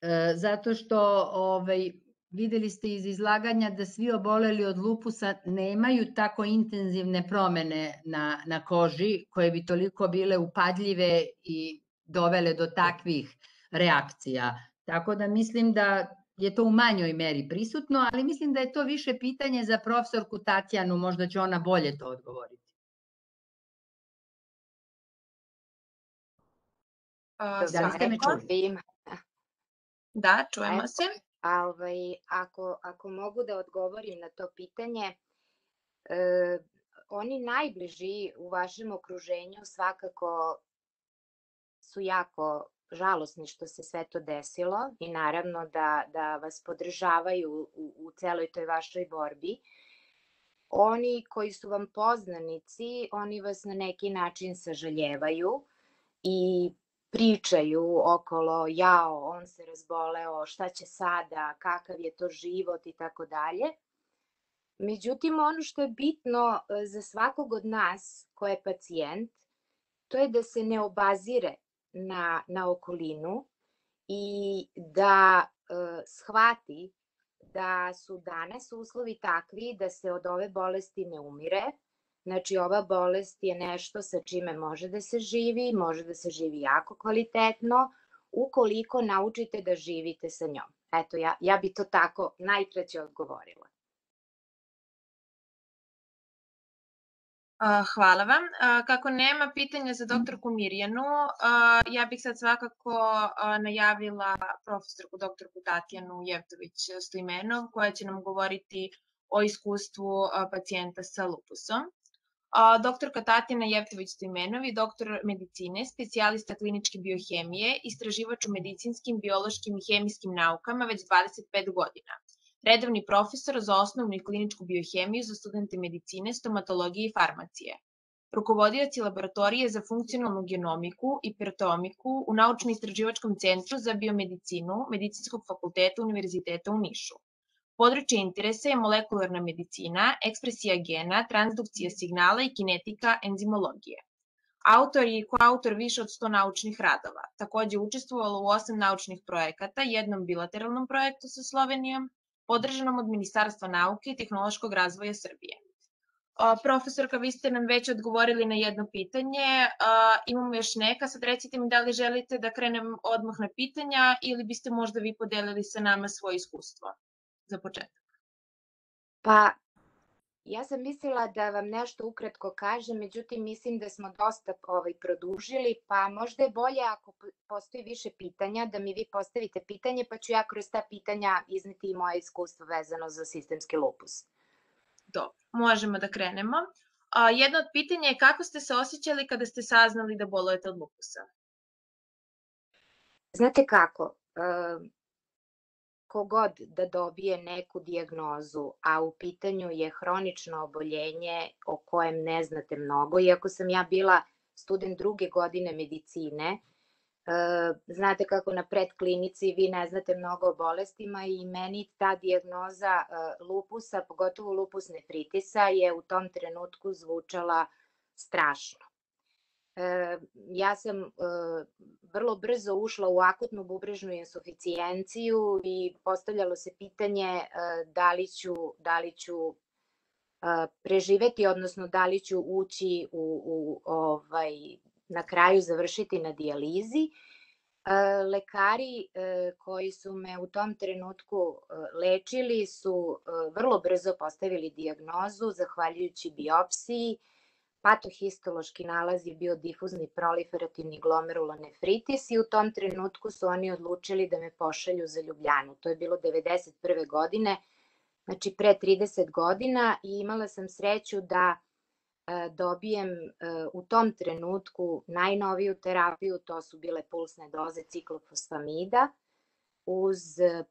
e, zato što ovaj, videli ste iz izlaganja da svi oboleli od lupusa nemaju tako intenzivne promene na, na koži koje bi toliko bile upadljive i dovele do takvih reakcija. Tako da mislim da je to u manjoj meri prisutno, ali mislim da je to više pitanje za profesorku Tatjanu, možda će ona bolje to odgovoriti. Da li ste me čuli? Da, čujemo se. A, ovaj, ako, ako mogu da odgovorim na to pitanje, e, oni najbliži u vašem okruženju svakako su jako žalosni što se sve to desilo i naravno da, da vas podržavaju u, u celoj toj vašoj borbi. Oni koji su vam poznanici, oni vas na neki način sažaljevaju i pričaju okolo, jao, on se razboleo, šta će sada, kakav je to život i tako dalje. Međutim, ono što je bitno za svakog od nas ko je pacijent, to je da se ne obazire na, na okolinu i da e, shvati da su danas uslovi takvi da se od ove bolesti ne umire. Znači, ova bolest je nešto sa čime može da se živi, može da se živi jako kvalitetno, ukoliko naučite da živite sa njom. Eto, ja, ja bi to tako najkraće odgovorila. Hvala vam. Kako nema pitanja za doktorku Mirjanu, ja bih sad svakako najavila profesorku doktorku Tatjanu Jevtović-Stojmenov, koja će nam govoriti o iskustvu pacijenta sa lupusom. Doktorka Tatjana Jevtović-Stojmenov je doktor medicine, specijalista kliničke biohemije, istraživač u medicinskim, biološkim i hemijskim naukama već dvadeset pet godina. Redovni profesor za osnovnu i kliničku biohemiju za studente medicine, stomatologije i farmacije. Rukovodioc je laboratorije za funkcionalnu genomiku i proteomiku u Naučno-istraživačkom centru za biomedicinu Medicinskog fakulteta Univerziteta u Nišu. Područje interesa je molekularna medicina, ekspresija gena, transdukcija signala i kinetika enzimologije. Autor je i koautor više od sto naučnih radova. Takođe učestvovalo u osam naučnih projekata, jednom bilateralnom projektu sa Slovenijom, podržanom od Ministarstva nauke i tehnološkog razvoja Srbije. Profesorka, vi ste nam već odgovorili na jedno pitanje, imamo još neka, sad recite mi da li želite da krenem odmah na pitanja ili biste možda vi podelili sa nama svoje iskustvo za početak. Pa, ja sam mislila da vam nešto ukratko kažem, međutim mislim da smo dosta ovaj, produžili, pa možda je bolje ako postoji više pitanja, da mi vi postavite pitanje, pa ću ja kroz ta pitanja izneti i moje iskustvo vezano za sistemski lupus. Dobro, možemo da krenemo. Jedno od pitanja je kako ste se osjećali kada ste saznali da bolujete od lupusa? Znate kako, kogod da dobije neku dijagnozu, a u pitanju je hronično oboljenje o kojem ne znate mnogo, iako sam ja bila student druge godine medicine, znate kako na predklinici vi ne znate mnogo o bolestima i meni ta dijagnoza lupusa, pogotovo lupus nefritisa, je u tom trenutku zvučala strašno. Ja sam vrlo brzo ušla u akutnu bubrežnu insuficijenciju i postavljalo se pitanje da li ću, da li ću preživeti, odnosno da li ću ući u, u ovaj, na kraju završiti na dijalizi. Lekari koji su me u tom trenutku lečili su vrlo brzo postavili dijagnozu zahvaljujući biopsiji. Patohistološki nalaz je bio difuzni proliferativni glomerulonefritis i u tom trenutku su oni odlučili da me pošalju za Ljubljanu. To je bilo devedeset prve godine, znači pre trideset godina, i imala sam sreću da dobijem u tom trenutku najnoviju terapiju, to su bile pulsne doze ciklofosfamida uz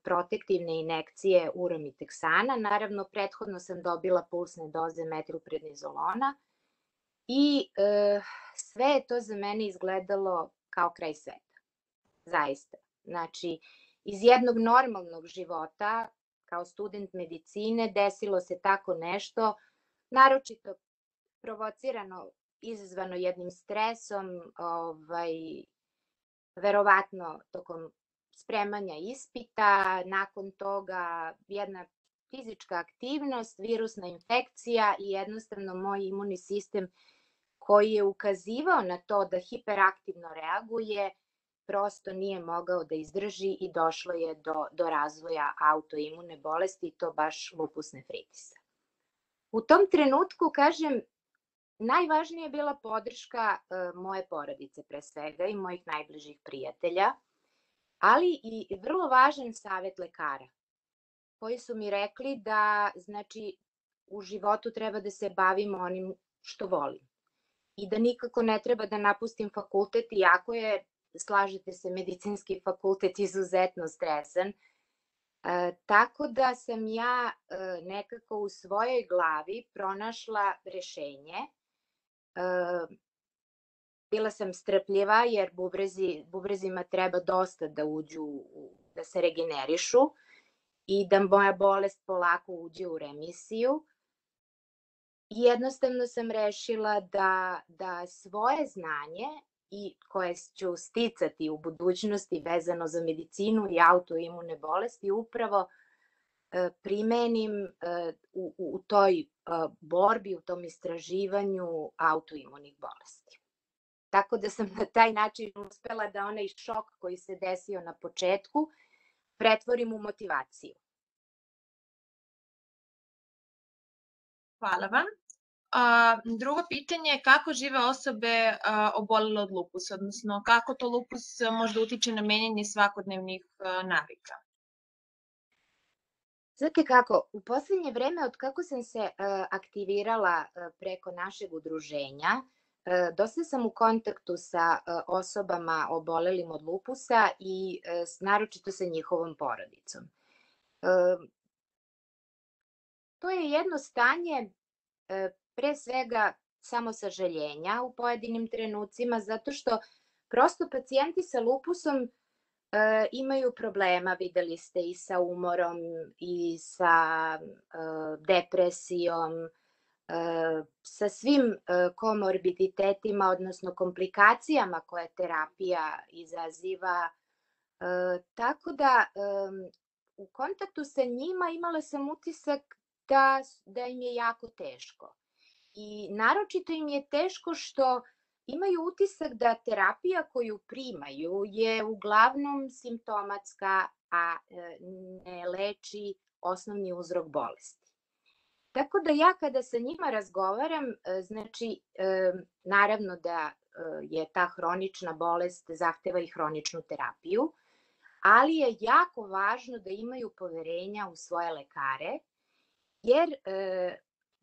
protektivne injekcije uromiteksana. Naravno, prethodno sam dobila pulsne doze metilprednizolona i e, sve je to za mene izgledalo kao kraj sveta. Zaista. Znači, iz jednog normalnog života, kao student medicine, desilo se tako nešto, naročito provocirano, izazvano jednim stresom, ovaj, verovatno tokom spremanja ispita, nakon toga jedna fizička aktivnost, virusna infekcija i jednostavno moj imunni sistem koji je ukazivao na to da hiperaktivno reaguje, prosto nije mogao da izdrži i došlo je do, do razvoja autoimune bolesti i to baš lupus nephritisa. U tom trenutku, kažem, najvažnija je bila podrška e, moje porodice pre svega i mojih najbližih prijatelja, ali i vrlo važan savet lekara koji su mi rekli da znači u životu treba da se bavim onim što volim i da nikako ne treba da napustim fakultet, iako je, slažete se, medicinski fakultet izuzetno stresan. E, tako da sam ja e, nekako u svojoj glavi pronašla rešenje. E, bila sam strpljiva jer bubrezi, bubrezima treba dosta da uđu, da se regenerišu i da moja bolest polako uđe u remisiju. I jednostavno sam rešila da, da svoje znanje i koje ću sticati u budućnosti vezano za medicinu i autoimune bolesti upravo e, primenim e, u, u toj e, borbi, u tom istraživanju autoimunih bolesti. Tako da sam na taj način uspela da onaj šok koji se desio na početku pretvorim u motivaciju. Hvala vam. A, drugo pitanje je kako žive osobe a, obolele od lupusa, odnosno kako to lupus možda utiče na menjanje svakodnevnih a, navika? Znate kako, u poslednje vreme od kako sam se a, aktivirala a, preko našeg udruženja, a, dosta sam u kontaktu sa a, osobama obolelim od lupusa i a, naročito sa njihovom porodicom. A, to je jedno stanje a, pre svega samo sažaljenja u pojedinim trenucima, zato što prosto pacijenti sa lupusom e, imaju problema, videli ste, i sa umorom, i sa e, depresijom, e, sa svim e, komorbiditetima, odnosno komplikacijama koje terapija izaziva. E, tako da e, u kontaktu sa njima imala sam utisak da, da im je jako teško. I naročito im je teško što imaju utisak da terapija koju primaju je uglavnom simptomatska, a ne leči osnovni uzrok bolesti. Tako da ja kada sa njima razgovaram, znači naravno da je ta hronična bolest zahteva i hroničnu terapiju, ali je jako važno da imaju poverenja u svoje lekare, jer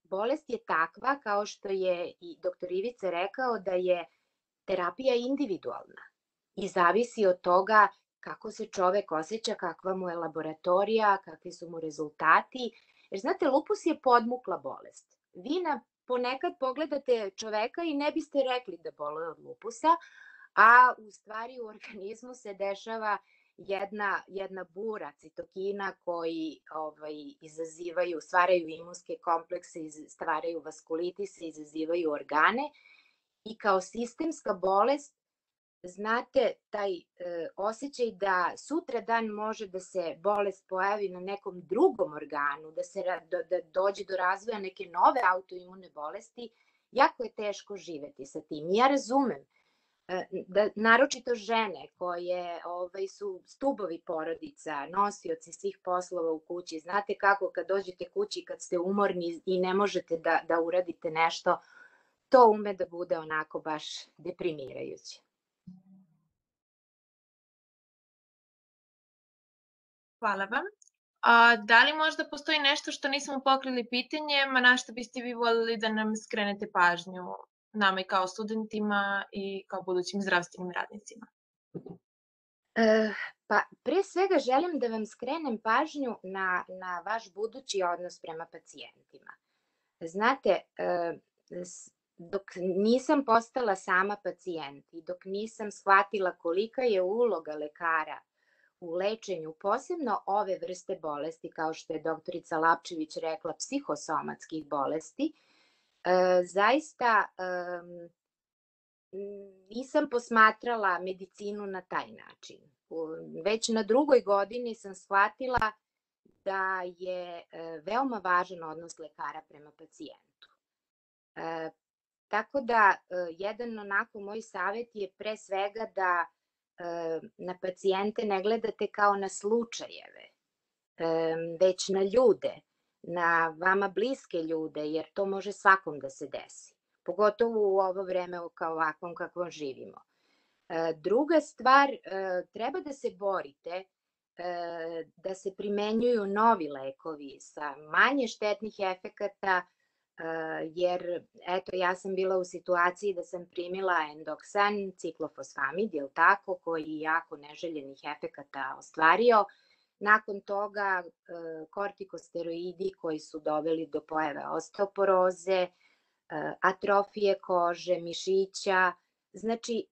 bolest je takva, kao što je i doktor Ivica rekao, da je terapija individualna i zavisi od toga kako se čovek osjeća, kakva mu je laboratorija, kakvi su mu rezultati. Jer znate, lupus je podmukla bolest. Vi na, ponekad pogledate čoveka i ne biste rekli da boluje od lupusa, a u stvari u organizmu se dešava Jedna, jedna bura citokina koji ovaj, izazivaju, stvaraju imunske komplekse, stvaraju vaskulitise, izazivaju organe i kao sistemska bolest, znate, taj e, osjećaj da sutra dan može da se bolest pojavi na nekom drugom organu, da, se, da, da dođe do razvoja neke nove autoimune bolesti, jako je teško živeti sa tim. Ja razumem da naročito žene koje ovaj, su stubovi porodica, nosioci svih poslova u kući. Znate kako kad dođete kući, kad ste umorni i ne možete da, da uradite nešto, to ume da bude onako baš deprimirajuće. Hvala vam. A, da li možda postoji nešto što nismo pokrili pitanjem, a na što biste vi voljeli da nam skrenete pažnju? Nama i kao studentima i kao budućim zdravstvenim radnicima? E, pa pre svega želim da vam skrenem pažnju na, na vaš budući odnos prema pacijentima. Znate, e, dok nisam postala sama pacijent i dok nisam shvatila kolika je uloga lekara u lečenju, posebno ove vrste bolesti, kao što je doktorica Lapčević rekla, psihosomatskih bolesti, E, zaista e, nisam posmatrala medicinu na taj način. Već na drugoj godini sam shvatila da je e, veoma važan odnos lekara prema pacijentu. E, tako da e, jedan onako moj savjet je pre svega da na pacijente ne gledate kao na slučajeve, već na ljude, na vama bliske ljude, jer to može svakom da se desi, pogotovo u ovo vreme kao ovakvom kakvom živimo. Druga stvar, treba da se borite da se primenjuju novi lekovi sa manje štetnih efekata, jer eto ja sam bila u situaciji da sam primila endoksan, ciklofosfamid, je li tako, koji je jako neželjenih efekata ostvario. Nakon toga kortikosteroidi koji su doveli do pojave osteoporoze, atrofije kože, mišića. Znači,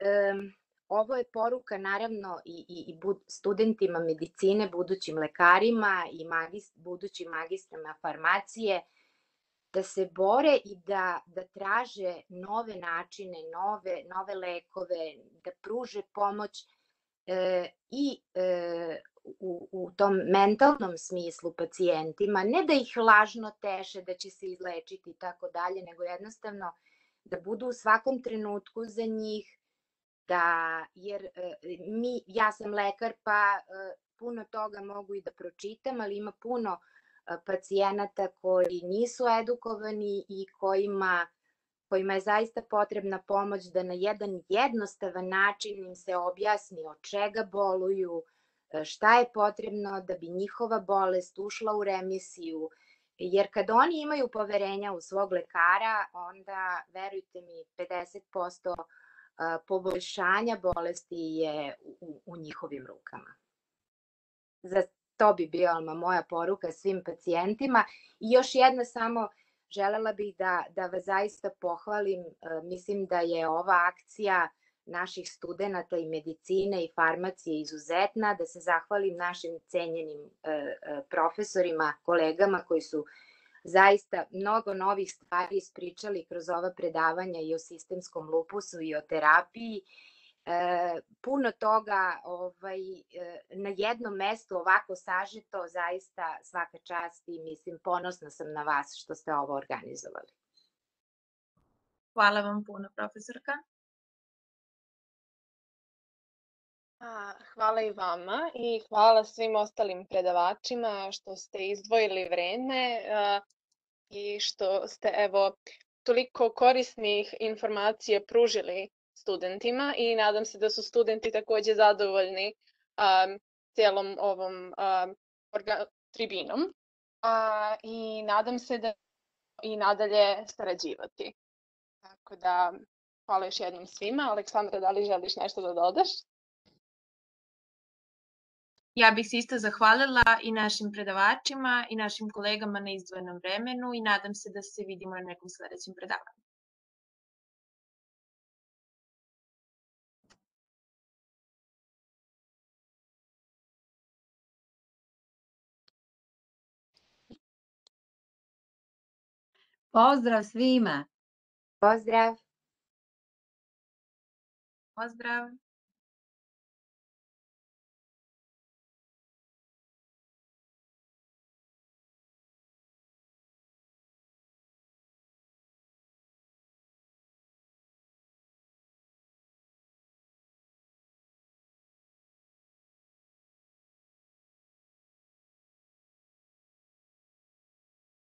ovo je poruka naravno i studentima medicine, budućim lekarima i budućim magistrama farmacije, da se bore i da traže nove načine, nove lekove, da pruže pomoć i u tom mentalnom smislu pacijentima, ne da ih lažno teše da će se izlečiti i tako dalje, nego jednostavno da budu u svakom trenutku za njih, jer ja sam lekar pa puno toga mogu i da pročitam, ali ima puno pacijenata koji nisu edukovani i kojima je zaista potrebna pomoć da na jedan jednostavan način im se objasni od čega boluju, šta je potrebno da bi njihova bolest ušla u remisiju, jer kad oni imaju poverenja u svog lekara, onda, verujte mi, pedeset posto poboljšanja bolesti je u njihovim rukama. Za to bi bila moja poruka svim pacijentima. I još jedna samo, želela bih da vas zaista pohvalim, mislim da je ova akcija naših studenta i medicine i farmacije izuzetna, da se zahvalim našim cenjenim profesorima, kolegama koji su zaista mnogo novih stvari ispričali kroz ova predavanja i o sistemskom lupusu i o terapiji. Puno toga na jednom mestu ovako sažeto, zaista svaka čast i mislim ponosna sam na vas što ste ovo organizovali. Hvala vam puno, profesorka. Hvala i vama i hvala svim ostalim predavačima što ste izdvojili vreme i što ste evo toliko korisnih informacija pružili studentima i nadam se da su studenti takođe zadovoljni celom ovom tribinom i nadam se da i nadalje sarađivati. Tako da, hvala još jednom svima. Aleksandra, da li želiš nešto da dodaš? Ja bih se isto zahvalila i našim predavačima i našim kolegama na izdvojenom vremenu i nadam se da se vidimo na nekom sledećem predavanju. Pozdrav svima! Pozdrav! Pozdrav!